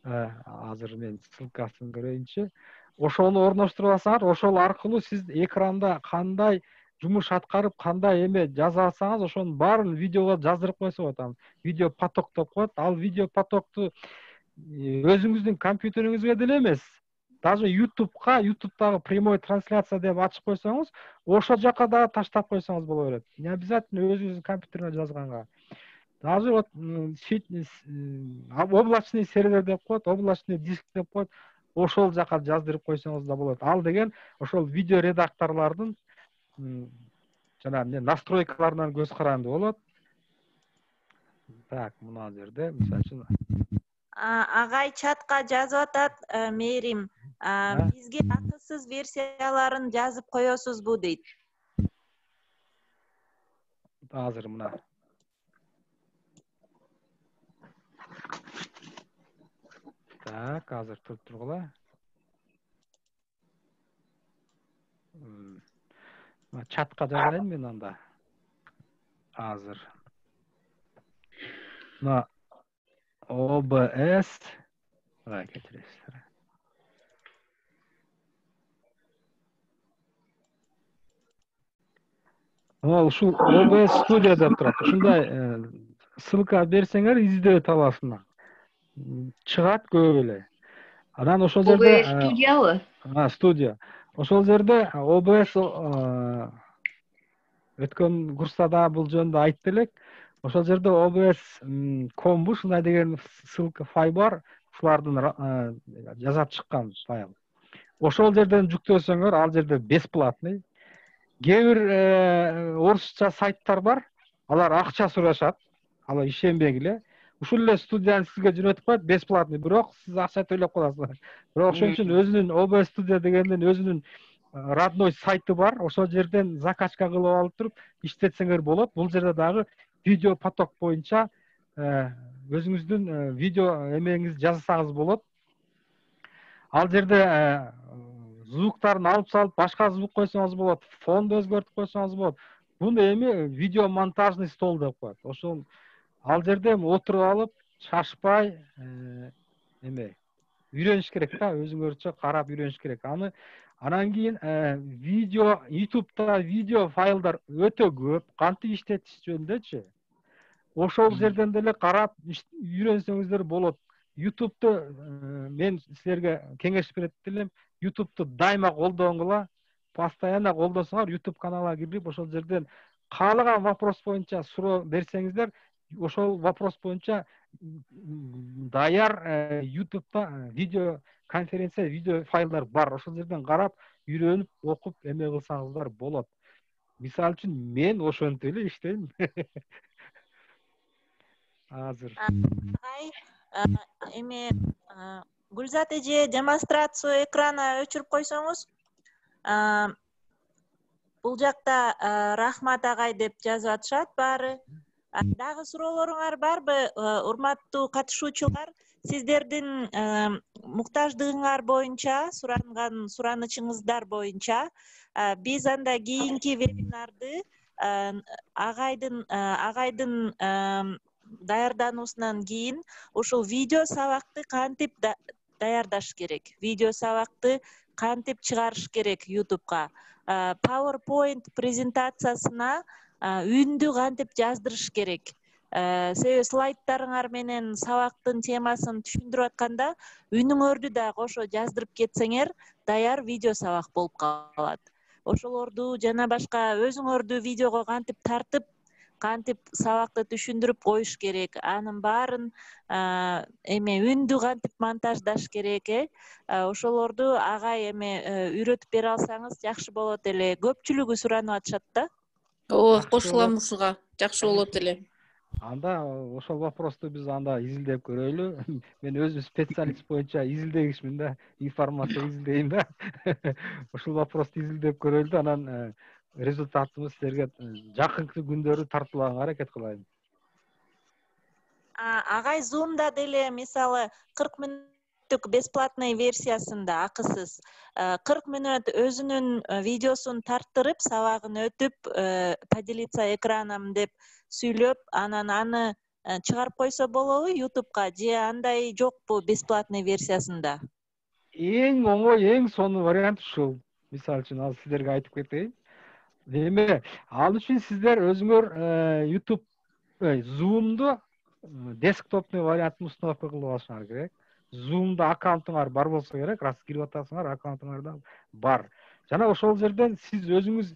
Азыр мен ссылкасын көрөйүнчү. Ошону орноштуруп алсаңар, ошол аркылуу сиз экранда кандай жумуш аткарып, кандай эме жаза алсаңыз, ошонун баарын видеого жаздырып койсо болот. Видео поток деп коет. Ал видео потокту өзүңүздүн компьютериңизге деле эмес, даже YouTube'дагы прямой трансляция деп ачып койсоңуз, ошол жака дагы таштап койсоңуз боло берет. Не обязательно өзүңүздүн компьютериңе жазганга. Даже вот облачный сервер деп коет, облачный диск деп коет. Ошол жака жаздырып койсоңуз да болот. Ал деген ошол видео редакторлордун жана настройкаларынан көз каранды болот. Так, мына жерде мисалы үчүн Агай чатка жазып атат, Мээрим, бизге акысыз версияларын жазып коесузбу дейт. азыр мына. Так, азыр туруп тургула. Чатка жазайын мен анда. Азыр. Мына OBS кечиресиздер. Ушул OBS студия деп турат. Ушундай ссылка берсеңер издөп табасыңар. Чыгат көп эле. Анан ошол жерде OBS студиябы? Студия. Ошол жерде OBS өткөн курста да бул жөнүндө айтты элек. Ошол жерде OBS.com ушундай деген ссылка файл бар. Ушулардын жасап чыккан файл. Ошол жерден жүктөсөңөр, ал жерде бесплатный. Кээ бир орусча сайттар бар. Алар акча сурашат. Алар ишенбегиле. Ушул эле студияны сизге жөнөтүп коет, бесплатный, бирок сиз акча төлөп каласыз. Бирок ошон үчүн өзүнүн OBS студия дегендин өзүнүн родной сайты бар. Ошол жерден закачка кылып алып туруп иштетсеңер болот. Бул жерде дагы видео поток боюнча өзүңүздүн видео эмеңизди жазсаңыз болот. Ал жерде звуктарын алып салып, башка звук койсоңуз болот, фонду өзгөртүп койсоңуз болот. Буну эми видео монтажный стол деп коет. Ошол ал жерде отуруп алып, шашпай үйрөнүш керек да, өзүңөрчө карап үйрөнүш керек. Анан кийин видео YouTube'да видео файлдар өтө көп, кантип иштетиш жөнүндөчү. Ошол жерден деле карап үйрөнсөңүздөр болот. YouTube'ду мен силерге кеңеш берет элем. YouTube'ду дайыма колдонгула, постоянно колдосоңор, YouTube каналга кирип, ошол жерден каалаган вопрос боюнча суроо берсеңиздер, ошол вопрос боюнча даяр YouTube'да видео конференция, видео файлдар бар. Ошол жерден карап, үйрөнүп, окуп, эме кылсаңыздар болот. Мисалы үчүн мен ошентип эле иштейм. Азыр. Эми Гүлзат эже демонстрацию экрана өчүрүп койсоңуз. Бул жакта Рахмат агай деп жазып атышат баары. Дагы суроолоруңар барбы, урматтуу катышуучулар? Сиздердин муктаждыгыңар боюнча, суранган суранычыңыздар боюнча биз анда кийинки вебинарды агайдын даярдануусунан кийин ушул видео сабакты кантип даярдаш керек, видео сабакты кантип чыгарыш керек YouTube'га, PowerPoint презентациясына үндү кантип жаздырыш керек. Себеби слайдтарыңар менен сабактын темасын түшүндүрүп атканда үнүңөрдү да кошо жаздырып кетсеңер, даяр видео сабак болуп калат. Ошолорду жана башка өзүңөрдү видеого кантип тартып, кантип сабакты түшүндүрүп коюш керек, анын баарын үндү кантип монтаждаш керек, ошолорду агай үйрөтүп бере алсаңыз жакшы болот эле. Көпчүлүгү суранып атышат да. Ооба, кошулам ушуга. Жакшы болот эле. Анда ошол вопросту биз анда изилдеп көрөлү. Мен өзүм специалист боюнча изилдегичмин да, информация изилдейм да. Ошол вопросту изилдеп көрөлү да, анан результатыбыз силерге жакынкы күндөрү тартуулаганга аракет кылайын. Агай Zoom'да деле мисалы 40 мүнөттүк бесплатный версиясында акысыз 40 мүнөт өзүнүн видеосун тарттырып, сабагын өтүп, поделиться экраном деп сүйлөп, анан аны чыгарып койсо болобу YouTube'га, же андай жокпу бесплатный версиясында? Эң оңой, эң сонун вариант ушул. Мисалы үчүн ал силерге айтып кетейин. Эми ал үчүн сиздер өзүңөр YouTube Zoom'ду десктопный вариантын установка кылып алышыңар керек. Zoom'да аккаунтуңар бар болсо керек, раз кирип атасыңар, аккаунтуңарда бар. Жана ошол жерден сиз өзүңүз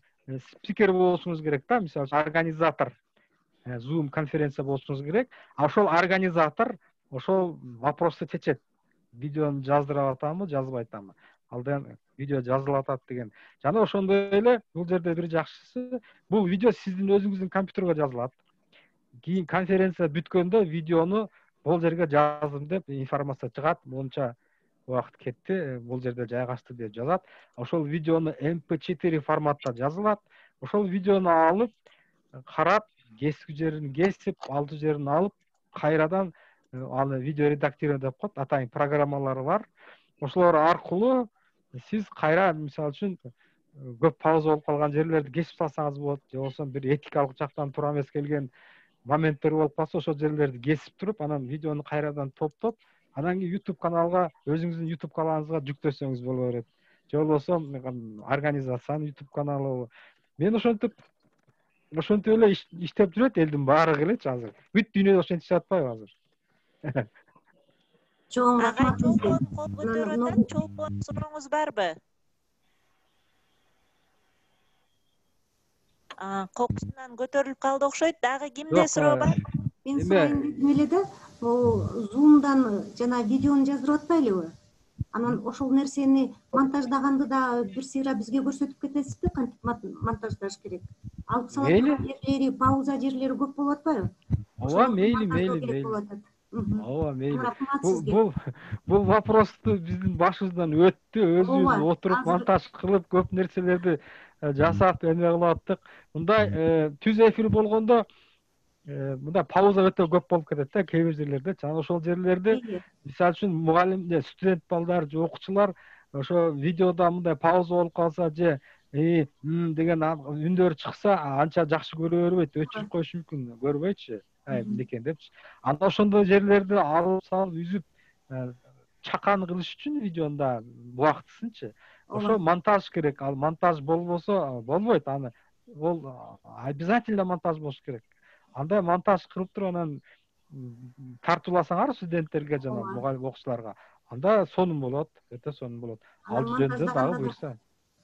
спикер болушуңуз керек да, мисалы организатор. Zoom конференция болушуңуз керек. Ошол организатор ошол вопросту чечет. Видеону жаздырып атамы, жазбай атамы? Алдан видео жазылып атат деген. Жана ошондой эле бул жерде бир жакшысы, бул видео сиздин өзүңүздүн компьютерге жазылат. кийин конференция бүткөндө видеону бул жерге жаздым деп информация чыгат, монча убакыт кетти, бул жерде жайгашты деп жазат. Ошол видеону MP4 форматта жазылат. Ошол видеону алып, карап, кесүү жерин кесип, алдуу жерин алып, кайрадан аны видео редактирование деп коет, атайын программалары бар. Ошолор аркылуу сиз кайра, мисалы үчүн, көп пауза болуп калган жерлерди кесип салсаңыз болот, же болбосо бир этикалык жактан туура эмес келген моменттер болуп калса, ошол жерлерди кесип туруп, анан видеону кайрадан топтоп, анан кийин YouTube каналга, өзүңүздүн YouTube каналыңызга жүктөсөңүз боло берет. Же болбосо организациянын YouTube каналы. Мен ошентип эле иштеп жүрөт элдин баары элечи азыр. Бүт дүйнөдө ошентип жатпайбы азыр? Чоң рахмат сизге. Кол көтөрүп атат, чолпон сурооңуз барбы? Кокусунан көтөрүлүп калды окшойт. Дагы кимде суроо бар? Мен сурайын дедим эле да, Zoom'дан жана видеону жаздырып атпайлыбы? Анан ошол нерсени монтаждаганды да бир сыйра бизге көрсөтүп кетесизби, кантип монтаждаш керек? Алып салат жерлери, пауза жерлери көп болуп атпайбы? Ооба, мейли. Ооба, мейли. Бул вопросту биздин башыбыздан өттү, өзүбүз отуруп монтаж кылып, көп нерселерди жасап, эме кылып аттык. Мындай түз эфир болгондо мындай пауза өтө көп болуп кетет да, кээ бир жерлерде. Жана ошол жерлерди, мисалы үчүн, мугалим, студент балдар же окуучулар ошо видеодо мындай пауза болуп калса же деген үндөр чыкса, анча жакшы көрө бербейт, өчүрүп коюш мүмкүн, көрбөйчү. Мынекей депчи. Анда ошондой жерлерди алып салып, үзүп, чакан кылыш үчүн видеонда убактысынчы. Ошо монтаж керек. Ал монтаж болбосо болбойт. Аны ол обязательно монтаж болуш керек. Андай монтаж кылып туруп анан тартууласаңар студенттерге жана мугалим окуучуларга, анда сонун болот, өтө сонун болот. Ал жөнүндө дагы буйрса.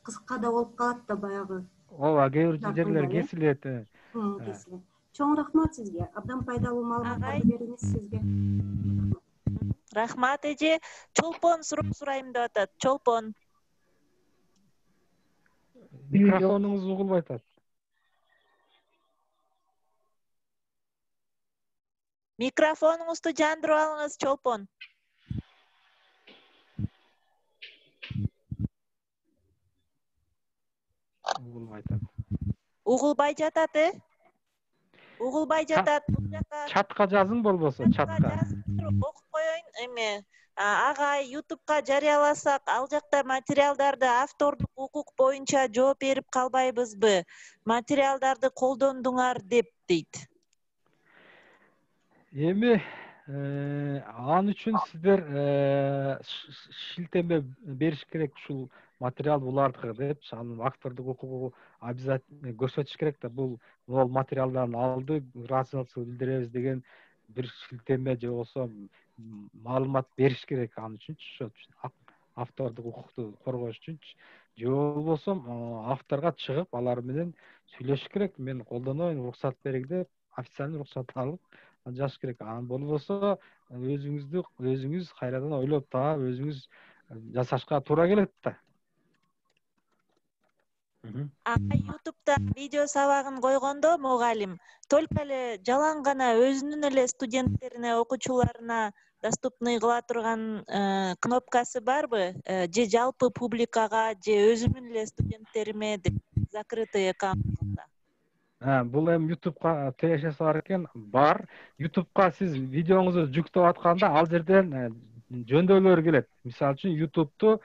Кыска да болуп калат да баягы. Ооба, кээ бир жерлер кесилет. Кесилет. Чоң рахмат сизге. Абдан пайдалуу маалыматтарды бердиңиз сизге. Рахмат эже. Чолпон суроо сурайм деп атат. Чолпон. Микрофонуңуз угулбай атат. Микрофонуңузду жандырып алыңыз, Чолпон. Угулбай атат. Угулбай жатат, Угулбай жатат. Чатка жазың болбосо, чатка. Окуп коеюн, эме. Агай YouTube'га жарыяласак, ал жакта материалдарды автордук укук боюнча жооп берип калбайбызбы? Материалдарды колдондуңар деп дейт. Эми ал үчүн сиздер шилтеме бериш керек, ушул материал булардыкы деп, анын автордук укугу обязательно көрсөтүш керек да, бул материалдарды алды, ыраазычылык билдиребиз деген бир шилтеме же болбосо маалымат бериш керек ал үчүнчү, ошо автордук укукту коргош үчүнчү. Же болбосо авторго чыгып, алар менен сүйлөшүш керек. Мен колдонойм, уруксат бериңиз деп, официальный уруксат алып жазыш керек. Анан болбосо өзүңүз кайрадан ойлоп таап, өзүңүз жасашка туура келет да. YouTube'да видео сабагын койгондо мугалим только эле жалаң гана өзүнүн эле студенттерине, окуучуларына доступный кыла турган кнопкасы барбы? Же жалпы публикага, же өзүмдүн эле студенттериме деп закрытый аккаунтта? Бул эми YouTube'га тирешеси бар экен. Бар. YouTube'га сиз видеоңузду жүктөп атканда ал жерден жөндөөлөр келет. Мисалы үчүн YouTube'ду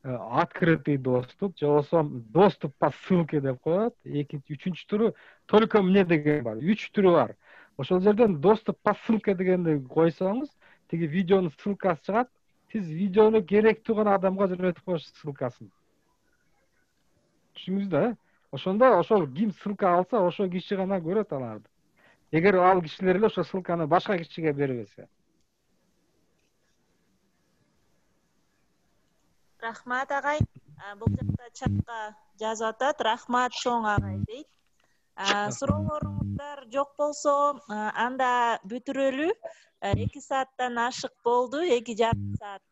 открытый доступ, же болбосо доступ по ссылке деп коет. Экинчи, үчүнчү түрү только мне деген бар. 3 түрү бар. Ошол жерден доступ по ссылке дегенди койсоңуз, тиги видеонун ссылкасы чыгат. Сиз видеону керектүү гана адамга жөнөтүп коюш ссылкасын. Түшүндүңүздү? Ошондо ошол ким ссылка алса, ошол киши гана көрөт аларды. Эгер ал кишилер эле ошол ссылканы башка кишиге бербесе. Рахмат агай. Бул жакта чатка жазып атат. Рахмат чоң агай дейт. Суроолоруңуздар жок болсо, анда бүтүрөлү. 2 сааттан ашык болду, 2,5 саат.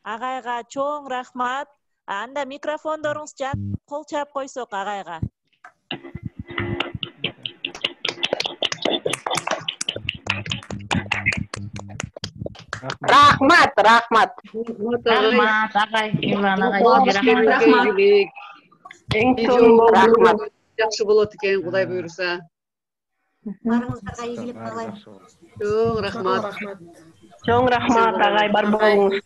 Агайга чоң рахмат. Анда микрофондоруңуз жанып, кол чаап койсок агайга. Рахмат. Рахмат агай, Мирлан агай, сизге рахмат. Эң чоң рахмат. Жакшы болот экен, Кудай буйруса. Баарыңыздарга ийгилик каалайм. Чоң рахмат. Чоң рахмат агай, бар болуңуз.